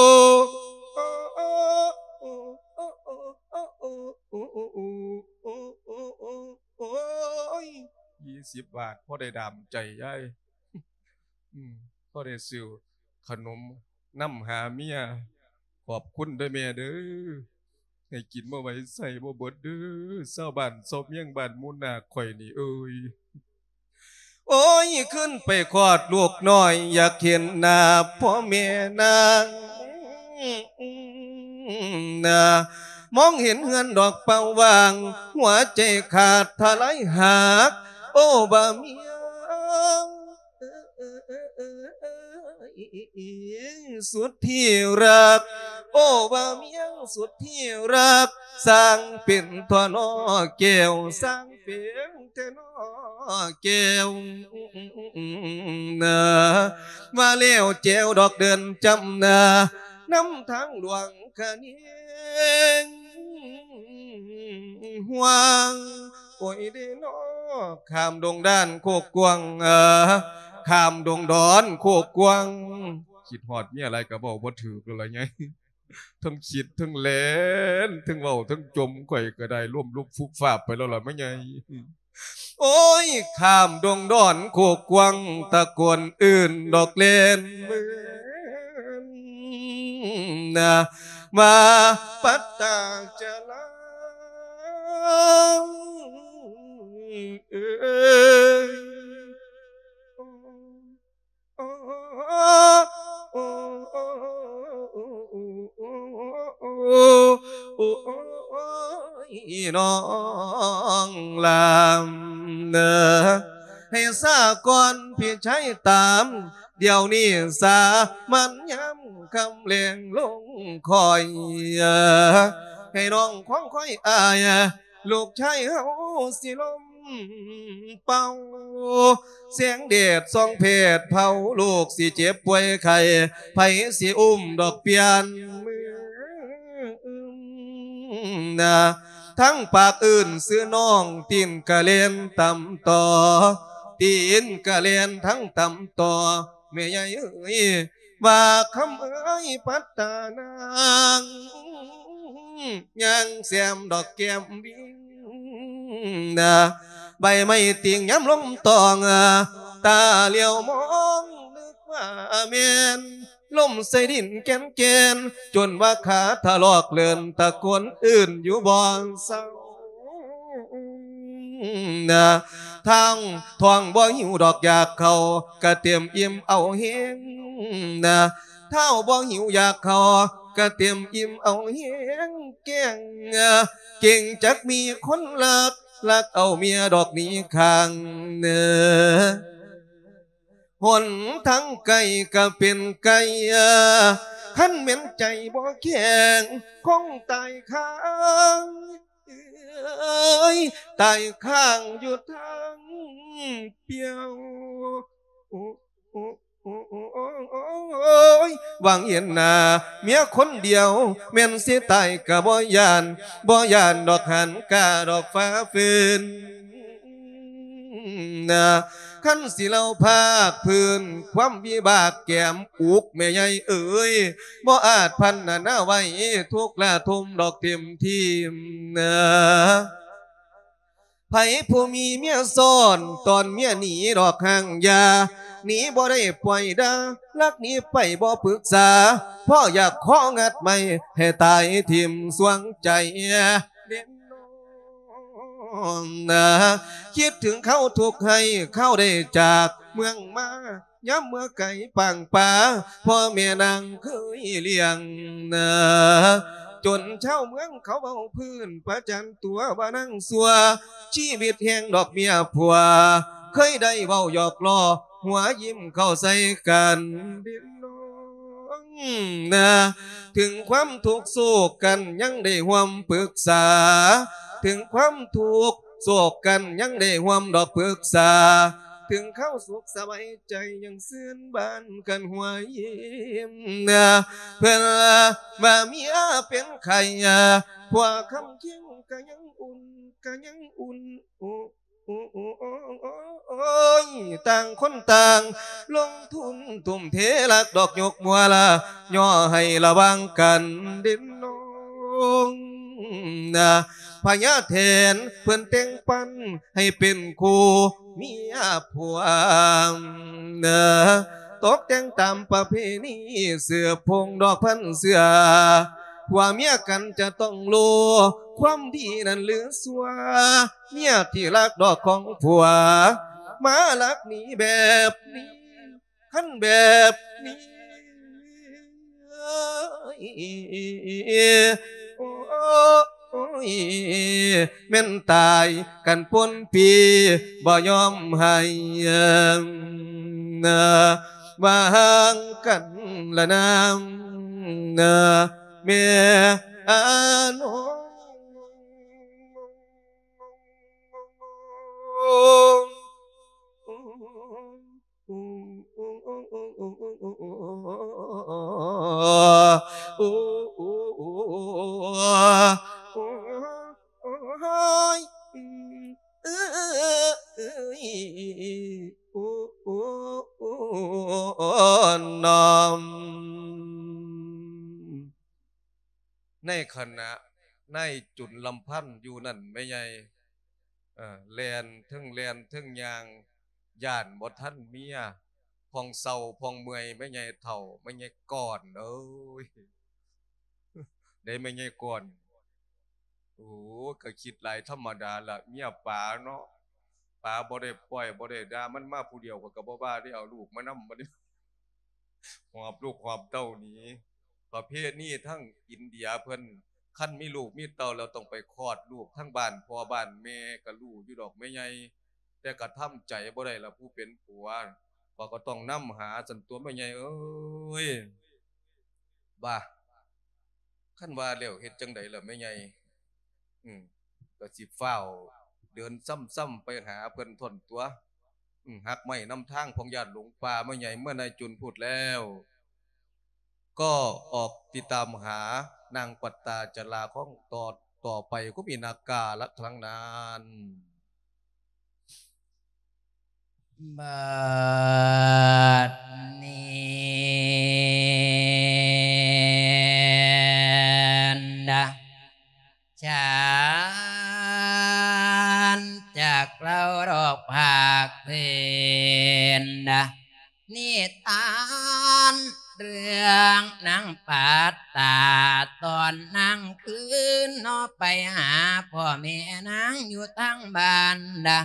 ້ຍ ຍີ່ສິບບາດ ພໍໄດ້ດາມໃຈຍາຍ ອືມ ພໍໄດ້ຊື້ຂະໜົມນຳຫາເມຍ ຂອບຄຸນເດີແມ່ເດີ ໃຫ້ກິນບໍ່ໄຫວໃຊ້ບໍ່ເບິດເດີ ຊາວບ້ານຊາວເມຍງບ້ານໝູນນາຂ້ອຍນີ້ເອີຍ. ໂອ້ຍ ຄືນໄປຄອດລູກນ້ອຍ ຢາກເຫັນໜ້າພໍ່ແມ່ນາງ ນາ ມອງເຫັນເຮືອນດອກເປົ່າວ່າງ ຫົວໃຈຂາດທະລາຍຫາກ ໂອ້ ບ່າວເມຍ ສຸດທີ່ຮັກ ໂອ້ ບ່າວເມຍ ສຸດທີ່ຮັກ ຊ່າງເປັນທໍ່ນໍແກ້ວ ຊ່າງເປັນແຕ່ນໍແກ້ວ ນາ ວ່າແລ້ວແຈວດອກເດີນຈຳນາ ນຳທາງຫຼວງຄະເນງ ຫວາງ ໂອ້ຍເດນໍ ຂ້າມດົງດານໂຄກກວ້າງ ຂ້າມດົງດອນໂຄກກວ້າງ ຄິດຮອດເມຍຫຼາຍກໍເວົ້າບໍ່ຖືກແລ້ວລະໃຫຍ່ ທັງຄິດທັງແລ່ນ ທັງເວົ້າທັງຈົ່ມ ຂ້ອຍກໍໄດ້ລົ້ມລຸບຟຸບຟາບໄປແລ້ວລະແມ່ໃຫຍ່. ໂອ້ຍ ຂ້າມດົງດອນໂຄກກວ້າງ ຕະໂກນເອີ້ນດອກແລ່ນເມືອນ ນາ ມາປັດຕາຈະລາ ເອີຍ ໂອ້ຍ ນ້ອງລາມເດີ ໃຫ້ຊາກ່ອນພີ່ຊາຍຕາມ ດຽວນີ້ສາມັນຍາມຄ່ຳແລງລົງຄ່ອຍ ໃຫ້ນ້ອງຄວາງຄອຍອາຍ ລູກຊາຍເຮົາຊິລົມເປົ່າ ແສງແດດສ່ອງແຜດເຜົາ ລູກຊິເຈັບປ່ວຍໄຂ້ ໃຜຊິອຸ້ມດອກປ່ຽນມື ນາ ທັງປາກເອີ້ນຊື່ນ້ອງ ຕີນກະແລ່ນຕຳຕໍ່ ຕີນກະແລ່ນທັງຕຳຕໍ່ ແມ່ໃຫຍ່ເອີຍ ວ່າຄຳເອີຍປັດຕານາງ ຍ່າງແຊມດອກແກ້ມວິງ ນາ ໃບໄມ້ຕິງຍາມລົມຕອງ ຕາຫຼຽວມອງນຶກວ່າແມ່ນ ລົມໃສ່ດິນແກ່ນໆ ຈົນວ່າຂາຖະລອກເລີນ ຕະໂກນເອີ້ນຢູ່ບໍ່ເຊົາ ນາ ທາງທ້ອງບໍ່ຫິວດອກຢາກເຂົ້າ ກະເຕັມອີ່ມເອົາແຮງ ນາ ທ້າວບໍ່ຫິວຢາກເຂົ້າ ກະເຕັມອີ່ມເອົາແຮງແກງ ເກັ່ງຈັກມີຄົນລັກ ລັກເອົາເມຍດອກໜີຂ້າງ ເອີ ຫົນທາງໄກກໍເປັນໄກ ຄັນແມ່ນໃຈບໍ່ແຂງ ຄົງຕາຍຄາ ເອີຍ ຕາຍຄ້າງຢູ່ທາງປ່ຽວ ໂອ້ຍ ຫວັງເຫັນໜ້າເມຍຄົນດຽວ ແມ່ນຊິຕາຍກໍບໍ່ຢ້ານ ບໍ່ຢ້ານດອກຫັນກາດອກຟ້າຟື້ນ ນາ ຄັນຊິເລົ່າພາກພື້ນ ຄວາມວິບາກແກມອຸກ ແມ່ໃຫຍ່ເອີຍ ບໍ່ອາດພັນນານາໄວ້ ທຸກລະທົມດອກເຕັມທີ່ນາ ໃຜຜູ້ມີເມຍຊ້ອນ ຕ້ອນເມຍໜີດອກຫ່າງຢ່າ ໜີບໍ່ໄດ້ປ່ອຍດ່າ ລັກໜີໄປບໍ່ປຶກສາ ເພາະຢາກຂໍງັດໄມ້ ໃຫ້ຕາຍຖິ້ມສວງໃຈ ເດັນ ນ້ອງນາ ຄິດເຖິງຄາວທຸກໄຮ້ ຄາວໄດ້ຈາກເມືອງມາ ຍາມເມື່ອໄກປາງປ່າ ພໍ່ແມ່ນາງເຄີຍລ້ຽງນາ ຈົນຊາວເມືອງເຂົາເວົ້າພື້ນປະຈັນຕົວວ່ານາງຊົ່ວ ຊີວິດແຫ່ງດອກເມຍຜົວ ເຄີຍໄດ້ເວົ້າຫຍອກລໍ້ຫົວຍິ້ມເຂົ້າໃສ່ກັນເດນ້ອງນາ. ເຖິງຄວາມທຸກໂສກກັນຍັງໄດ້ຮ່ວມປຶກສາ ເຖິງຄວາມທຸກໂສກກັນຍັງໄດ້ຮ່ວມດອກປຶກສາ ເຖິງຄາວສຸກສະບາຍໃຈຍັງຊື່ນບານກັນຫົວຍິ້ມນາ. ເພິ່ນວ່າເມຍເປັນໄຂ້ ຜົວຄຳຄຽງກະຍັງອຸ່ນ ກະຍັງອຸ່ນ ໂອ້ ໂອ້ ໂອ້ ໂອ້ ໂອ້ຍ ຕ່າງຄົນຕ່າງລົງທຶນທຸ່ມເທ ລັກດອກຍົກມົວລະ ຍໍໃຫ້ລະຫວ່າງກັນເດນ້ອງນາ. ພະຍາແຖນເພິ່ນແຕ່ງປັນໃຫ້ເປັນຄູ່ເມຍຜົວນາ ຕົກແຕ່ງຕາມປະເພນີ ເສືບພົງດອກພັນເສືອ ຜົວເມຍກັນຈະຕ້ອງຮູ້ ຄວາມດີນັ້ນຫຼືຊົ່ວ ເມຍທີ່ລັກດອກຂອງຜົວ ມາລັກໜີແບບນີ້ ຄັນແບບນີ້ ໂອ້ຍ ແມ່ນຕາຍກັນປົນປີ ບໍ່ຍອມໃຫ້ ວ່າຫ່າງກັນລະນາ ແມ່ນອງ. ໃນຂະນະນາຍຈຸນລຳພັນຢູ່ນັ້ນ ແມ່ໃຫຍ່ ເອີ ແລ່ນ ເທິງແລ່ນເທິງຍ່າງ ຢ້ານບໍ່ທັນເມຍ ຜ່ອງເຊົາຜ່ອງເມື່ອຍ ແມ່ໃຫຍ່ເຖົ້າ ແມ່ໃຫຍ່ກ່ອນເອີຍ ເດ້ແມ່ໃຫຍ່ກ່ອນ. ໂອ້ ກະຄິດຫຼາຍທຳມະດາລະ ເມຍປາເນາະ ປາບໍ່ໄດ້ປ້ອຍ ບໍ່ໄດ້ດ່າ ມັນມາຜູ້ດຽວ ຂ້ອຍກະບໍ່ວ່າເດ້ ເອົາລູກມານຳ ບັດນີ້ ຫອບລູກຫອບເຕົ້າໜີ. ປະເພນີທາງອິນເດຍເພິ່ນ ຄັນມີລູກມີເຕົ້າແລ້ວ ຕ້ອງໄປຄອດລູກທາງບ້ານພໍ່ບ້ານແມ່ ກະຮູ້ຢູ່ດອກແມ່ໃຫຍ່ ແຕ່ກະທຳໃຈບໍ່ໄດ້ລະ ຜູ້ເປັນຜົວ ຂ້ອຍກະຕ້ອງນຳຫາຊັ້ນຕົວະແມ່ໃຫຍ່ເອີຍ. ບາ ຄັນວ່າແລ້ວເຮັດຈັ່ງໃດລະແມ່ໃຫຍ່? ອືມ ກະຊິຟ້າວເດີນຊ້ຳໆໄປຫາເພິ່ນທົ່ນຕົວະ. ອືມ ຮັກໄມ້ນຳທາງ ພວກຍາດຫຼົງປ່າ ແມ່ໃຫຍ່ເມື່ອນາຍຈຸນພູດແລ້ວ ກໍອອກຕິດຕາມຫານາງປັດຕາຈະລາຂອງຕໍ່ ຕໍ່ໄປ ກໍມີນາກາລະທາງນັ້ນ. ບັດນີ້ນະ ຈານຈາກເລົ່າດອກພາກພື້ນນະ ນິທານເລື່ອງນາງປັດຕາ ຕອນນາງຄືນເນາະ ໄປຫາພໍ່ແມ່ນາງຢູ່ທາງບ້ານນະ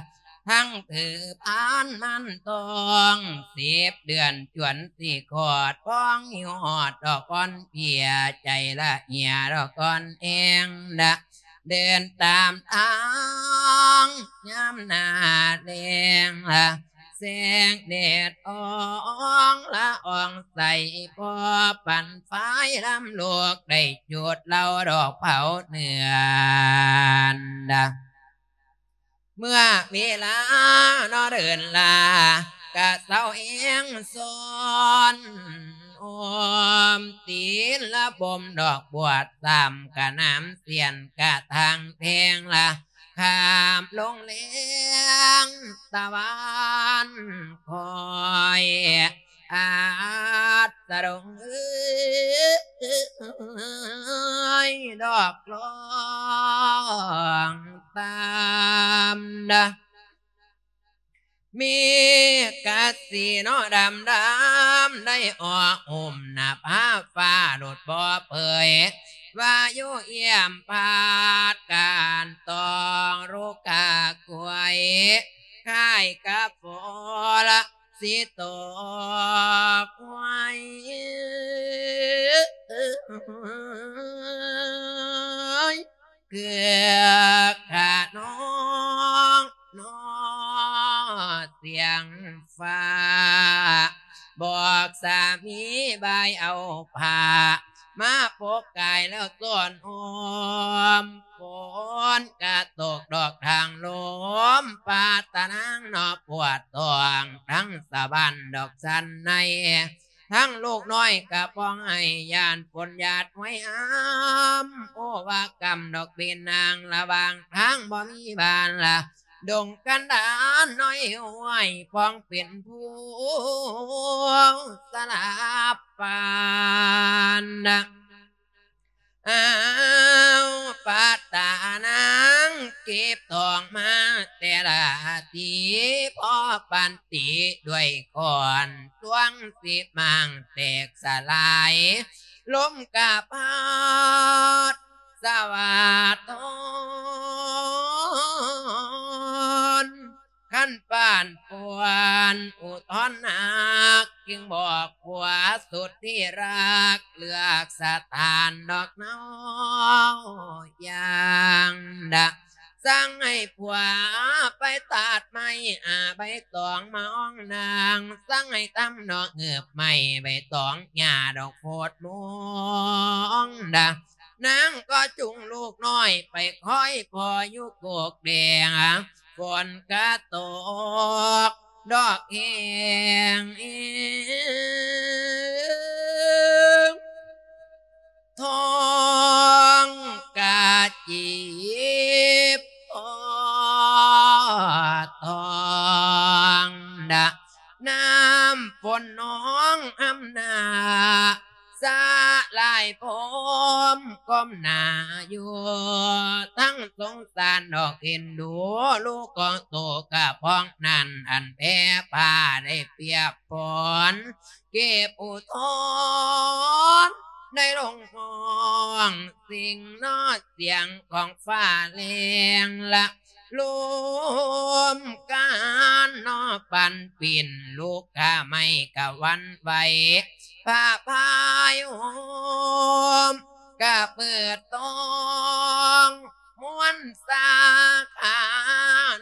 ທັງຖືພານມານທ້ອງສິບເດືອນ ຈວນຊິຄອດ ພອງຫິວຮອດດອກອ່ອນເພຍ ໃຈລະເຫຍດອກອ່ອນແອງນະ ເດີນຕາມທາງຍາມໜ້າແລ້ງລະ ແສງແດດອອງລະອອງໃສ ພໍປັນຝາຍລຳລູກ ໄດ້ຈູດເລົ່າດອກເຜົາເໜືອນນະ. ເມື່ອເວລາເນາະເດີນລາ ກະເຊົາແຮງຊອນ ໂອມຕີນລະບົ່ມດອກບວດ ຊ້ຳກະໜາມສຽນກະທາງແພງລະ ຂ້າມລົງແລງຕາວັນຄອຍ ອາດສະດົງເອີຍ ດອກລອງຕາມນະ ເມກະສີເນາະດຳດຳ ໄດ້ອອກຫຸ້ມໜ້າຜາຟ້າ ຫຼຸດບໍ່ເຜີຍ ວາຍຸຢ້ຽມພັດການຕອງ ລຸກກະກວຍ ຄ້າຍກັບຝົນລະ ຊິຕົກໄວ. ຄືຂະນອງນອ ສຽງຟ້າ ບອກສາມີບາຍເອົາຜ້າມາປົກກາຍແລ້ວຊ້ອນໂຮມ ຝົນກະຕົກດອກທາງລົມ ພາດຕານາງເນາະປວດທ້ອງ ທັງສະບານດອກສັນໃນ ທັງລູກນ້ອຍກະພ້ອງໄຫ້ ຢ້ານຝົນຢາດຫ້ວຍຫ້ຳ ໂອວາກຳດອກເປັນນາງ ລະຫວ່າງທາງບໍ່ມີບ້ານລະ ດົງກັນດານນ້ອຍຫ້ວຍ ພ້ອງເປັນຜູ້ສະຫຼາບປານນະ. ອ້າວ ພາດຕານາງເກັບທອງມາແຕ່ລະທີ ພໍປານຕີດ້ວຍຄ້ອນ ລວງສິບມ້າງແຕກສະຫຼາຍ ລົມກະພັດສະຫວາດທອນ ຄັນປານປ່ວນອຸທອນຮັກ ຈຶ່ງບອກຜົວສຸດທີ່ຮັກ ເລືອກສະຖານດອກເນົາຢ່າງດະ ສັ່ງໃຫ້ຜົວໄປຕັດໄມ້ ອາ ໃບຕອງມາອອງນາງ ສັ່ງໃຫ້ຕຳດອກເງືອບໄມ້ ໃບຕອງຫຍ້າດອກໂພດມ່ວງດະ ນາງກໍຈູງລູກນ້ອຍໄປຄອຍພໍ່ຢູ່ໂກກແດງ ຝົນກະຕົກດອກແຮງ ທ້ອງກະເຈັບ ທອງດະ ນ້ຳຝົນນອງອຳນາ ສະຫຼາຍພົມກົ້ມໜ້າຢູ່ ທັງສົງສານດອກເອັນດູ ລູກຂອງໂຕກະພ້ອງນັ້ນ ອັນແຜ່ຜ້າໄດ້ປຽກຝົນ ເກັບອຸທອນ ໄດ້ລົງຮ້ອງ ເສັງນອດສຽງຂອງຟ້າແລງລະ ລົມການນອ ປັນປິ່ນ ລູກກະໄມ້ກະຫວັ່ນໄຫວ ຜ້າພາຍຫົ່ມກະເປີດຕອງ ມ່ວນສາຂາ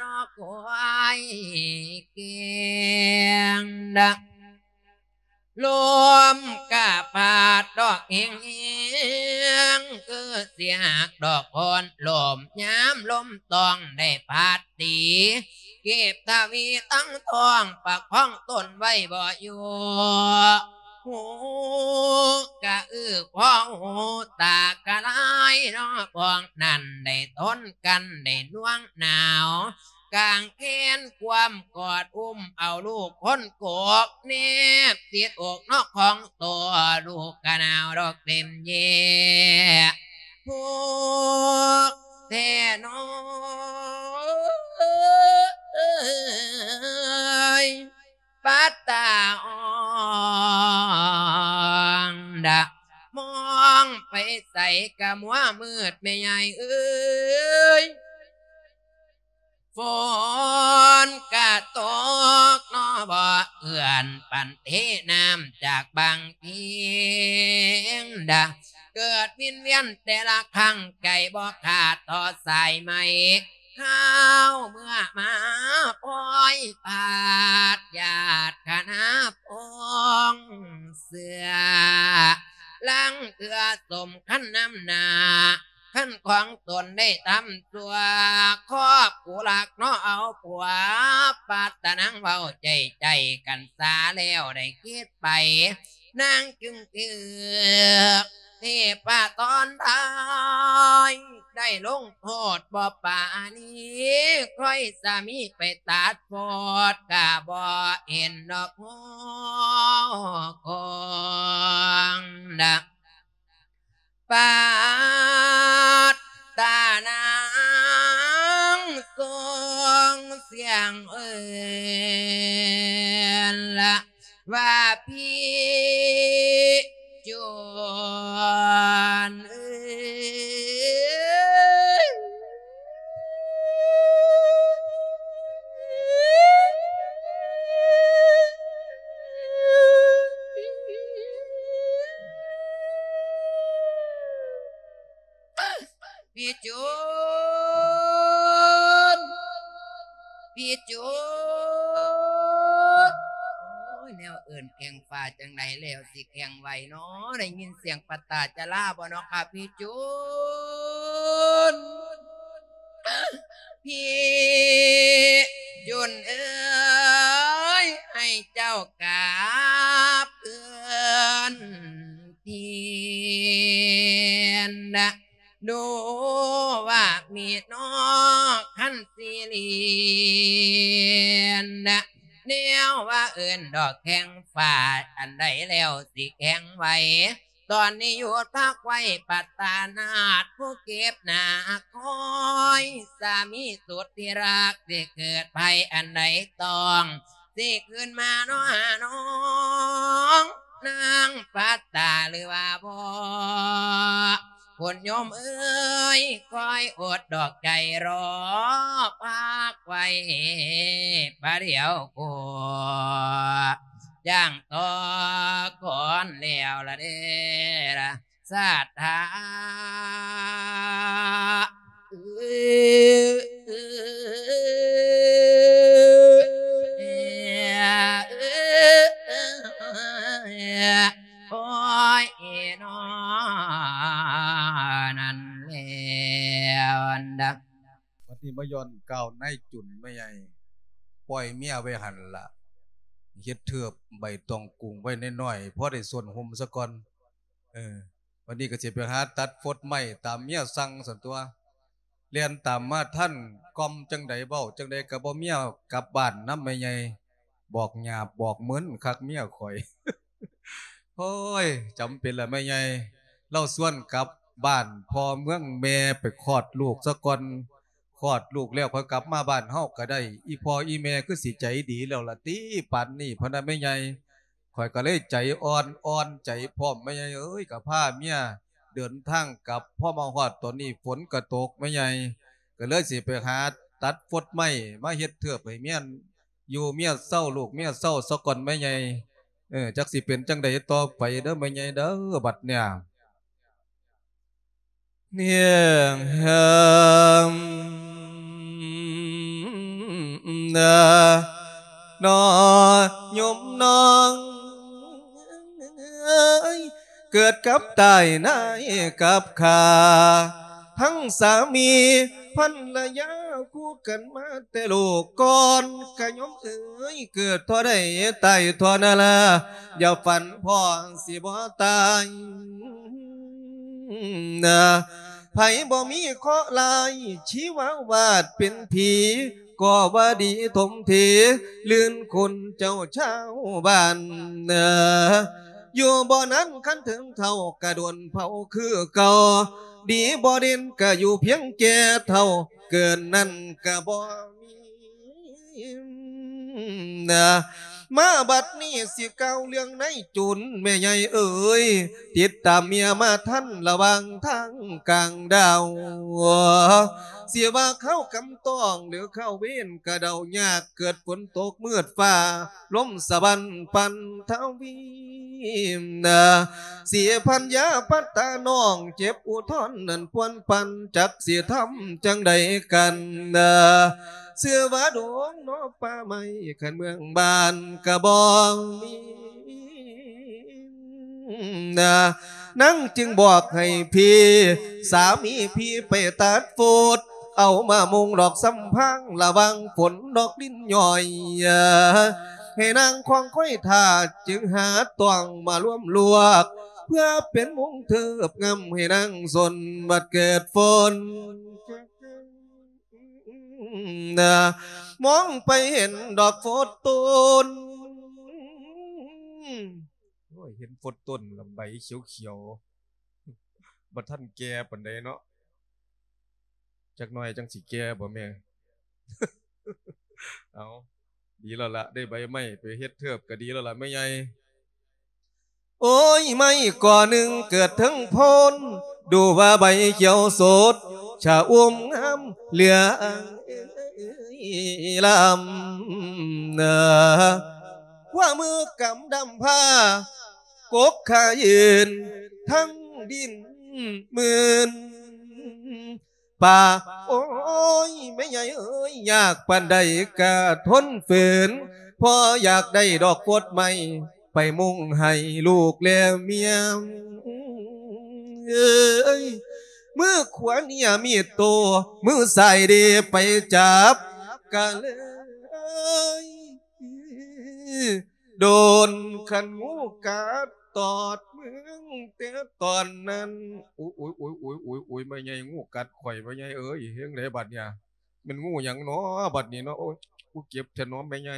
ນອ ຄວາຍແກງດະ ລົມກະພັດດອກແຮງໆ ຄືສຽງດອກໂພນລົມ ຍາມລົມຕອງໄດ້ພັດຕີ ເກັບທະວີທັງທ້ອງ ປະຄອງຕົນໄວ້ບໍ່ຢູ່ ຫູກະອື້ພອຫູຕາກະລາຍເນາະ ພວກນັ້ນໄດ້ທົນກັນໄດ້ໜ່ວງໜາວ ກາງແຂນຄວາມກອດອຸ້ມເອົາລູກຄົນກົກ ແນບຕິດອົກເນາະຂອງໂຕ ລູກກະໜາວດອກເຕັມແຍ ພວກແທ້ນ້ອຍ ປັດຕາອ່ອງດະ ມອງໄປໃສກະມົວມືດແມ່ຍາຍເອີຍ ຝົນກະຕົກເນາະ ບໍ່ເອື້ອນປັນເທນ້ຳຈາກບາງພິງດະ ເກີດວິນວຽນແຕ່ລະຄັ້ງ ໃຈບໍ່ຂາດຕໍ່ສາຍໄໝ ຄາວເມື່ອມາພອຍພາດ ຍາດຄະນາພອງເຊື່ອ ລາງເທື່ອສົມຄັນນຳໜ້າ ຄັນຂອງຕົນໄດ້ທຳຊົ່ວ ຄອບຄູ່ລັກເນາະເອົາຜົວ ປັດຕານາງເວົ້າໃຈໃຈກັນສາແລ້ວໄດ້ຄິດໄປ ນາງຈຶ່ງຖືກເທພະຕອນທ້າຍ ໄດ້ລົງໂທດບໍ່ປານີ ຄ່ອຍສາມີໄປຕັດໂພດ ກະບໍ່ເຫັນດອກໂຮກອງນະ ປັດຕານາງສົ່ງສຽງເອີ້ນລະວ່າ ພີ່ຈວນເອີຍ. ພີ່ຈູນ ພີ່ຈູນ ໂອ້ຍ ແນວເອີ້ນແຂ້ງຟ້າຈັ່ງໃດແລ້ວຊິແຂ້ງໄຫວນໍ? ໄດ້ຍິນສຽງປະຕາຈະລາບໍ່ນໍຄະ ພີ່ຈູນ? ພີ່ຈຸນເອີຍ ໃຫ້ເຈົ້າກັບເຮືອນເພນນະ ດູວ່າມີນອກຄັນຊິລຽນນະ ແນວວ່າເອີ້ນດອກແຂ້ງຟ້າ ອັນໃດແລ້ວຊິແຂ້ງໄຫວ? ຕອນນີ້ຢຸດພັກໄວ້ປັດຕານາດ ຜູ້ເກັບໜ້າຄອຍ ສາມີສຸດທີ່ຮັກ ຊິເກີດໄພອັນໃດຕ້ອງ ຊິຄືນມາເນາະຫານ້ອງ ນາງປັດຕາຫຼືວ່າບໍ່? ຄຸນໂຍມເອີຍ ຄອຍອົດດອກໃຈລໍ ພັກໄວ້ປະດຽວໂຄ ຢ່າງຕໍ່ກ່ອນແລ້ວລະເດ້ລະ ສາທາ ໂອ້ຍເນາະ ນັ້ນແລ້ວອັນດາ ບັດນີ້ມາຍ້ອນກ່າວນາຍຈຸນແມ່ໃຫຍ່ ປ່ອຍເມຍໄວ້ຫັ້ນລະ ເຮັດເທີບໃບຕອງກຸງໄວ້ໜ້ອຍໆ ພໍໄດ້ສົ້ນຫົ່ມສາກ່ອນ ເອີ ບັດນີ້ກໍຊິໄປຫາຕັດຟົດໄມ້ຕາມເມຍສັ່ງຊັ້ນຕົວະ ແລ່ນຕາມມາທັນ ກ່ອມຈັ່ງໃດເວົ້າຈັ່ງໃດກໍບໍ່ເມຍກັບບ້ານນຳແມ່ໃຫຍ່ ບອກຫຍາບບອກມຶນຄັກເມຍຂ້ອຍ ໂອ້ຍ ຈຳເປັນລະແມ່ໃຫຍ່ ລາວຊວນກັບບ້ານພໍ່ເມືອງແມ່ໄປຄອດລູກສາກ່ອນ ຄອດລູກແລ້ວຄ່ອຍກັບມາບ້ານເຮົາກໍໄດ້ ອີ່ພໍ່ອີ່ແມ່ຄືຊິໃຈດີແລ້ວລະຕິ ປານນີ້ ພະນະແມ່ໃຫຍ່ ຂ້ອຍກໍເລີຍໃຈອ່ອນ ອ່ອນໃຈພ້ອມ ແມ່ໃຫຍ່ເອີຍ ກໍພາເມຍເດີນທາງກັບ ພໍມາຮອດຕອນນີ້ຝົນກໍຕົກ ແມ່ໃຫຍ່ກໍເລີຍຊິໄປຫາຕັດຟົດໄມ້ມາເຮັດເທີບໃຫ້ເມຍຢູ່ເມຍເຊົາ ລູກເມຍເຊົາສາກ່ອນ ແມ່ໃຫຍ່ ເອີ ຈັກຊິເປັນຈັ່ງໃດຕໍ່ໄປເດີແມ່ໃຫຍ່ເດີ ບັດເນີ້ຍ ເນຍເຮີມນະ ນອໂຍມນ້ອງເອີຍ ເກີດກັບຕາຍນາຍກັບຂ້າ ທັງສາມີພັນລະຍາຄູ່ກັນມາແຕ່ລູກກ່ອນ ກະໂຍມເອີຍ ເກີດທໍ່ໃດຕາຍທໍ່ນັ້ນລະ ຢ່າຝັນພໍ້ຊິບໍ່ຕາຍ ນະ ໃຜບໍ່ມີເຄາະຮ້າຍ ຊີວະວາດເປັນຜີ ກໍວ່າດີຖົມເທ ລື່ນຄຸນເຈົ້າຊາວບ້ານ ນະ ຢູ່ບໍ່ນານຄັນເຖິງເຖົ້າ ກະໂດນເຜົາຄືເກົ່າ ດີບໍ່ເດັ່ນກະຢູ່ພຽງແກ່ເຖົ້າ ເກີນນັ້ນກະບໍ່ມີ ນະ ມາບັດນີ້ຊິກ່າວເລື່ອງນາຍຈູນ ແມ່ໃຫຍ່ເອີຍ ຕິດຕາມເມຍມາທັນລະຫວ່າງທາງກາງດາວ ຊິວ່າຄາວກຳຕ້ອງ ຫຼືຄາວເວນກະເດົາຍາກ ເກີດຝົນຕົກມືດຟ້າ ລົມສະບັນປັ່ນທະວີ ນະ ສີພັນຍາປັດຕານ້ອງ ເຈັບອຸທອນນັ້ນປວນປັ່ນ ຈັກຊິທຳຈັ່ງໃດກັນນະ ເຊື່ອວ່າດົງໜໍປ່າໄມ້ ຄັນເມືອງບ້ານກະບໍ່ມີ ນະ ນາງຈຶ່ງບອກໃຫ້ພີ່ ສາມີພີ່ໄປຕັດຟົດ ເອົາມາມຸງດອກຊຳພາງ ລະວັງຝົນດອກລິນຍ່ອຍ ໃຫ້ນາງຄອງຄອຍຖ້າ ຈຶ່ງຫາຕ້ອງມາລວມລວກ ເພື່ອເປັນມຸງເທີບງຳໃຫ້ນາງສົນ ບັດເກີດຝົນ ນະ ມອງໄປເຫັນດອກຟົດຕົ້ນ ໂອ້ຍ ເຫັນຟົດຕົ້ນລະໃບຂຽວໆ ບໍ່ທັນແກ່ປານໃດເນາະ ຈັກໜ້ອຍຈັ່ງຊິແກ່ບໍ່ແມ່? ເອົາ ດີແລ້ວລະ ໄດ້ໃບໄມ້ໄປເຮັດເທີບກະດີແລ້ວລະແມ່ໃຫຍ່. ໂອ້ຍ ໄມ້ກໍໜຶ່ງເກີດເທິງໂພນ ດູວ່າໃບຂຽວສົດ ຊະອຸ່ມງາມເຫຼືອອາງເອີຍລຳ ຂວາມືກຳດຳພາ ກົກຂາຢືນທັງດິນມື່ນ ປາ. ໂອ້ຍ ແມ່ໃຫຍ່ເອີຍ ຍາກປານໃດກະທົນຝືນ ພໍຢາກໄດ້ດອກກົດໄມ້ ໄປມຸງໃຫ້ລູກແລະເມຍ. ເອີຍ ມືຂວາເນຍມີດໂຕ ມືຊ້າຍເດໄປຈັບ ກະເລີຍ ໂດນຄັນງູກັດຕອດມຶງແຕ່ຕອນນັ້ນ. ໂອ້ຍ ໂອ້ຍ ໂອ້ຍ ໂອ້ຍ ໂອ້ຍ ໂອ້ຍ ແມ່ໃຫຍ່ງູກັດຂ້ອຍ ແມ່ໃຫຍ່ເອີຍ ເຮັດຈັ່ງໃດບັດເນຍ ແມ່ນງູຫຍັງນໍບັດນີ້ເນາະ. ໂອ້ຍ ກູເຈັບແທ້ນໍແມ່ໃຫຍ່.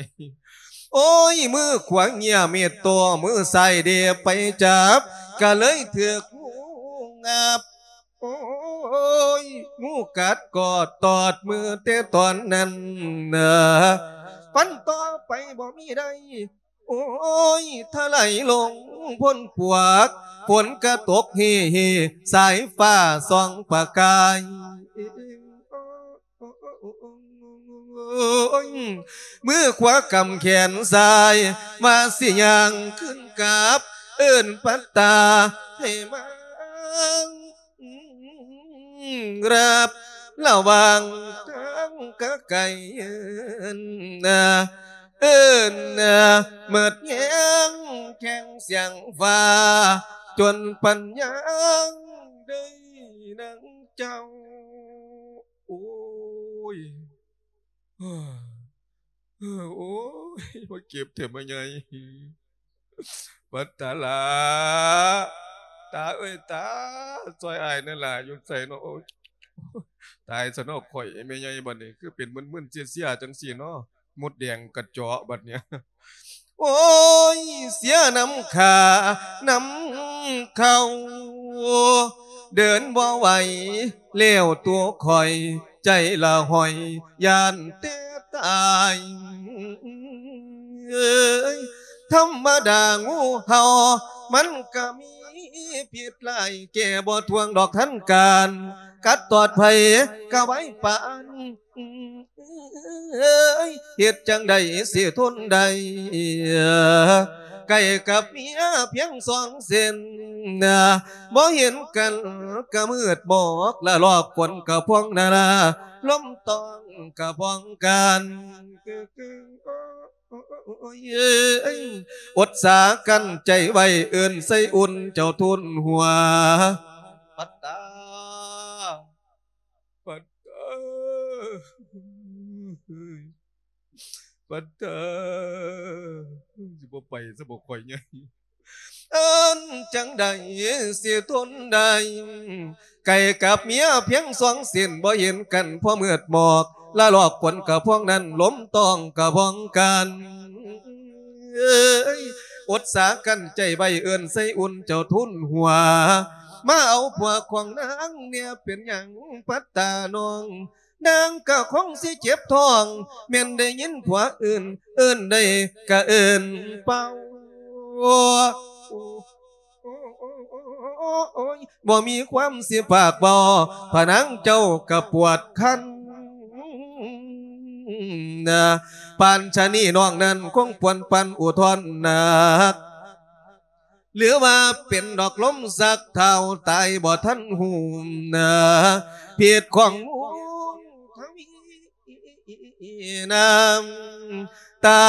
ໂອ້ຍ ມືຂວາເນຍມີດໂຕ ມືຊ້າຍເດໄປຈັບ ກະເລີຍຖືກງູງັບ. ໂອ້ຍ ງູກັດກໍຕອດມືແຕ່ຕອນນັ້ນ ປັນຕໍ່ໄປບໍ່ມີໃດ. ໂອ້ຍ ຖະໄຫຼລົງພົ້ນປວກ ຝົນກະຕົກເຮໆ ສາຍຟ້າສ່ອງປະກາຍ. ໂອ້ຍ ມືຂວາກຳແຂນຊ້າຍ ວ່າຊິຍ່າງຂຶ້ນກັບ ເອີ້ນປັດຕາໃຫ້ມາ ຮັບລະຫວ່າງທາງກະໄກ ເອີ້ນ ເອີ້ນ ໝົດແຮງແຂ່ງສຽງຟ້າ ຈົນປັນຍາງໄດ້ນາງເຈົ້າ. ໂອ້ຍ ໂອ້ຍ ໂອ້ຍ ມາເຈັບແທ້ແມ່ໃຫຍ່. ປັດຕາຫຼ້າ ຕາເອີຍຕາ ຊ່ອຍອ້າຍແດ່ຫຼ້າ ຢູ່ໃສເນາະ. ໂອ້ຍ ຕາຍຊະເນາະຂ້ອຍ ແມ່ໃຫຍ່ ບັດນີ້ຄືເປັນມຶນໆເຊຍໆ ຈັ່ງຊີ້ເນາະ ມົດແດງກະເຈາະບັດນີ້. ໂອ້ຍ ເສຍນ້ຳຂ້ານ້ຳເຂົ້າ ເດີນບໍ່ໄຫວແລ້ວຕົວຂ້ອຍ ໃຈລະຫ້ອຍຢ້ານແຕ່ຕາຍ. ທຳມະດາງູເຫົ່າ ມັນກະມີພິດຮ້າຍ ແກ້ບໍ່ຖ້ວງດອກທັນການ ກັດຕອດໃຜກະໄວປານ. ເອີຍ ເຮັດຈັ່ງໃດຊິທົນໄດ້ ໃກ້ກັບເມຍພຽງສອງເສັ້ນ ບໍ່ເຫັນກັນກະມືດໝອກ ລະລອກຝົນກະພວງນາ ລົມຕ້ອງກະພອງກັນ. ໂອ້ຍ ອົດສາກັ້ນໃຈໄວ້ ເອີ້ນໃສ່ອຸ່ນເຈົ້າທູນຫົວ ປັດຕາ. ປັດເອີຍ ປັດເອີຍ ຊິບໍ່ໄປຊະບໍ່ຂ້ອຍໃຫຍ່. ເອີ້ນຈັ່ງໃດຊິທົນໄດ້ ໃກ້ກັບເມຍພຽງສອງເສັ້ນ ບໍ່ເຫັນກັນພໍມືດໝອກ ລະລອກຝົນກະພວງນັ້ນ ລົມຕ້ອງກະພອງກັນ. ເອີຍ ອົດສາກັ້ນໃຈໄວ້ ເອີ້ນໃສ່ອຸ່ນເຈົ້າທູນຫົວ ມາເອົາຜົວຂອງນາງແດ່ ເປັນຫຍັງປັດຕານ້ອງ ນາງກະຄົງຊິເຈັບທ້ອງ ແມ່ນໄດ້ຍິນຜົວເອີ້ນ ເອີ້ນໄດ້ກະເອີ້ນເປົ່າ. ໂອ້ຍ ບໍ່ມີຄວາມຊິປາກເວົ້າ ພະນາງເຈົ້າກະປວດຄັນ ປານຊະນີ້ນ້ອງນັ້ນຄົງປວນປັນອຸທອນໜັກ ຫຼືວ່າເປັນດອກລົມຊັກທ້າວ ຕາຍບໍ່ທັນຮູ້ນາ ພິດຂອງມູນທະວີ ນ້ຳຕາ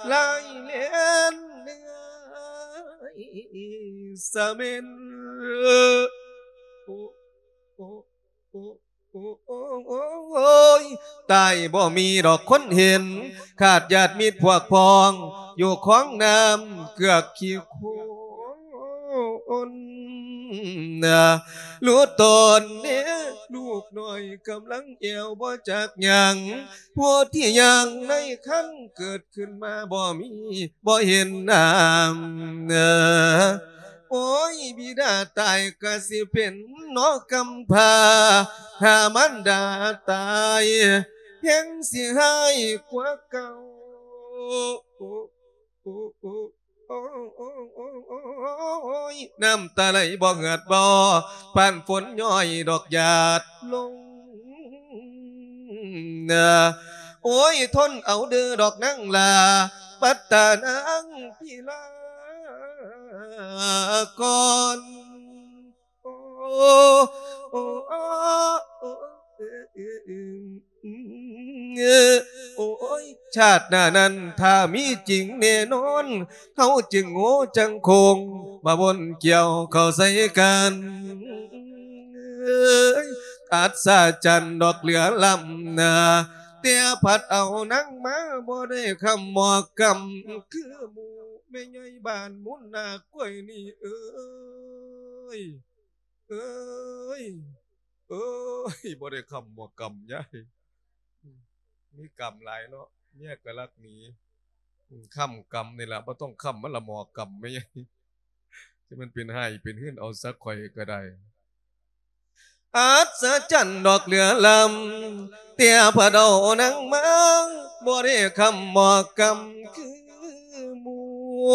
ໄຫຼແລ່ນເລື່ອຍສະເໝັນ. ໂອ້ ໂອ້ ໂອ້ ໂອ້ ໂອ້ ໂອ້ຍ ຕາຍບໍ່ມີດອກຄົນເຫັນ ຂາດຍາດມິດພວກພ້ອງ ຢູ່ຂອງນ້ຳເກືອກຂີ້ໂຄນ ຮູ້ຕົນເດ້ ລູກນ້ອຍກຳລັງແອວບໍ່ຈັກຫຍັງ ຜູ້ທີ່ຍ່າງໃນຄັນເກີດຂຶ້ນມາບໍ່ມີ ບໍ່ເຫັນນ້ຳ ໂອ້ຍ ບິດາຕາຍກະຊິເປັນເນາະກຳພ້າ ຖ້າມານດາຕາຍແຮງຊິຮ້າຍກວ່າເກົ່າ. ໂອ້ ໂອ້ ໂອ້ ໂອ້ ໂອ້ ໂອ້ ໂອ້ ໂອ້ ໂອ້ຍ ນ້ຳຕາໄຫຼບໍ່ເຫືອດບໍ່ ປານຝົນຍ້ອຍດອກຫຍາດລົງ. ໂອ້ຍ ທົນເອົາເດີດອກນາງຫຼ້າ ປັດຕານາງພິລາກ່ອນ. ໂອ້ ໂອ້ ໂອ້ ໂອ້ຍ ຊາດໜ້ານັ້ນຖ້າມີຈິງແນ່ນອນ ເຮົາຈຶ່ງໂງ່ຈັ່ງຄົງ ມາວົນກ່ຽວເຂົ້າໃສ່ກັນ. ອັດສະຈັນດອກເຫຼືອລ້ຳນາ ແຕ່ພັດເອົານາງມາບໍ່ໄດ້ຄ້ຳໝອກກຳຄືໝູ່. ແມ່ໃຫຍ່ບ້ານມູນນາກກ້ວຍນີ້ເອີຍ ເອີຍ ເອີຍ ບໍ່ໄດ້ຄ້ຳໝໍກຳຍາຍ ມີກຳຫຼາຍເນາະ ເມຍກໍລັກໜີ ອືມ ຄ້ຳກຳນີ້ລະ ບໍ່ຕ້ອງຄ້ຳ ມັນລະໝໍກຳແມ່ຍາຍ ຊິແມ່ນເປັນຮ້າຍເປັນຮືນເອົາຊະຂ້ອຍກໍໄດ້. ອັດສະຈັນດອກເຫຼືອລ້ຳ ແຕ່ພະເຖົ້ານາງມາ ບໍ່ໄດ້ຄ້ຳໝໍກຳຄືໝູ່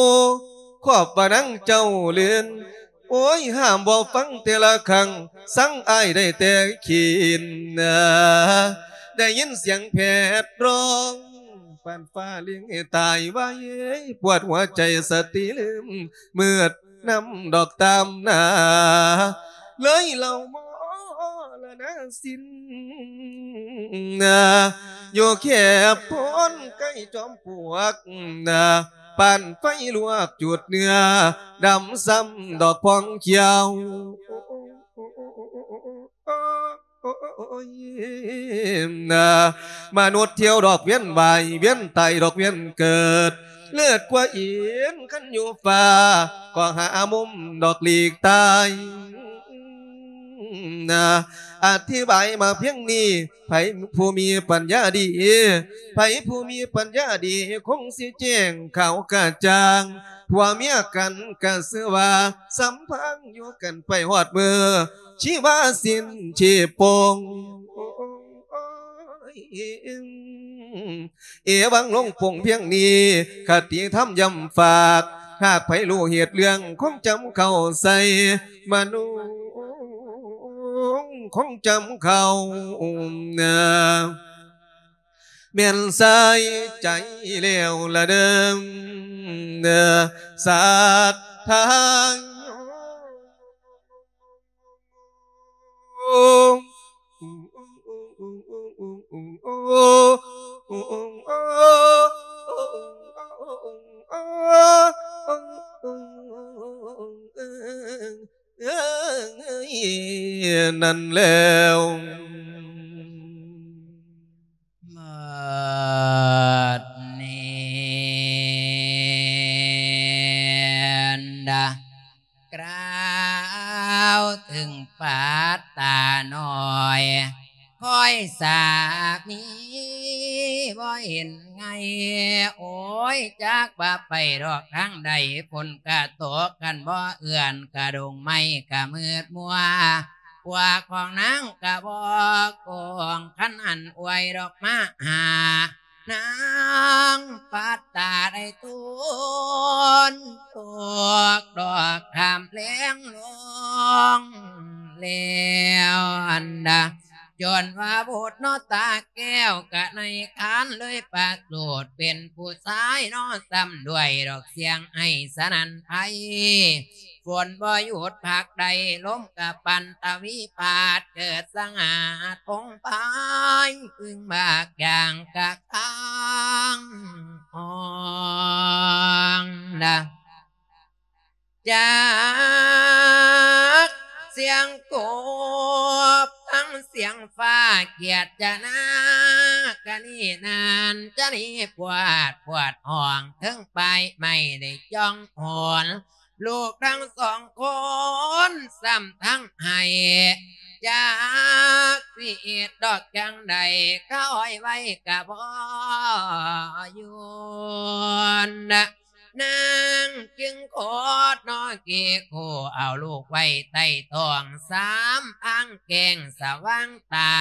ຄອບວ່ານາງເຈົ້າເລື່ນ ໂອ້ຍ ຫ້າມບໍ່ຟັງແຕ່ລະຄັ້ງ ສັງອ້າຍໄດ້ແຕ່ຂີນນາ ໄດ້ຍິນສຽງແພດຮ້ອງ ປານຟ້າລິງໃຫ້ຕາຍໄວ ປວດຫົວໃຈສະຕິລືມ ມືດນຳດອກຕາມໜ້າ ເລີຍເລົ່າມໍລະນະສິນນາ ຢູ່ແຄບໂພນໃກ້ຈອມປວກນາ ປານໄຟລວກຈູດເນື້ອ ດຳຊຳດອກພອງຂຽວ ມະນຸດທ່ຽວດອກວຽນວ່າຍ ວຽນຕາຍດອກວຽນເກີດ ເລີດກວ່າເອັນຄັນຢູ່ຟ້າ ກໍຫາມຸມດອກຫຼີກຕາຍ. ອະທິບາຍມາພຽງນີ້ ໃຜຜູ້ມີປັນຍາດີ ໃຜຜູ້ມີປັນຍາດີ ຄົງຊິແຈ້ງຂາວກະຈ່າງ ຜົວເມຍກັນກະຊື່ວ່າ ສຳພັງຢູ່ກັນໄປຮອດມື້ ຊີວາສິ້ນຊີບປົງ ເອວັງລົງປົງພຽງນີ້ ຄະຕິທຳຢ້ຳຝາກ ຫາກໃຜຮູ້ເຫດເລື່ອງ ຄົງຈຳເຂົ້າໃສ່ ມະນຸງຄົງຈຳເຂົ້ານາ ແມ່ນສາຍໃຈແລ້ວລະເດີ ສັດທາໂຍ. ນັ້ນແລ້ວ ໝົດນີ້ນະ ກ່າວເຖິງປາດຕານ້ອຍ ຄອຍສາມີບໍ່ເຫັນໄງ ໂອ້ຍ ຈັກວ່າໄປດອກທາງໃດ ຝົນກະຕົກ ຄັນບໍ່ເອື້ອນກະດົງໄມ້ກະມືດມົວ ພວກຂອງນາງກະບໍ່ກອງ ຄັນຫັ້ນອວຍດອກມາຫາ ນາງປັດຕາໄດ້ຕູນ ຕອກດອກຂ້າມແລງລົງແລ້ວອັນດາ ຈົນວ່າບຸດເນາະຕາແກ້ວ ກະໃນຄານເລີຍປະສູດ ເປັນຜູ້ຊາຍເນາະ ຊ້ຳດ້ວຍດອກສຽງໄຫ້ສະນັ້ນໄພ ຝົນບໍ່ຢຸດພັກໃດ ລົມກະປັ່ນຕະວີພາດ ເກີດສະຫາດພົງພາຍ ອຶ່ງບາກຢ່າງກະຄາງອອງນະ ຈາກສຽງກົບ ທັງສຽງຟ້າກຽດຈະນາ ກະນີ້ນານຈະນີ້ປວດ ປວດຫ້ອງ ເທິງປາຍໄມ້ໄດ້ຈ່ອງໂຫນ ລູກທັງສອງຄົນຊ້ຳທັງໄຫ້ ຈັກຊິເຮັດດອກຈັ່ງໃດ ຄະອ້ອຍໄວ້ກະບໍ່ຢຸດ ນາງຈຶ່ງໂຄດນອເກໂຄ ເອົາລູກໄວ້ໃຕ້ທ້ອງ ສາມພາງແກ້ງສະຫວ່າງຕາ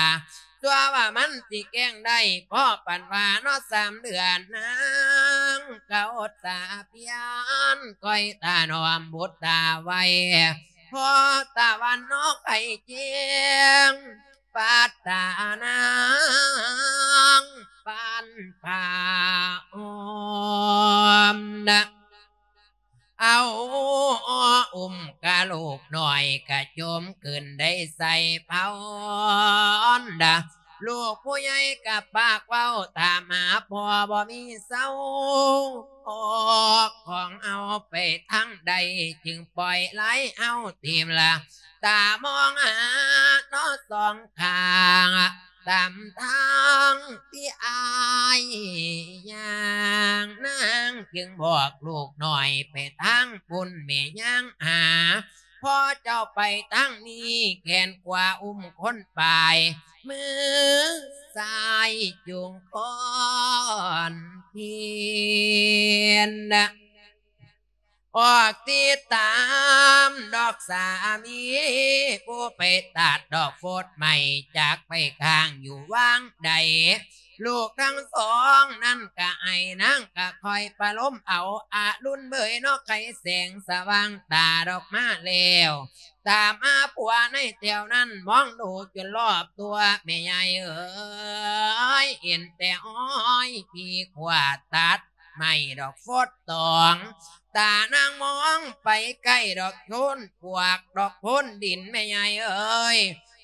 ຕົວະວ່າມັນຊິແກ້ງໄດ້ ພໍປານວ່າເນາະສາມເດືອນ ນາງກະອົດຕາພຽນ ຄອຍຖະໜອມບຸດຕາໄວ້ ພໍຕາວັນເນາະໄຂ່ແຈ້ງ ປາດຕານາງ ປານຜ້າອ້ອມນະ ເອົາ ອຸ້ມກະລູກນ້ອຍກະຈົ່ມຂຶ້ນໄດ້ໃສ່ເພົາດາ ລູກຜູ້ໃຫຍ່ກະປາກເວົ້າຖາມຫາພໍ່ບໍ່ມີເຊົາ ອອກຂອງເອົາໄປທາງໃດ ຈຶ່ງປ່ອຍໄລ່ເອົາຖິ້ມລະ ຕາມອງຫາເນາະສອງຂ້າງ ຕາມທາງທີ່ອ້າຍຍ່າງ ນາງຈຶ່ງບອກລູກນ້ອຍໄປທາງພຸ້ນ ແມ່ຍ່າງຫາ ພໍ່ເຈົ້າໄປທາງນີ້ ແຂນຂວາອຸ້ມຄົນປາຍ ມືຊ້າຍຈູງຄອນພຽນ ອອກຕິດຕາມດອກສາມີ ຜູ້ໄປຕັດດອກໂພດໄມ້ ຈັກໄປຄ້າງຢູ່ຫວ່າງໃດ ລູກທັງສອງນັ້ນກະໄອ ນາງກະຄ່ອຍປະໂລມເອົາ ອະລຸນເບີຍເນາະ ໄຂແສງສະຫວ່າງຕາດອກມາແລ້ວ ຕາມຫາຜົວໃນແຖວນັ້ນ ມອງດູຈົນລອບຕົວ ແມ່ໃຫຍ່ເອີຍ ເຫັນແຕ່ອ້ອຍພີຂວາດຕັດ ໄມ້ດອກໂພດຕອງ ຕານາງມອງໄປໃກ້ດອກໂພນປວກ ດອກໂພນດິນ ແມ່ໃຫຍ່ເອີຍ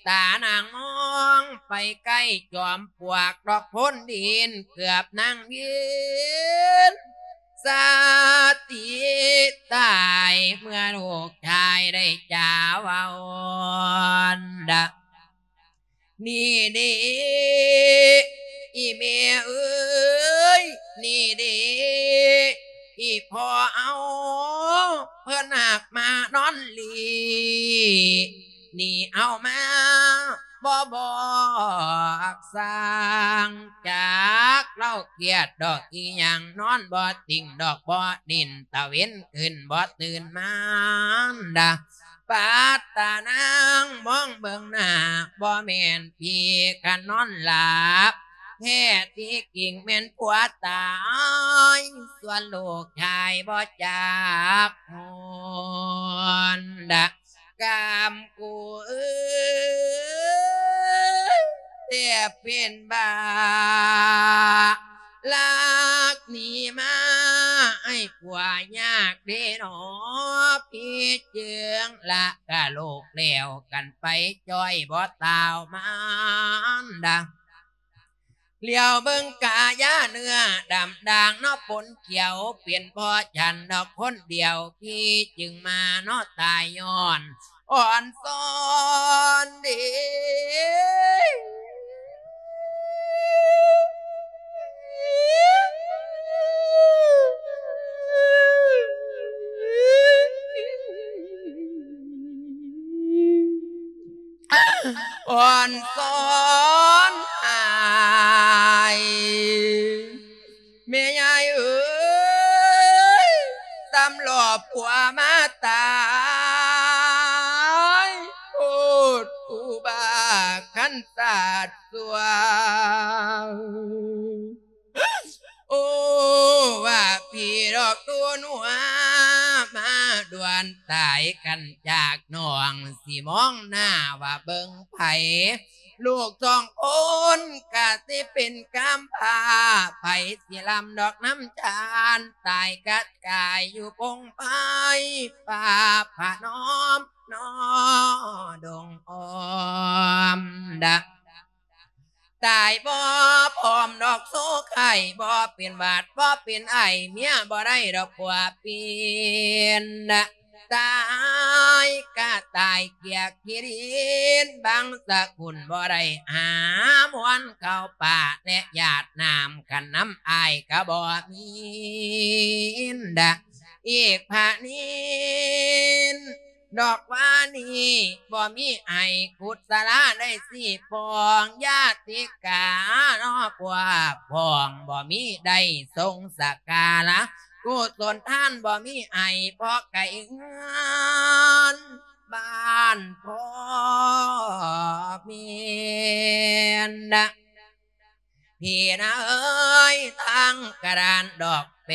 ຕານາງມອງໄປໃກ້ຈອມປວກ ດອກໂພນດິນ ເກືອບນາງວຽນສະຕິຕາຍ ເມື່ອລູກຊາຍໄດ້ຈາເວົ້າດາ ນີ້ເດ ອີແມ່ເອີຍ ນີ້ເດ ອີພໍ່ເອົາ ເພິ່ນຫາກມານອນຫຼີ່ ນີ້ເອົາມາບໍ່ບອກສ້າງ ຈັກລາວຄຽດດອກອີຫຍັງ ນອນບໍ່ຕິງດອກ ບໍ່ນິນຕາເວັນຂຶ້ນບໍ່ຕື່ນມານດາ ປາດຕານາງມອງເບິ່ງໜ້າ ບໍ່ແມ່ນຜີຄັນນອນຫຼັບ ແທ້ທີ່ຈິງແມ່ນຜົວຕາຍ ສ່ວນລູກຊາຍບໍ່ຈັກຮອນດາ ກາມກູເອີຍ ແທບເປັນບ້າ ລັກໜີມາ ອ້າຍຜົວຍາກເດເນາະ ພີ່ເຈີງລະກະລູກແລ້ວກັນໄປ ຈ້ອຍບໍ່ຕາວມານດາ ຫຼຽວເບິ່ງກາຍາເນື້ອດຳດ່າງເນາະ ປົນຂຽວເປັນພໍ່ ສັນດອກຄົນດຽວ ພີ່ຈຶ່ງມາເນາະ ຕາຍຍ້ອນ ອ່ອນຊອນເດ ອ່ອນຊອນອ້າຍ ແມ່ຍາຍເອີຍ ຕຳຫຼອບຜົວມາຕາຍ ໂພດອຸບາຄັນສາດສ່ວງ ໂອ້ ວ່າພີ່ດອກໂຕນົວ ມາດ່ວນຕາຍກັນຈາກນ້ອງ ຊິມອງໜ້າວ່າເບິ່ງໃຜ ລູກສອງຄົນກະຊິເປັນກຳພ້າ ໃຜຊິລຳດອກນຳຈານ ຕາຍກັດກາຍຢູ່ພົງໄພ ປ່າຜະນອມ ນອ ດົງອ້ອມດະ ຕາຍບໍ່ພ້ອມດອກໂສໄຂ້ ບໍ່ເປັນຫວັດ ບໍ່ເປັນໄອ ເມຍບໍ່ໄດ້ດອກຜົວເປັນ ຕາຍກະຕາຍກຽກຂີ້ດິນ ບັງສະກຸນບໍ່ໄດ້ຫາມວນເຂົ້າປ່າ ແລະຢາດນ້ຳ ຄັນນຳອ້າຍກະບໍ່ມີນດະ ອີກພະນິນ ດອກວ່ານີ້ບໍ່ມີໄອ ກຸດສະລາໄດ້ສີ່ປອງ ຍາຕິກາເນາະພວກພ້ອງ ບໍ່ມີໄດ້ຊົງສະກາລະ ກຸສົນທານບໍ່ມີໄອ ເພາະໄກເຮືອນບ້ານພໍ່ແມ່ນ ພີ່ນາເອີຍ ທັງກະດານດອກແປ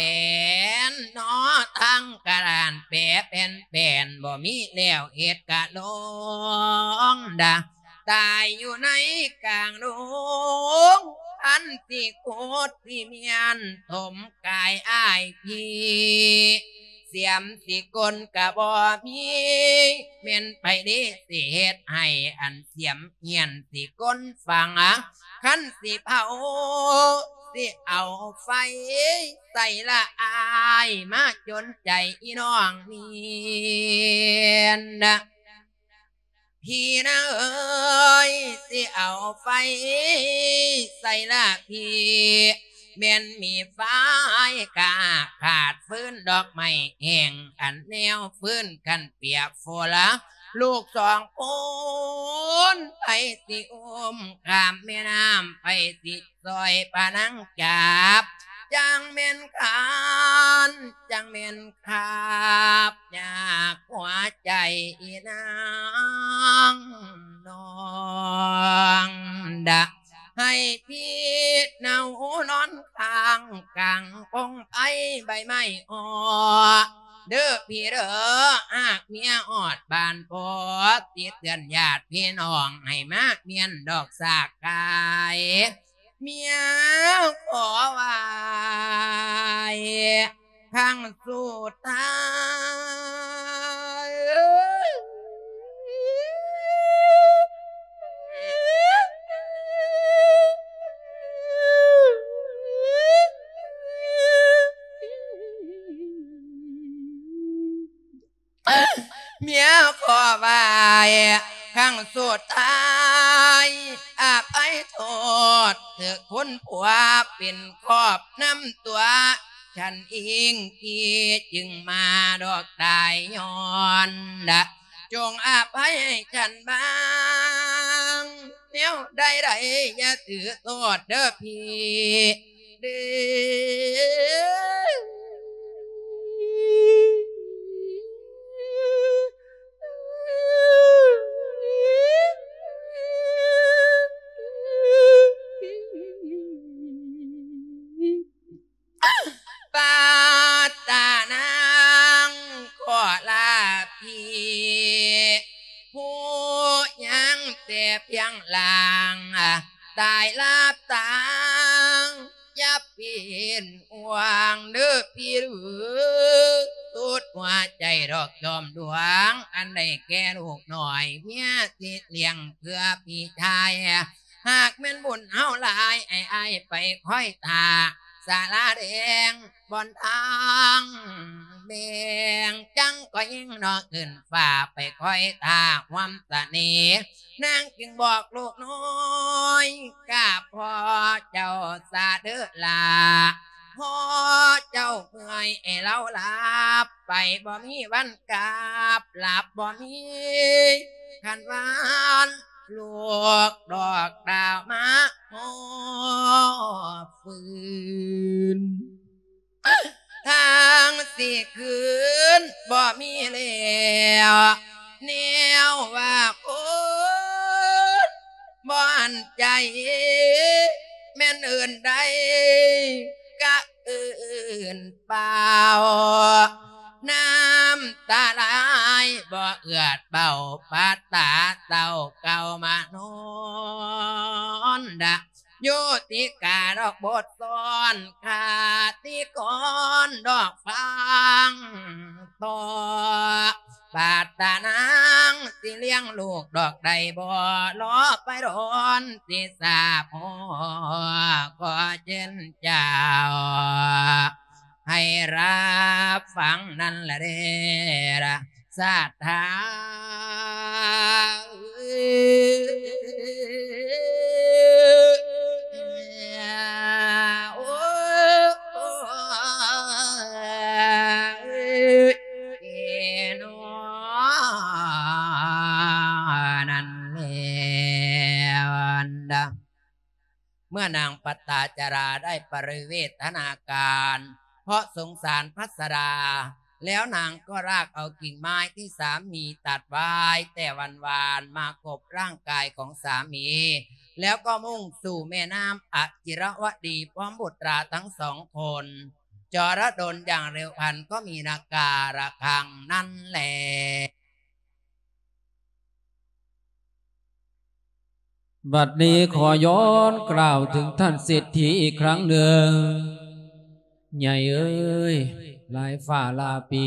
ນເນາະ ທັງກະດານແປແຜ່ນໆ ບໍ່ມີແລ້ວເຮັດກະລົງດາ ຕາຍຢູ່ໃນກາງດົງ ອັນຊິໂຄດຊິມຽນຖົມກາຍອ້າຍພີ່ ເສ ຕຽມຊິກົ້ນກະບໍ່ມີ ແມ່ນໃຜເດຊິເຮັດໃຫ້ອັນສຽມຮຽນຊິກົ້ນຝັງ ຄັນຊິເຜົາຊິເອົາໄຟໃສ່ລະອາຍ ມາຈົນໃຈອີນ້ອງນີ້ນະ ພີ່ນາເອີຍ ຊິເອົາໄຟໃສ່ລະພີ່ ແມ່ນມີໄຟກະຂາດຟືນ ດອກໄມ້ແຫ້ງອັນແນວຟືນ ຄັນປຽກຝົນລະລູກສອງຄົນ ໃຜຊິອຸ້ມຂ້າມແມ່ນ້ຳ ໃຜຊິຊ່ອຍພະນາງຈັບ ຈັ່ງແມ່ນຄານ ຈັ່ງແມ່ນຄາບຍາກຫົວໃຈອີນາງນ້ອງດະ ໃຫ້ພີ່ເນົານອນຂ້າງກາງກົງໄພໃບໄມ້ອໍ ເດີພີ່ເດີ ຫາກເມຍຮອດບ້ານພໍ່ ຊິເຕືອນຍາດພີ່ນ້ອງໃຫ້ມາມ້ຽນດອກສາກກາຍ ເມຍຂໍໄຫວ້ຄັ້ງສຸດທ້າຍ ເມຍຂໍໄຫວ້ຄັ້ງສຸດທ້າຍ ອະໄພໂທດຖືກຄຸນຜົວເປັນຄອບນຳຕົວ ສັນອີງທີ່ຈຶ່ງມາດອກຕາຍຍ້ອນ ຈົ່ງອະໄພໃຫ້ສັນບາງ ແນວໃດໆຢ່າຖືໂທດເດີພີ່ ເດ້ ປາດຕານາງຂໍລາພີ່ ຜູ້ຍັງແຕ່ພຽງລ່າງ ຕາຍລາບຕາ ຢ່າເປັນຫ່ວງເດີພີ່ເດີ ສຸດຫົວໃຈດອກຈອມດວງ ອັນໄດ້ແກ່ລູກນ້ອຍ ເມຍຊິລ້ຽງເພື່ອພີ່ຊາຍ ຫາກແມ່ນບຸນເຮົາຫຼາຍ ໃຫ້ອ້າຍໄປຄອຍຖ້າ ສາລາແດງບ່ອນທາງແບ່ງ ຈັ່ງກໍຍິ່ງນອກຂຶ້ນຟ້າ ໄປຄອຍຖ້າຄວາມສະເໜ່ ນາງຈຶ່ງບອກລູກນ້ອຍ ກາບພໍ່ເຈົ້າສາເດີລາ ພໍ່ເຈົ້າເມື່ອຍໃຫ້ລາວລາບໄປ ບໍ່ມີວັນກັບ ຫຼັບບໍ່ມີຄັນວານ ລູກດອກດາວມາຮອບຟື້ນ ທາງຊິຄືນບໍ່ມີແລ້ວ ແນວວ່າຄົນບໍ່ອັນໃຈ ແມ່ນເອີ້ນໄດ້ກະເອີ້ນເປົ່າ ນ້ຳຕາໄຫຼບໍ່ເອືອດເບົາ ປັດຕາເຕົ້າເກົ່າມານອນດະ ໂຍຕິກາດອກບົດຊ້ອນ ຄາຕິກອນດອກຟັງຕໍ່ ປາດຕານາງຊິລ້ຽງລູກດອກໄດ້ບໍ່ ລໍໄປດົນຊິສາພໍ ຂໍເຊີນເຈົ້າ ໃຫ້ຮັບຟັງນັ້ນລະເດ້ລະ ສາທາ ໂອ້ ເອໂນ ນັ້ນແລ້ວ ເມື່ອນາງປັດຕາຈາລາໄດ້ປະລິເວທນາການ ເພາະສົງສານພັດສະດາ ແລ້ວນາງກໍລາກເອົາກິ່ງໄມ້ທີ່ສາມີຕັດໄວ້ແຕ່ວານໆ ມາກົບຮ່າງກາຍຂອງສາມີ ແລ້ວກໍມຸ່ງສູ່ແມ່ນ້ຳອະຈິລະວະດີ ພ້ອມບຸດຕາທັງສອງຄົນ ຈໍລະດົນຢ່າງເລັວພັນ ກໍມີນາກາລະຄັງນັ້ນແລ. ບັດນີ້ຂໍຍ້ອນກ່າວເຖິງທ່ານເສດຖີອີກຄັ້ງໜຶ່ງ. ໃຫຍ່ເອີຍ ຫຼາຍຟ້າຫຼາຍປີ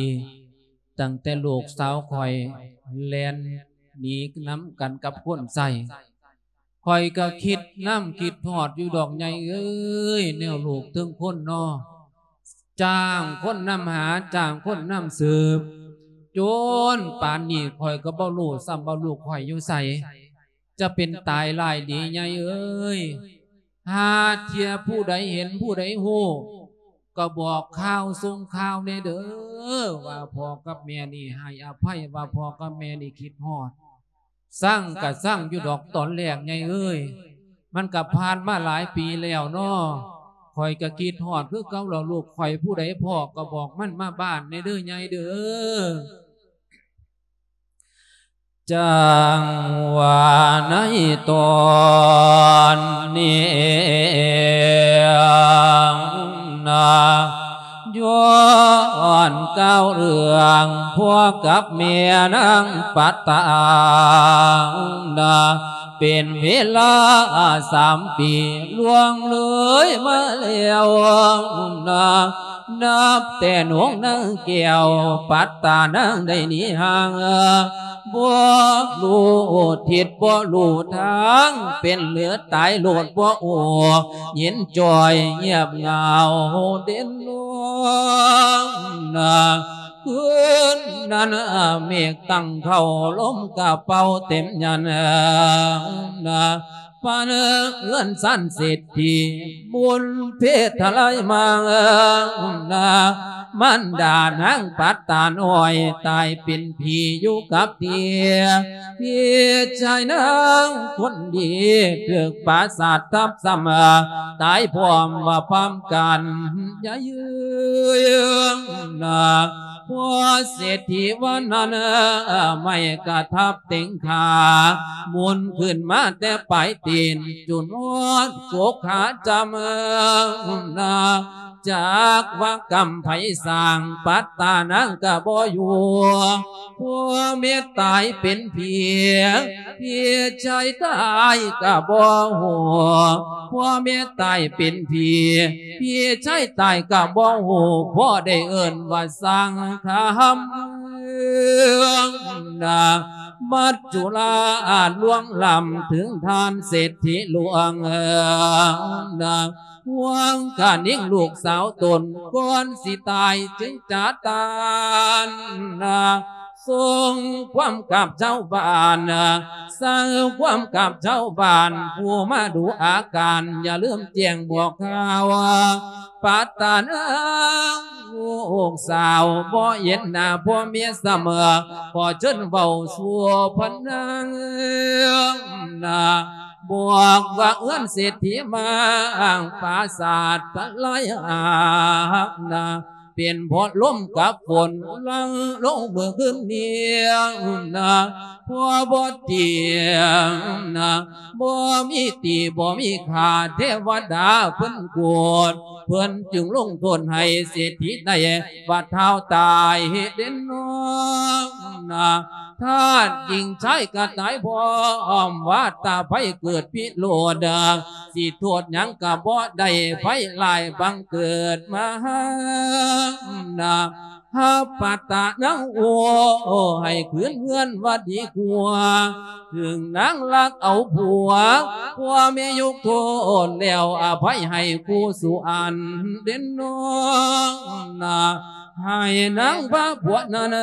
ຕັ້ງແຕ່ລູກສາວຂ້ອຍແລ່ນໜີນຳກັນກັບຄົນໃຊ້ ຂ້ອຍກໍຄິດນຳຄິດຮອດຢູ່ດອກໃຫຍ່ເອີຍ ແນວລູກເຖິງຄົນນໍ ຈ້າງຄົນນຳຫາ ຈ້າງຄົນນຳສືບ ຈົນປານນີ້ຂ້ອຍກໍບໍ່ຮູ້ຊ້ຳວ່າລູກຂ້ອຍຢູ່ໃສ ຈະເປັນຕາຍຮ້າຍດີໃຫຍ່ເອີຍ ຫາເທື່ອຜູ້ໃດເຫັນຜູ້ໃດຮູ້ ກໍບອກຂ່າວສົ່ງຂ່າວແດ່ເດີ ວ່າພໍ່ກັບແມ່ນີ້ໃຫ້ອະໄພ ວ່າພໍ່ກັບແມ່ນີ້ຄິດຮອດ ຊັງກະຊັງຢູ່ດອກຕອນແລກໃຫຍ່ເອີຍ ມັນກະຜ່ານມາຫຼາຍປີແລ້ວນໍ ຂ້ອຍກະຄິດຮອດຄືເກົ່າລະ ລູກຂ້ອຍຜູ້ໃດພໍ້ກໍບອກມັນມາບ້ານແດ່ເດີໃຫຍ່ເດີ. ຈັ່ງວ່າໃນຕອນນີ້ນະ ຍ້ອນກ່າວເລື່ອງພໍ່ກັບແມ່ນາງປັດຕານະ ເປັນເວລາສາມປີລ່ວງເລີຍມາແລ້ວນະ ນັບແຕ່ນ້ອງນາງແກ້ວປັດຕານາງໄດ້ໜີຫ່າງ ບໍ່ຮູ້ທິດບໍ່ຮູ້ທາງ ເປັນເຫຼືອຕາຍໂລດບໍ່ຮູ້ ເຢັນຈ່ອຍງຽບເຫງົາເດັ່ນນອນນະ ຄືນນັ້ນເມກຕັ້ງເຂົ້າ ລົມກະເປົ່າເຕັມຍານນະ ປານເຮືອນຊານເສດຖີ ບຸນເພດທະລາຍມານະ ມານດານາງປັດຕານ້ອຍ ຕາຍເປັນຜີຢູ່ກັບທີ່ ພີ່ຊາຍນາງຄົນດີ ຖືກປາສາດທັບຊ້ຳ ຕາຍພ້ອມວ່າພ້ອມກັນ ຢ່າຢືນນະ ພໍເສດຖີວ່ານັ້ນ ໄມ້ກະທັບເຕັງຂາ ໝູນຂຶ້ນມາແຕ່ປາຍຕີນ ຈົນຮອດກົກຂາຈຳນະ ຈັກວ່າກຳໃຜສ້າງ ປັດຕານາງກະບໍ່ຢູ່ ຜົວເມຍຕາຍເປັນຜີ ພີ່ຊາຍຕາຍກະບໍ່ຮູ້ ຜົວເມຍຕາຍເປັນຜີ ພີ່ຊາຍຕາຍກະບໍ່ຮູ້ ພໍໄດ້ເອີ້ນວ່າສ້າງຄຳນະ ມັດຈຸລາອາດລວງລ້ຳ ເຖິງທ່ານເສດຖີຫຼວງນະ ຫວງກະຍິງລູກສາວຕົນ ກ່ອນຊິຕາຍຈຶ່ງຈະຕານນະ ສົ່ງຄວາມກັບຊາວບ້ານນະ ສ້າງຄວາມກັບຊາວບ້ານ ຜູ້ມາດູອາການ ຢ່າລືມແຈ້ງບອກຂ່າວ ປາດຕານາງລູກສາວ ບໍ່ເຫັນໜ້າຜົວເມຍສະເໝີ ຂໍເຊີນເວົ້າສູ່ພະນາງນະ ບອກວ່າເຮືອນເສດຖີມາງ ປາສາດທະລາຍຫາກນະ ເປັນເພາະລົມກັບຝົນຫຼັ່ງລົງເມື່ອຄືນນີ້ນະ ຜົວບໍ່ຕຽງນະ ບໍ່ມີຕີບໍ່ມີຂ້າ ເທວະດາເພິ່ນໂກດ ເພິ່ນຈຶ່ງລົງໂທດໃຫ້ເສດຖີໄດ້ ວ່າທ້າວຕາຍເຮັດເດັ່ນນອນນະ ທາດຍິງຊາຍກະຕາຍພ້ອມ ວ່າຕາໄພເກີດພິໂລດ ຊິໂທດຫຍັງກະບໍ່ໄດ້ ໄພຮ້າຍບັງເກີດມານະ ຮັບປາດຕານາງໂອ ໃຫ້ຄືນເຮືອນວ່າດີກວ່າ ເຖິງນາງລັກເອົາຜົວ ຜົວເມຍຍົກໂທດແລ້ວ ອະໄພໃຫ້ຄູ່ສູ່ອັນເດັ່ນນອນນະ ໃຫ້ນາງພາຜົວນັ້ນ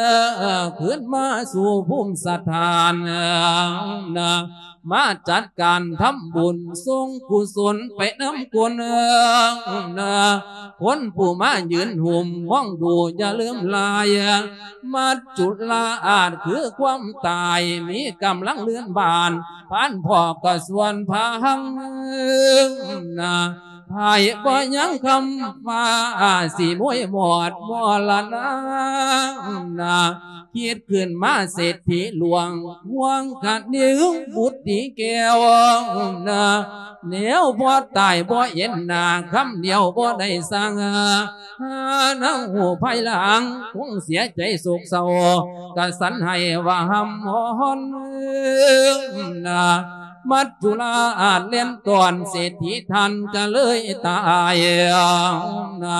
ຄືນມາສູ່ພູມສະຖານນະ ມາຈັດການທຳບຸນ ສົ່ງກຸສົນໄປນຳຄົນນະ ຄົນຜູ້ມາຢືນຫຸ້ມມອງດູ ຢ່າລືມຫຼາຍ ມັດຈຸລາອາດຄືຄວາມຕາຍ ມີກຳລັງເລື່ອນບານ ພານພໍ່ກະຊວນພາງນະ ໃຜບໍ່ຍັງຄຳຟ້າ ຊິມວຍມອດມໍລະນານະ ຄິດຂຶ້ນມາເສດຖີຫຼວງ ຫວງຄະນິງບຸດດີແກ້ວນະ ແນວບໍ່ຕາຍບໍ່ເຫັນໜ້າ ຄຳດຽວບໍ່ໄດ້ສັ່ງ ຫານາງຮູ້ພາຍຫຼັງ ຄົງເສຍໃຈໂສກເສົ້າ ກະສັນໃຫ້ວ່າຮ່ຳຮ້ອນນະ ມັດຈຸລາອາດແລ່ນຕ້ອນ ເສດຖີທ່ານກະເລີຍຕາຍນະ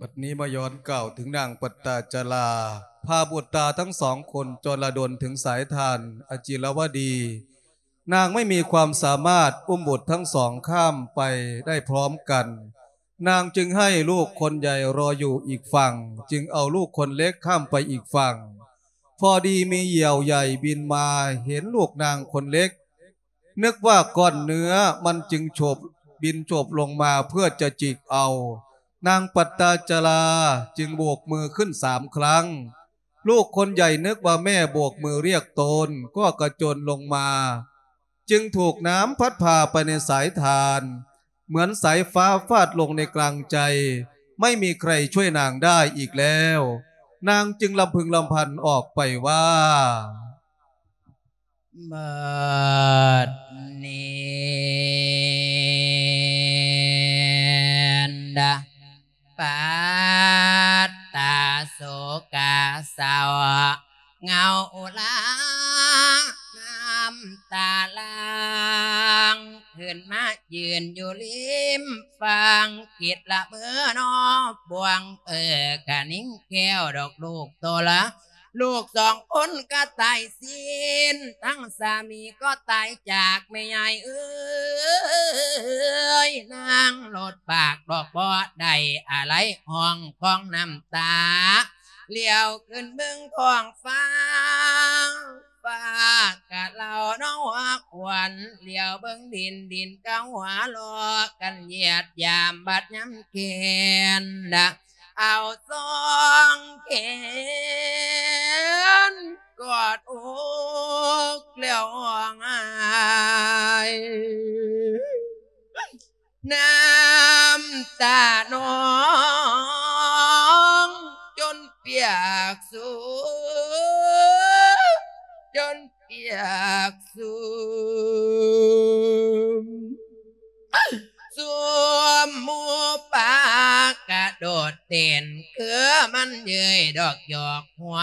ບັດນີ້ມາຍ້ອນກ່າວເຖິງນາງປັດຕາຈະລາ ພາບຸດຕາທັງສອງຄົນຈອນລະດົນເຖິງສາຍທ່ານອະຈິລະວະດີ. ນາງໄມ່ມີຄວາມສາມາດອຸ້ມບຸດທັງສອງຂ້າມໄປໄດ້ພ້ອມກັນ. ນາງຈຶ່ງໃຫ້ລູກຄົນໃຫຍ່ລໍຢູ່ອີກຝັ່ງ, ຈຶ່ງເອົາລູກຄົນເລັກຂ້າມໄປອີກຝັ່ງ. ພໍດີມີຢຽວໃຫຍ່ບິນມາເຫັນລູກນາງຄົນເລັກ, ນຶກວ່າກ້ອນເນື້ອ, ມັນຈຶ່ງໂຈບ, ບິນໂຈບລົງມາເພື່ອຈະຈິກເອົາ. ນາງປັດຕາຈະລາຈຶ່ງໂບກມືຂຶ້ນສາມຄັ້ງ. ລູກຄົນໃຫຍ່ນຶກວ່າແມ່ໂບກມືລຽກຕົນ, ກໍກະໂຈນລົງມາ, ຈຶ່ງຖືກນ້ຳພັດພາໄປໃນສາຍທ່ານ, ເໝືອນສາຍຟ້າຟາດລົງໃນກາງໃຈ, ໄມ່ມີໃຄຊ່ວຍນາງໄດ້ອີກແລ້ວ. ນາງຈຶ່ງລຳພຶງລຳພັນອອກໄປວ່າ ບັດນີ້ນະ ປັດຕາໂສກາເສົ້າ ເຫງົາລານ້ຳຕາຫຼັ່ງ ຂຶ້ນມາຢືນຢູ່ລິມຝັ່ງ ຄິດລະເມີນອບວງ ເອີ ກະນິງແກ້ວດອກລູກໂຕລະ ລູກສອງຄົນກໍຕາຍສິ້ນ ທັງສາມີກໍຕາຍຈາກແມ່ຍາຍເອີຍ ນາງລົດປາກດອກບໍ່ໄດ້ອາໄລ ຮ້ອງຄອງນ້ຳຕາ ຫຼຽວຂຶ້ນເບິ່ງທ້ອງຟ້າ ຟ້າກະເລົາເນາະຫົວຂວັນ ຫຼຽວເບິ່ງດິນ ດິນກະຫົວເລາະກັນ ຢຽດຢາມບາດຍາມແກ່ນ ເອົາສອງແຂນກອດອົກແລ້ວຮ້ອງໄຫ້ ນ້ຳຕານອງຈົນປຽກຊຸ່ມ ຈົນປຽກຊຸ່ມ ຊຸ່ມໝູ່ປາກະໂດດເຕັ້ນ ຄືມັນເຍີ້ຍດອກຢອກຫົວ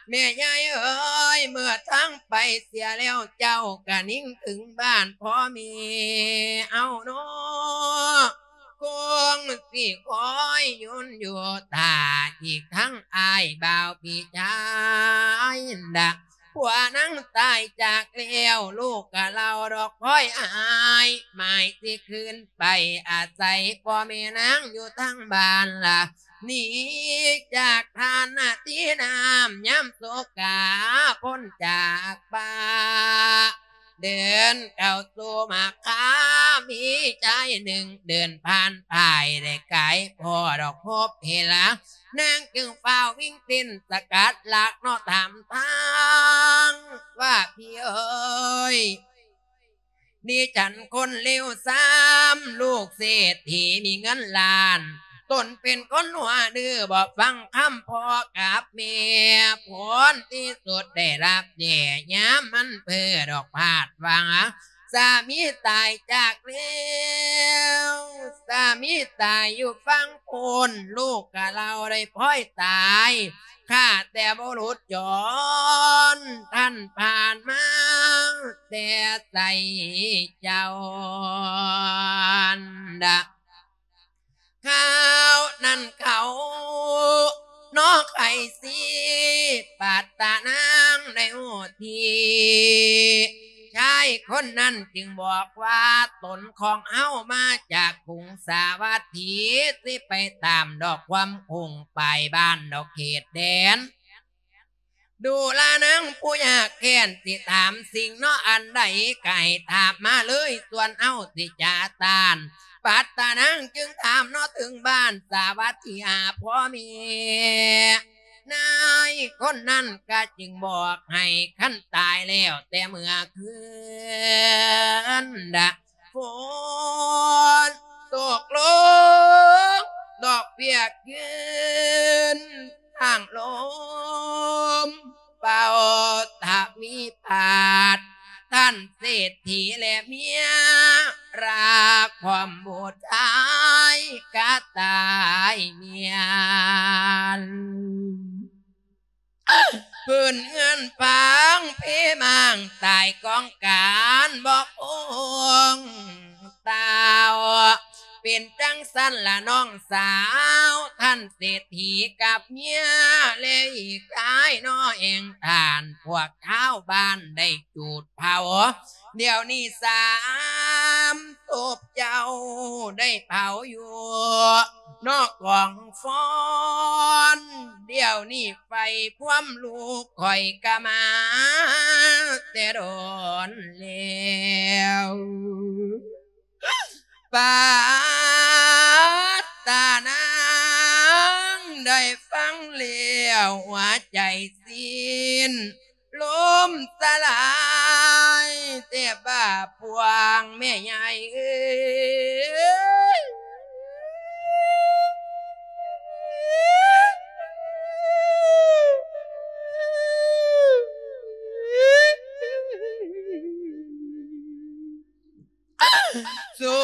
ແມ່ຍາຍເອີຍ ເມື່ອທາງໄປເສຍແລ້ວ ເຈົ້າກະນິງເຖິງບ້ານພໍ່ແມ່ເຮົາເນາະ ຄົງຊິຄອຍຍົນຢູ່ຖ້າ ອີກທັງອ້າຍບ່າວພີ່ຊາຍນະ ຜົວນາງຕາຍຈາກແລ້ວ ລູກກະເລົ່າດອກຄອຍອ້າຍ ໝາຍຊິຄືນໄປອາໄສພໍ່ແມ່ນາງຢູ່ທາງບ້ານລະ ໜີຈາກທ່ານນະທີ່ນ້ຳຍາມໂສກາ ພົ້ນຈາກປ່າ ເດີນເຂົ້າສູ່ມາຄາ ມີຊາຍໜຶ່ງເດີນຜ່ານໄປ ໄດ້ກາຍພໍ້ດອກພົບເຫັນລະ ນາງຈຶ່ງຟ້າວວິ່ງເຕັ້ນສະກັດຫຼັກເນາະ ຖາມທາງວ່າ ພີ່ເອີຍ ດິສັນຄົນເລວຊາມ ລູກເສດຖີມີເງິນລ້ານ ຕົນເປັນຄົນຫົວດື້ ບໍ່ຟັງຄຳພໍ່ກັບແມ່ ຜົນທີ່ສຸດໄດ້ຮັບແຍ່ຍາມມັນເພີດອກພາດຫວັງ ສາມີຕາຍຈາກແລ້ວ ສາມີຕາຍຢູ່ຝັ່ງພຸ້ນ ລູກກະເລົາໄດ້ພອຍຕາຍ ຂ້າແຕ່ບຸລຸດຈອນ ທ່ານຜ່ານມາແຕ່ໃສເຈົ້າ ຄາວນັ້ນເຂົາເນາະ ໄຄຊີ ປັດຕະນາງໄດ້ຮູ້ທີ ຊາຍຄົນນັ້ນຈຶ່ງບອກວ່າ ຕົນຂອງເຮົາມາຈາກກຸງສາວັດຖີ ຊິໄປຕາມດອກຄວາມຄົງໄປບ້ານດອກເຂດແດນ ດູລານາງຜູ້ຍາກແຄ້ນ ຊິຖາມສິ່ງເນາະອັນໃດ ກະໃຫ້ຖາມມາເລີຍ ສ່ວນເຮົາຊິຈະຕ້ານ. ປັດຕະນາງຈຶ່ງຖາມເນາະເຖິງບ້ານສາວັດຖີຫາພໍ່ແມ່ ນາຍຄົນນັ້ນກະຈຶ່ງບອກໃຫ້ ຄັນຕາຍແລ້ວແຕ່ເມື່ອຄືນ ຝົນຕົກລົງ ດອກເບ້ຍຂຶ້ນ ທາງລົມເປົ່າທະວີບາດ ທ່ານເສດຖີແລະເມຍ ລາຄວາມບຸດຊາຍກະຕາຍເມຍນ ພື້ນເຮືອນຟາງເພມ້າງ ຕາຍກອງການບໍ່ຄົງ ເຕົ້າ ເປັນຈັ່ງຊັ້ນລະນ້ອງສາວ ທ່ານເສດຖີກັບເມຍ ແລະອີກຫຼາຍເນາະແຫ່ງທ່ານ ພວກຊາວບ້ານໄດ້ຈູດເຜົາ ດຽວນີ້ສາມສົບເຈົ້າໄດ້ເຜົາຢູ່ນອກກອງຟອນ ດຽວນີ້ໄຟພວມລູກຂ້ອຍກະມາແຕ່ດົນແລ້ວ ປັດຕະນາງໄດ້ຟັງແລ້ວ ຫົວໃຈສິ້ນລົມສະຫຼາຍ ແຕ່ບາບພວງແມ່ໃຫຍ່ເອີຍ ສຸ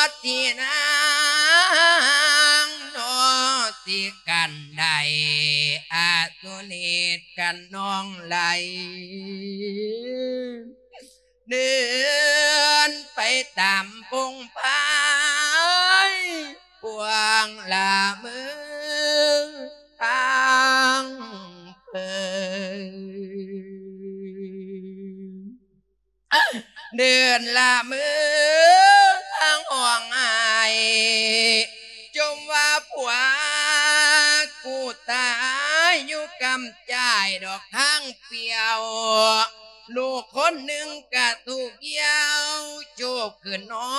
ດທີ່ນາງເນາະ ຊິກັນໄດ້ ອາສຸນິດກັນນ້ອງໄຫຼ ເດີນໄປຕາມພົງພາຍ ພວງລະເມີທາງເພິ່ນ ເດີນລະເມີທາງຮ້ອງໄຫ້ ຈົ່ມວ່າຜົວກູຕາຍຢູ່ກຳຈ້າຍດອກທາງປ່ຽວ ລູກຄົນໜຶ່ງກະທຸກຢ່ຽວ ໂຈບຂຶ້ນເນາ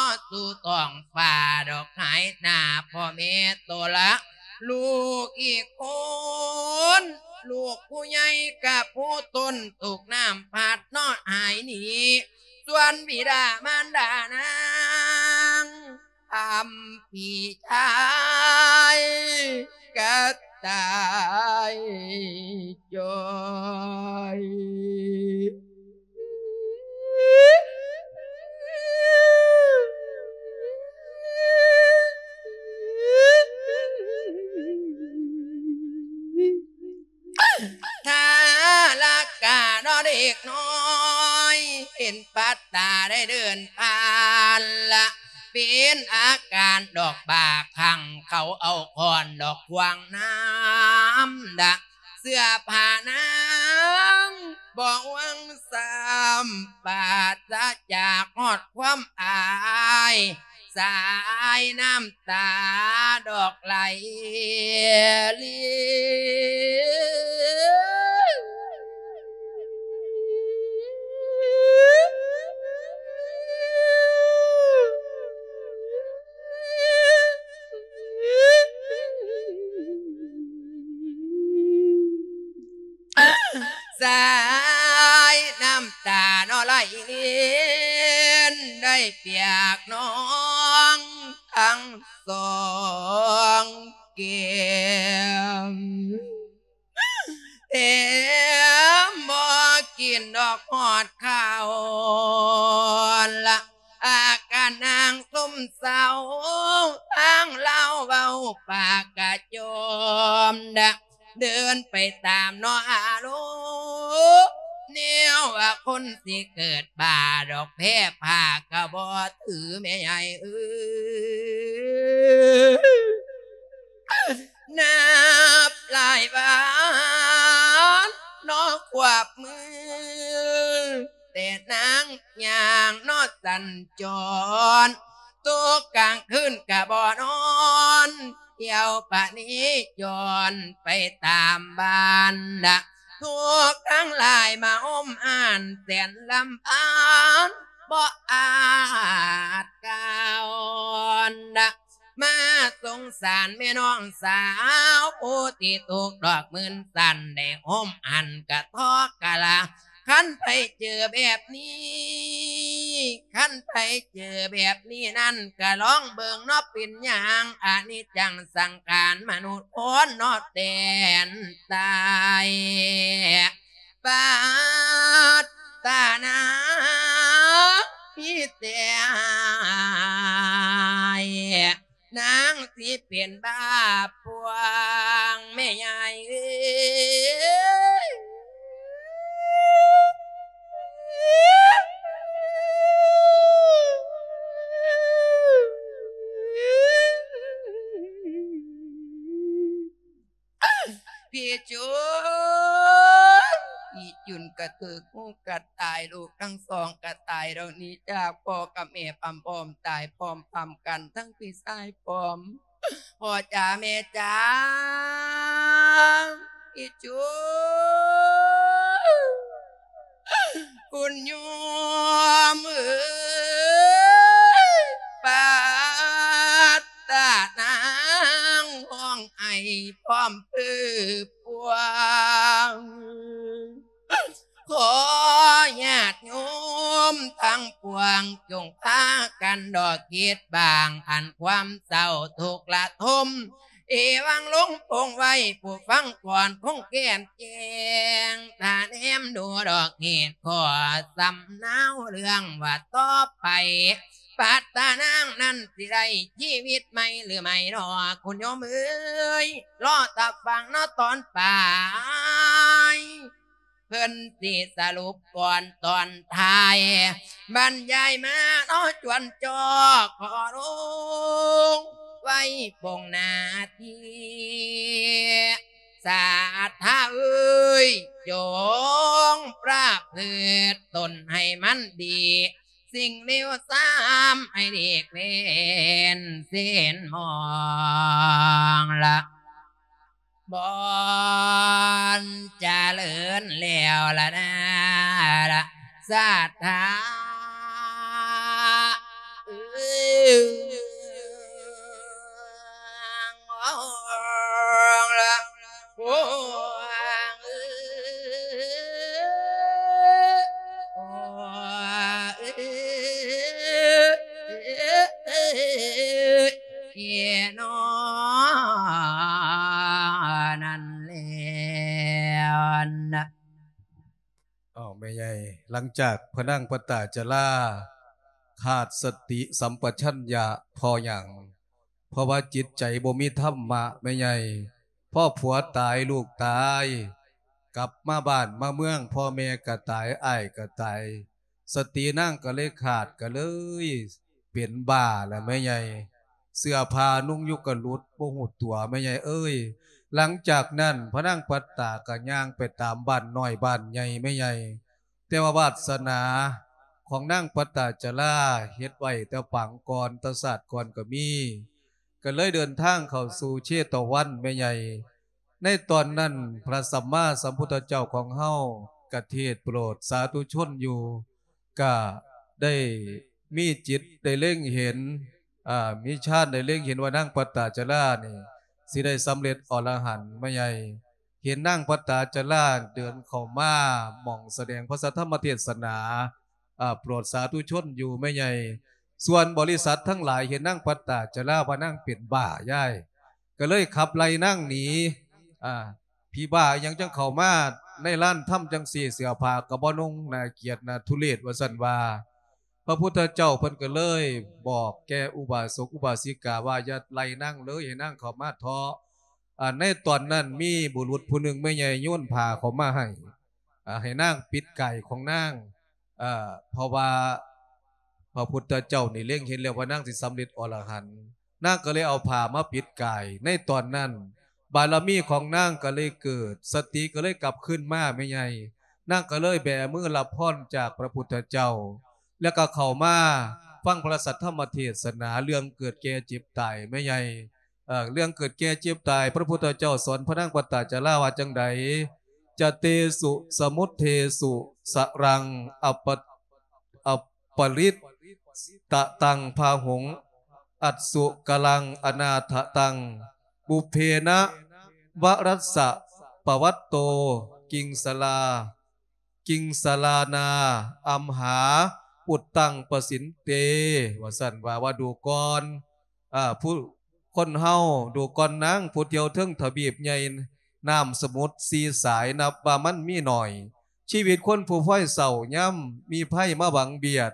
ະສູ່ທ້ອງຟ້າດອກຫາຍໜ້າພໍ່ແມ່ໂຕລະ ລູກອີກຄົນ ລູກຜູ້ໃຫຍ່ກະຜູ້ຕົນ ຖືກນ້ຳພັດເນາະຫາຍໜີ ສ່ວນບິດາມານດານາງ ທຳພີ່ຊາຍກະຕາຍຈ້ອຍ. ທາລະກະເນາະເດັກນ້ອຍ ເຫັນປັດຕາໄດ້ເດີນຜ່ານລະ ເປັນອາການດອກບາຄັງ ເຂົາເອົາຄ້ອນດອກຂວາງນ້ຳດະ ເສື້ອຜ້ານາງບໍ່ຫວັງຊ້ຳ ປາສະຈາກຮອດຄວາມອາຍ ສາຍນ້ຳຕາດອກໄຫຼລິນ. ສາຍນ້ຳຕາເນາະໄຫຼລິນ ໄດ້ປຽກໜອງທັງສອງແກ້ມ ແຖມບໍ່ກິນດອກຮອດເຂົ້າລະ ອາການນາງຊົມເສົ້າ ທາງລາວເວົ້າປາກກະຈອມດະ ເດີນໄປຕາມເນາະອາລົມ ແນວວ່າຄົນຊິເກີດບ້າດອກ ແພ້ຜ້າກະບໍ່ຖືແມ່ໃຫຍ່ເອີຍ. ນັບຫຼາຍວັນເນາະຄວບມື້ ແຕ່ນາງຍ່າງເນາະສັນຈອນ ຕົກກາງຄືນກະບໍ່ນອນ ທ່ຽວປະນີຈອນໄປຕາມບ້ານນະ ທຸກທັງຫຼາຍມາໂຮມຮ້ານແສນລຳພັນ ບໍ່ອາດກ່າວນະ ມາສົງສານແມ່ນ້ອງສາວ ຜູ້ທີ່ທຸກດອກໝື່ນສັນ ໄດ້ໂຮມຫັ້ນກະທໍກະລາ ຄັນໃຜເຈີແບບນີ້ ຄັນໃຜເຈີແບບນີ້ນັ້ນ ກະລອງເບິ່ງເນາະເປັນຫຍັງ ອະນິດຈັງສັງຂານມະນຸດຄົນເນາະ ແຕ່ນຕາຍ ປັດຕະນາມີແຕ່ອາຍ ນາງຊິເປັນບ້າປ່ວງແມ່ໃຫຍ່ເອີຍ. ພີ່ຈຸນ ພີ່ຈຸນກະຖືກງູກັດຕາຍ ລູກທັງສອງກະຕາຍ ດອກໜີຈາກພໍ່ກັບແມ່ພ້ອມໆຕາຍພ້ອມໆກັນ ທັງພີ່ຊາຍພ້ອມ ພໍ່ຈ໋າແມ່ຈ໋າ ອີຈູ ຄຸນໂຍມເອີຍ ປັດຕະນາງຮ້ອງໄຫ້ພ້ອມເພີປວງ ຂໍຍາດໂຍມທັງປວງ ຈົ່ງພາກັນດອກຄິດບາງ ອັນຄວາມເສົ້າທຸກລະທົມ ເອວັງລົງປົງໄວ້ ຜູ້ຟັງກ່ອນຄົງແຈ້ມແຈ້ງ ຖ້າແນມດູດອກເຫດຂໍ້ສຳເນົາ ເລື່ອງວ່າຕໍ່ໄປ ປັດຕະນາງນັ້ນຊິໄດ້ຊີວິດໃໝ່ຫຼືໄມ່ນໍ ຄຸນໂຍມເອີຍ ລໍຖ້າຟັງເນາະຕອນປາຍ ເພິ່ນຊິສະຫຼຸບກ່ອນຕອນທ້າຍ ບັນຍາຍມາເນາະຈວນຈອກ ຂໍລົງໄວ້ປົງໜ້າທີ່ ສັດທາເອີຍ ຈົ່ງປະພຶດຕົນໃຫ້ມັນດີ ສິ່ງເລວຊາມໃຫ້ຫຼີກເວັ້ນເສັ້ນມອງລະ ບ່ອນຈະເລີນແລ້ວລະນາ ລະສັດທາເອີຍ ລະ ໂອ້ ເອີ ໂອ້ ເອີ ເອີ ເອີ ເອີ ເນາະ ນັ້ນແລ້ວນະ. ອ້າວ ແມ່ໃຫຍ່ ຫຼັງຈາກພະນາງປະຕາຈະລາຂາດສະຕິສຳປະຊັນຍະ ເພາະຫຍັງ? ເພາະວ່າຈິດໃຈບໍ່ມີທຳມະ ແມ່ໃຫຍ່. ພໍຜົວຕາຍ ລູກຕາຍ ກັບມາບ້ານມາເມືອງ ພໍ່ແມ່ກໍຕາຍ ອ້າຍກໍຕາຍ ສະຕິນາງກໍເລີຍຂາດ ກໍເລີຍເປັນບ້າລະແມ່ໃຫຍ່. ເສື້ອຜ້ານຸ່ງຢູ່ກໍຫຼຸດ ບໍ່ຮູ້ຕົວແມ່ໃຫຍ່ເອີຍ. ຫຼັງຈາກນັ້ນ ພະນາງປັດຕາກໍຍ່າງໄປຕາມບ້ານນ້ອຍບ້ານໃຫຍ່ແມ່ໃຫຍ່. ແຕ່ວ່າວາດສະໜາຂອງນາງປັດຕາຈະລາເຮັດໄວ້ແຕ່ປາງກ່ອນ ແຕ່ຊາດກ່ອນກໍມີ ກໍເລີຍເດີນທາງເຂົ້າສູ່ເຊຕະວັນແມ່ໃຫຍ່. ໃນຕອນນັ້ນ ພະສຳມາສຳພຸດທະເຈົ້າຂອງເຮົາກະເທດໂປດສາທຸຊົນຢູ່ ກະໄດ້ມີຈິດໄດ້ເລັງເຫັນ ອາ ມີຊານໄດ້ເລັງເຫັນວ່ານາງປັດຕາຈະລານີ້ ຊິໄດ້ສຳເລັດອໍລະຫັນແມ່ໃຫຍ່. ເຫັນນາງປັດຕາຈາລາເດີນເຂົ້າມາໝ່ອງສະແດງພະສັດທຳມະເທດສະໜາ ອາ ໂປດສາທຸຊົນຢູ່ແມ່ໃຫຍ່. ສ່ວນບໍລິສັດທັງຫຼາຍເຫັນນາງປັດຕາຈາລາວ່ານາງເປັນບ້າຍາຍ ກໍເລີຍຂັບໄລ່ນາງໜີ. ອາ ຜີບ້າອີ່ຫຍັງຈັ່ງເຂົ້າມາໃນລານທຳຈັ່ງຊີ້ ເສື້ອຜ້າກໍບໍ່ນຸ່ງ ໜ້າກຽດໜ້າທຸເລດ ວ່າຊັ້ນວ່າ. ພະພຸດທະເຈົ້າເພິ່ນກໍເລີຍບອກແກ່ອຸບາສົກອຸບາສິກາວ່າ ຢ່າໄລ່ນາງເລີຍ ໃຫ້ນາງເຂົ້າມາເຖາະ. ອາ ໃນຕອນນັ້ນມີບຸລຸດຜູ້ໜຶ່ງແມ່ໃຫຍ່ໂຍນຜ້າເຂົ້າມາໃຫ້ ອາ ໃຫ້ນາງປິດກາຍຂອງນາງ ເພາະວ່າພະພຸດທະເຈົ້ານີ້ເລັງເຫັນແລ້ວວ່ານາງຊິສຳເລັດອໍລະຫັນ. ນາງກໍເລີຍເອົາຜ້າມາປິດກາຍ. ໃນຕອນນັ້ນບາລະມີຂອງນາງກໍເລີຍເກີດ ສະຕິກໍເລີຍກັບຄືນມາແມ່ໃຫຍ່. ນາງກໍເລີຍແບມືຮັບພອນຈາກພະພຸດທະເຈົ້າ ແລ້ວກໍເຂົ້າມາຟັງພະສັດທຳມະເທດສະໜາເລື່ອງເກີດແກ່ເຈັບຕາຍແມ່ໃຫຍ່. ເອີ ເລື່ອງເກີດແກ່ເຈັບຕາຍ ພະພຸດທະເຈົ້າສອນພະນາງປັດຕາຈາລາວ່າຈັ່ງໃດ? ຈະເຕສຸສະມຸດເທສຸສະລັງ ອະປະ ອະປະລິດຕະຕັງພາຫຸງ ອັດສຸກະລັງອະນາທະຕັງ ປຸບເພນະວະຣັດສະປະວັດໂຕ ກິງສະລາ ກິງສະລານາ ອັມຫາ ປຸດຕັງປະສິນເຕ ວ່າຊັ້ນວ່າ ວ່າດູກ່ອນ ອາ ຜູ້ ຄົນເຮົາ ດູກ່ອນນາງ ຜູ້ທ່ຽວເທິງທະວີບໃຫຍ່ ນ້ຳສະໝຸດສີ່ສາຍ ນັບວ່າມັນມີໜ້ອຍ. ຊີວິດຄົນຜູ້ພອຍເສົ້າ ຍາມມີໄພມາບັງບຽດ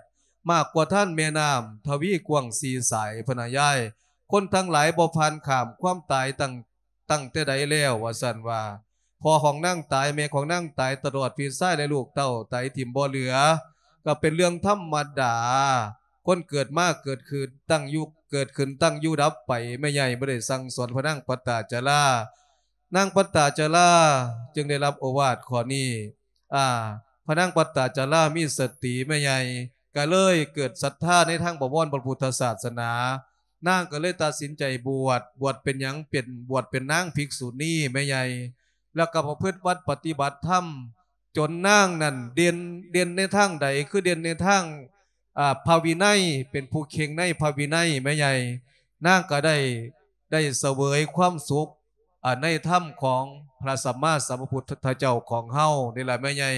ມາກກວ່າທານແມ່ນ້ຳທະວີກວ້າງສີ່ສາຍພຸ້ນນະຍາຍ. ຄົນທັງຫຼາຍບໍ່ຜ່ານຂ້າມຄວາມຕາຍຕັ້ງ ຕັ້ງແຕ່ໃດແລ້ວ ວ່າຊັ້ນວ່າ. ພໍ່ຂອງນາງຕາຍ ແມ່ຂອງນາງຕາຍ ຕະຫຼອດພີ່ຊາຍ ແລະ ລູກເຕົ້າຕາຍຖິ້ມບໍ່ເຫຼືອ ກໍເປັນເລື່ອງທຳມະດາ. ຄົນເກີດມາເກີດຂຶ້ນ ຕັ້ງຢູ່ ເກີດຂຶ້ນ ຕັ້ງຢູ່ ດັບໄປ. ແມ່ໃຫຍ່ບໍ່ໄດ້ສັ່ງສອນພະນາງປັດຕາຈາລາ. ນາງປັດຕາຈາລາຈຶ່ງໄດ້ຮັບໂອວາດຂໍ້ນີ້. ອາ ພະນາງປັດຕາຈາລາມີສະຕິ ແມ່ໃຫຍ່ກໍເລີຍເກີດສັດທາໃນທາງບະວອນພະພຸດທະສາສະໜາ. ນາງກໍເລີຍຕັດສິນໃຈບວດ. ບວດເປັນຫຍັງ? ເປັນ ບວດເປັນນາງພິກສຸນີແມ່ໃຫຍ່ ແລ້ວກໍປະພຶດວັດປະຕິບັດທຳ ຈົນນາງນັ້ນເດັ່ນ ເດັ່ນໃນທາງໃດ? ຄືເດັ່ນໃນທາງ ອາ ພະວິໄນ ເປັນຜູ້ເຄັ່ງໃນພະວິໄນແມ່ໃຫຍ່. ນາງກໍໄດ້ ໄດ້ສະເຫວີຍຄວາມສຸກ ອາ ໃນທຳຂອງພະສຳມາສຳພຸດທະເຈົ້າຂອງເຮົານີ້ລະແມ່ໃຫຍ່.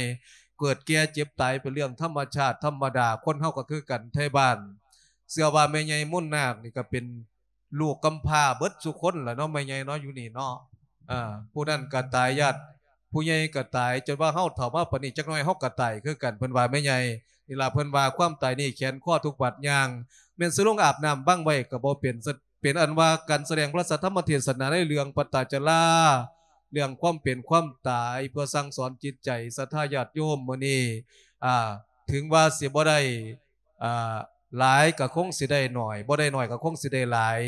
ເກີດແກ່ເຈັບຕາຍເປັນເລື່ອງທຳມະຊາດທຳມະດາ ຄົນເຮົາກໍຄືກັນໄທບ້ານ. ເຊື່ອວ່າແມ່ໃຫຍ່ມົນນາກນີ້ກໍເປັນລູກກຳພ້າເບິດສູ່ຄົນລະເນາະ ແມ່ໃຫຍ່ເນາະ ຢູ່ນີ້ເນາະ. ເອີ ຜູ້ນັ້ນກໍຕາຍ ຍາດຜູ້ໃຫຍ່ກໍຕາຍ ຈົນວ່າເຮົາເຖົ້າມາປານນີ້ ຈັກໜ້ອຍເຮົາກໍຕາຍຄືກັນ ເພິ່ນວ່າແມ່ໃຫຍ່ນີ້ລະ. ເພິ່ນວ່າຄວາມຕາຍນີ້ແຂນຄໍທຸກບາດຍ່າງ ແມ່ນຊິລົງອາບນ້ຳບັງໄວ້ກໍບໍ່ເປັນ. ເປັນອັນວ່າການສະແດງພະສັດທຳມະເທດສະໜາໃນເລື່ອງປັດຕາຈາລາ ເລື່ອງຄວາມເປັນຄວາມຕາຍ ເພື່ອສັ່ງສອນຈິດໃຈສັດທາຍາດໂຍມມື້ນີ້ ອາ ເຖິງວ່າຊິບໍ່ໄດ້ ອາ ຫຼາຍກໍຄົງຊິໄດ້ໜ້ອຍ ບໍ່ໄດ້ໜ້ອຍກໍຄົງຊິໄດ້ຫຼາຍ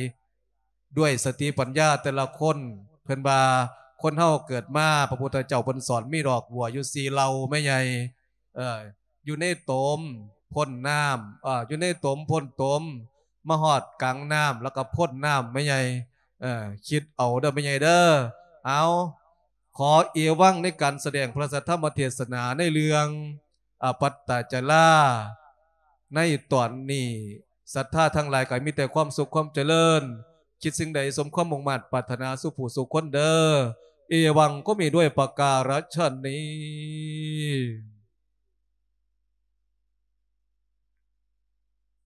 ດ້ວຍສະຕິປັນຍາແຕ່ລະຄົນ. ເພິ່ນວ່າຄົນເຮົາເກີດມາ ພະພຸດທະເຈົ້າເພິ່ນສອນມີດອກບົວຢູ່ສີ່ເຫຼົ່າແມ່ໃຫຍ່. ເອີ ຢູ່ໃນຕົມ ພົ້ນນ້ຳ ເອີ ຢູ່ໃນຕົມ ພົ້ນຕົມ ມາຮອດກາງນ້ຳ ແລ້ວກໍພົ້ນນ້ຳແມ່ໃຫຍ່. ເອີ ຄິດເອົາເດີແມ່ໃຫຍ່ເດີ. ເອົາ ຂໍເອວັງໃນການສະແດງພະສັດທຳມະເທດສະໜາໃນເລື່ອງ ອາ ປັດຕາຈາລາ ໃນຕອນນີ້. ສັດທາທັງຫຼາຍກໍມີແຕ່ຄວາມສຸກຄວາມຈະເລີນ ຄິດສິ່ງໃດສົມຄວາມມຸ່ງມາດປາດຖະໜາສູ່ຜູ້ສູ່ຄົນເດີ. ເອວັງ ກໍມີດ້ວຍປະກາລະຊະນີ.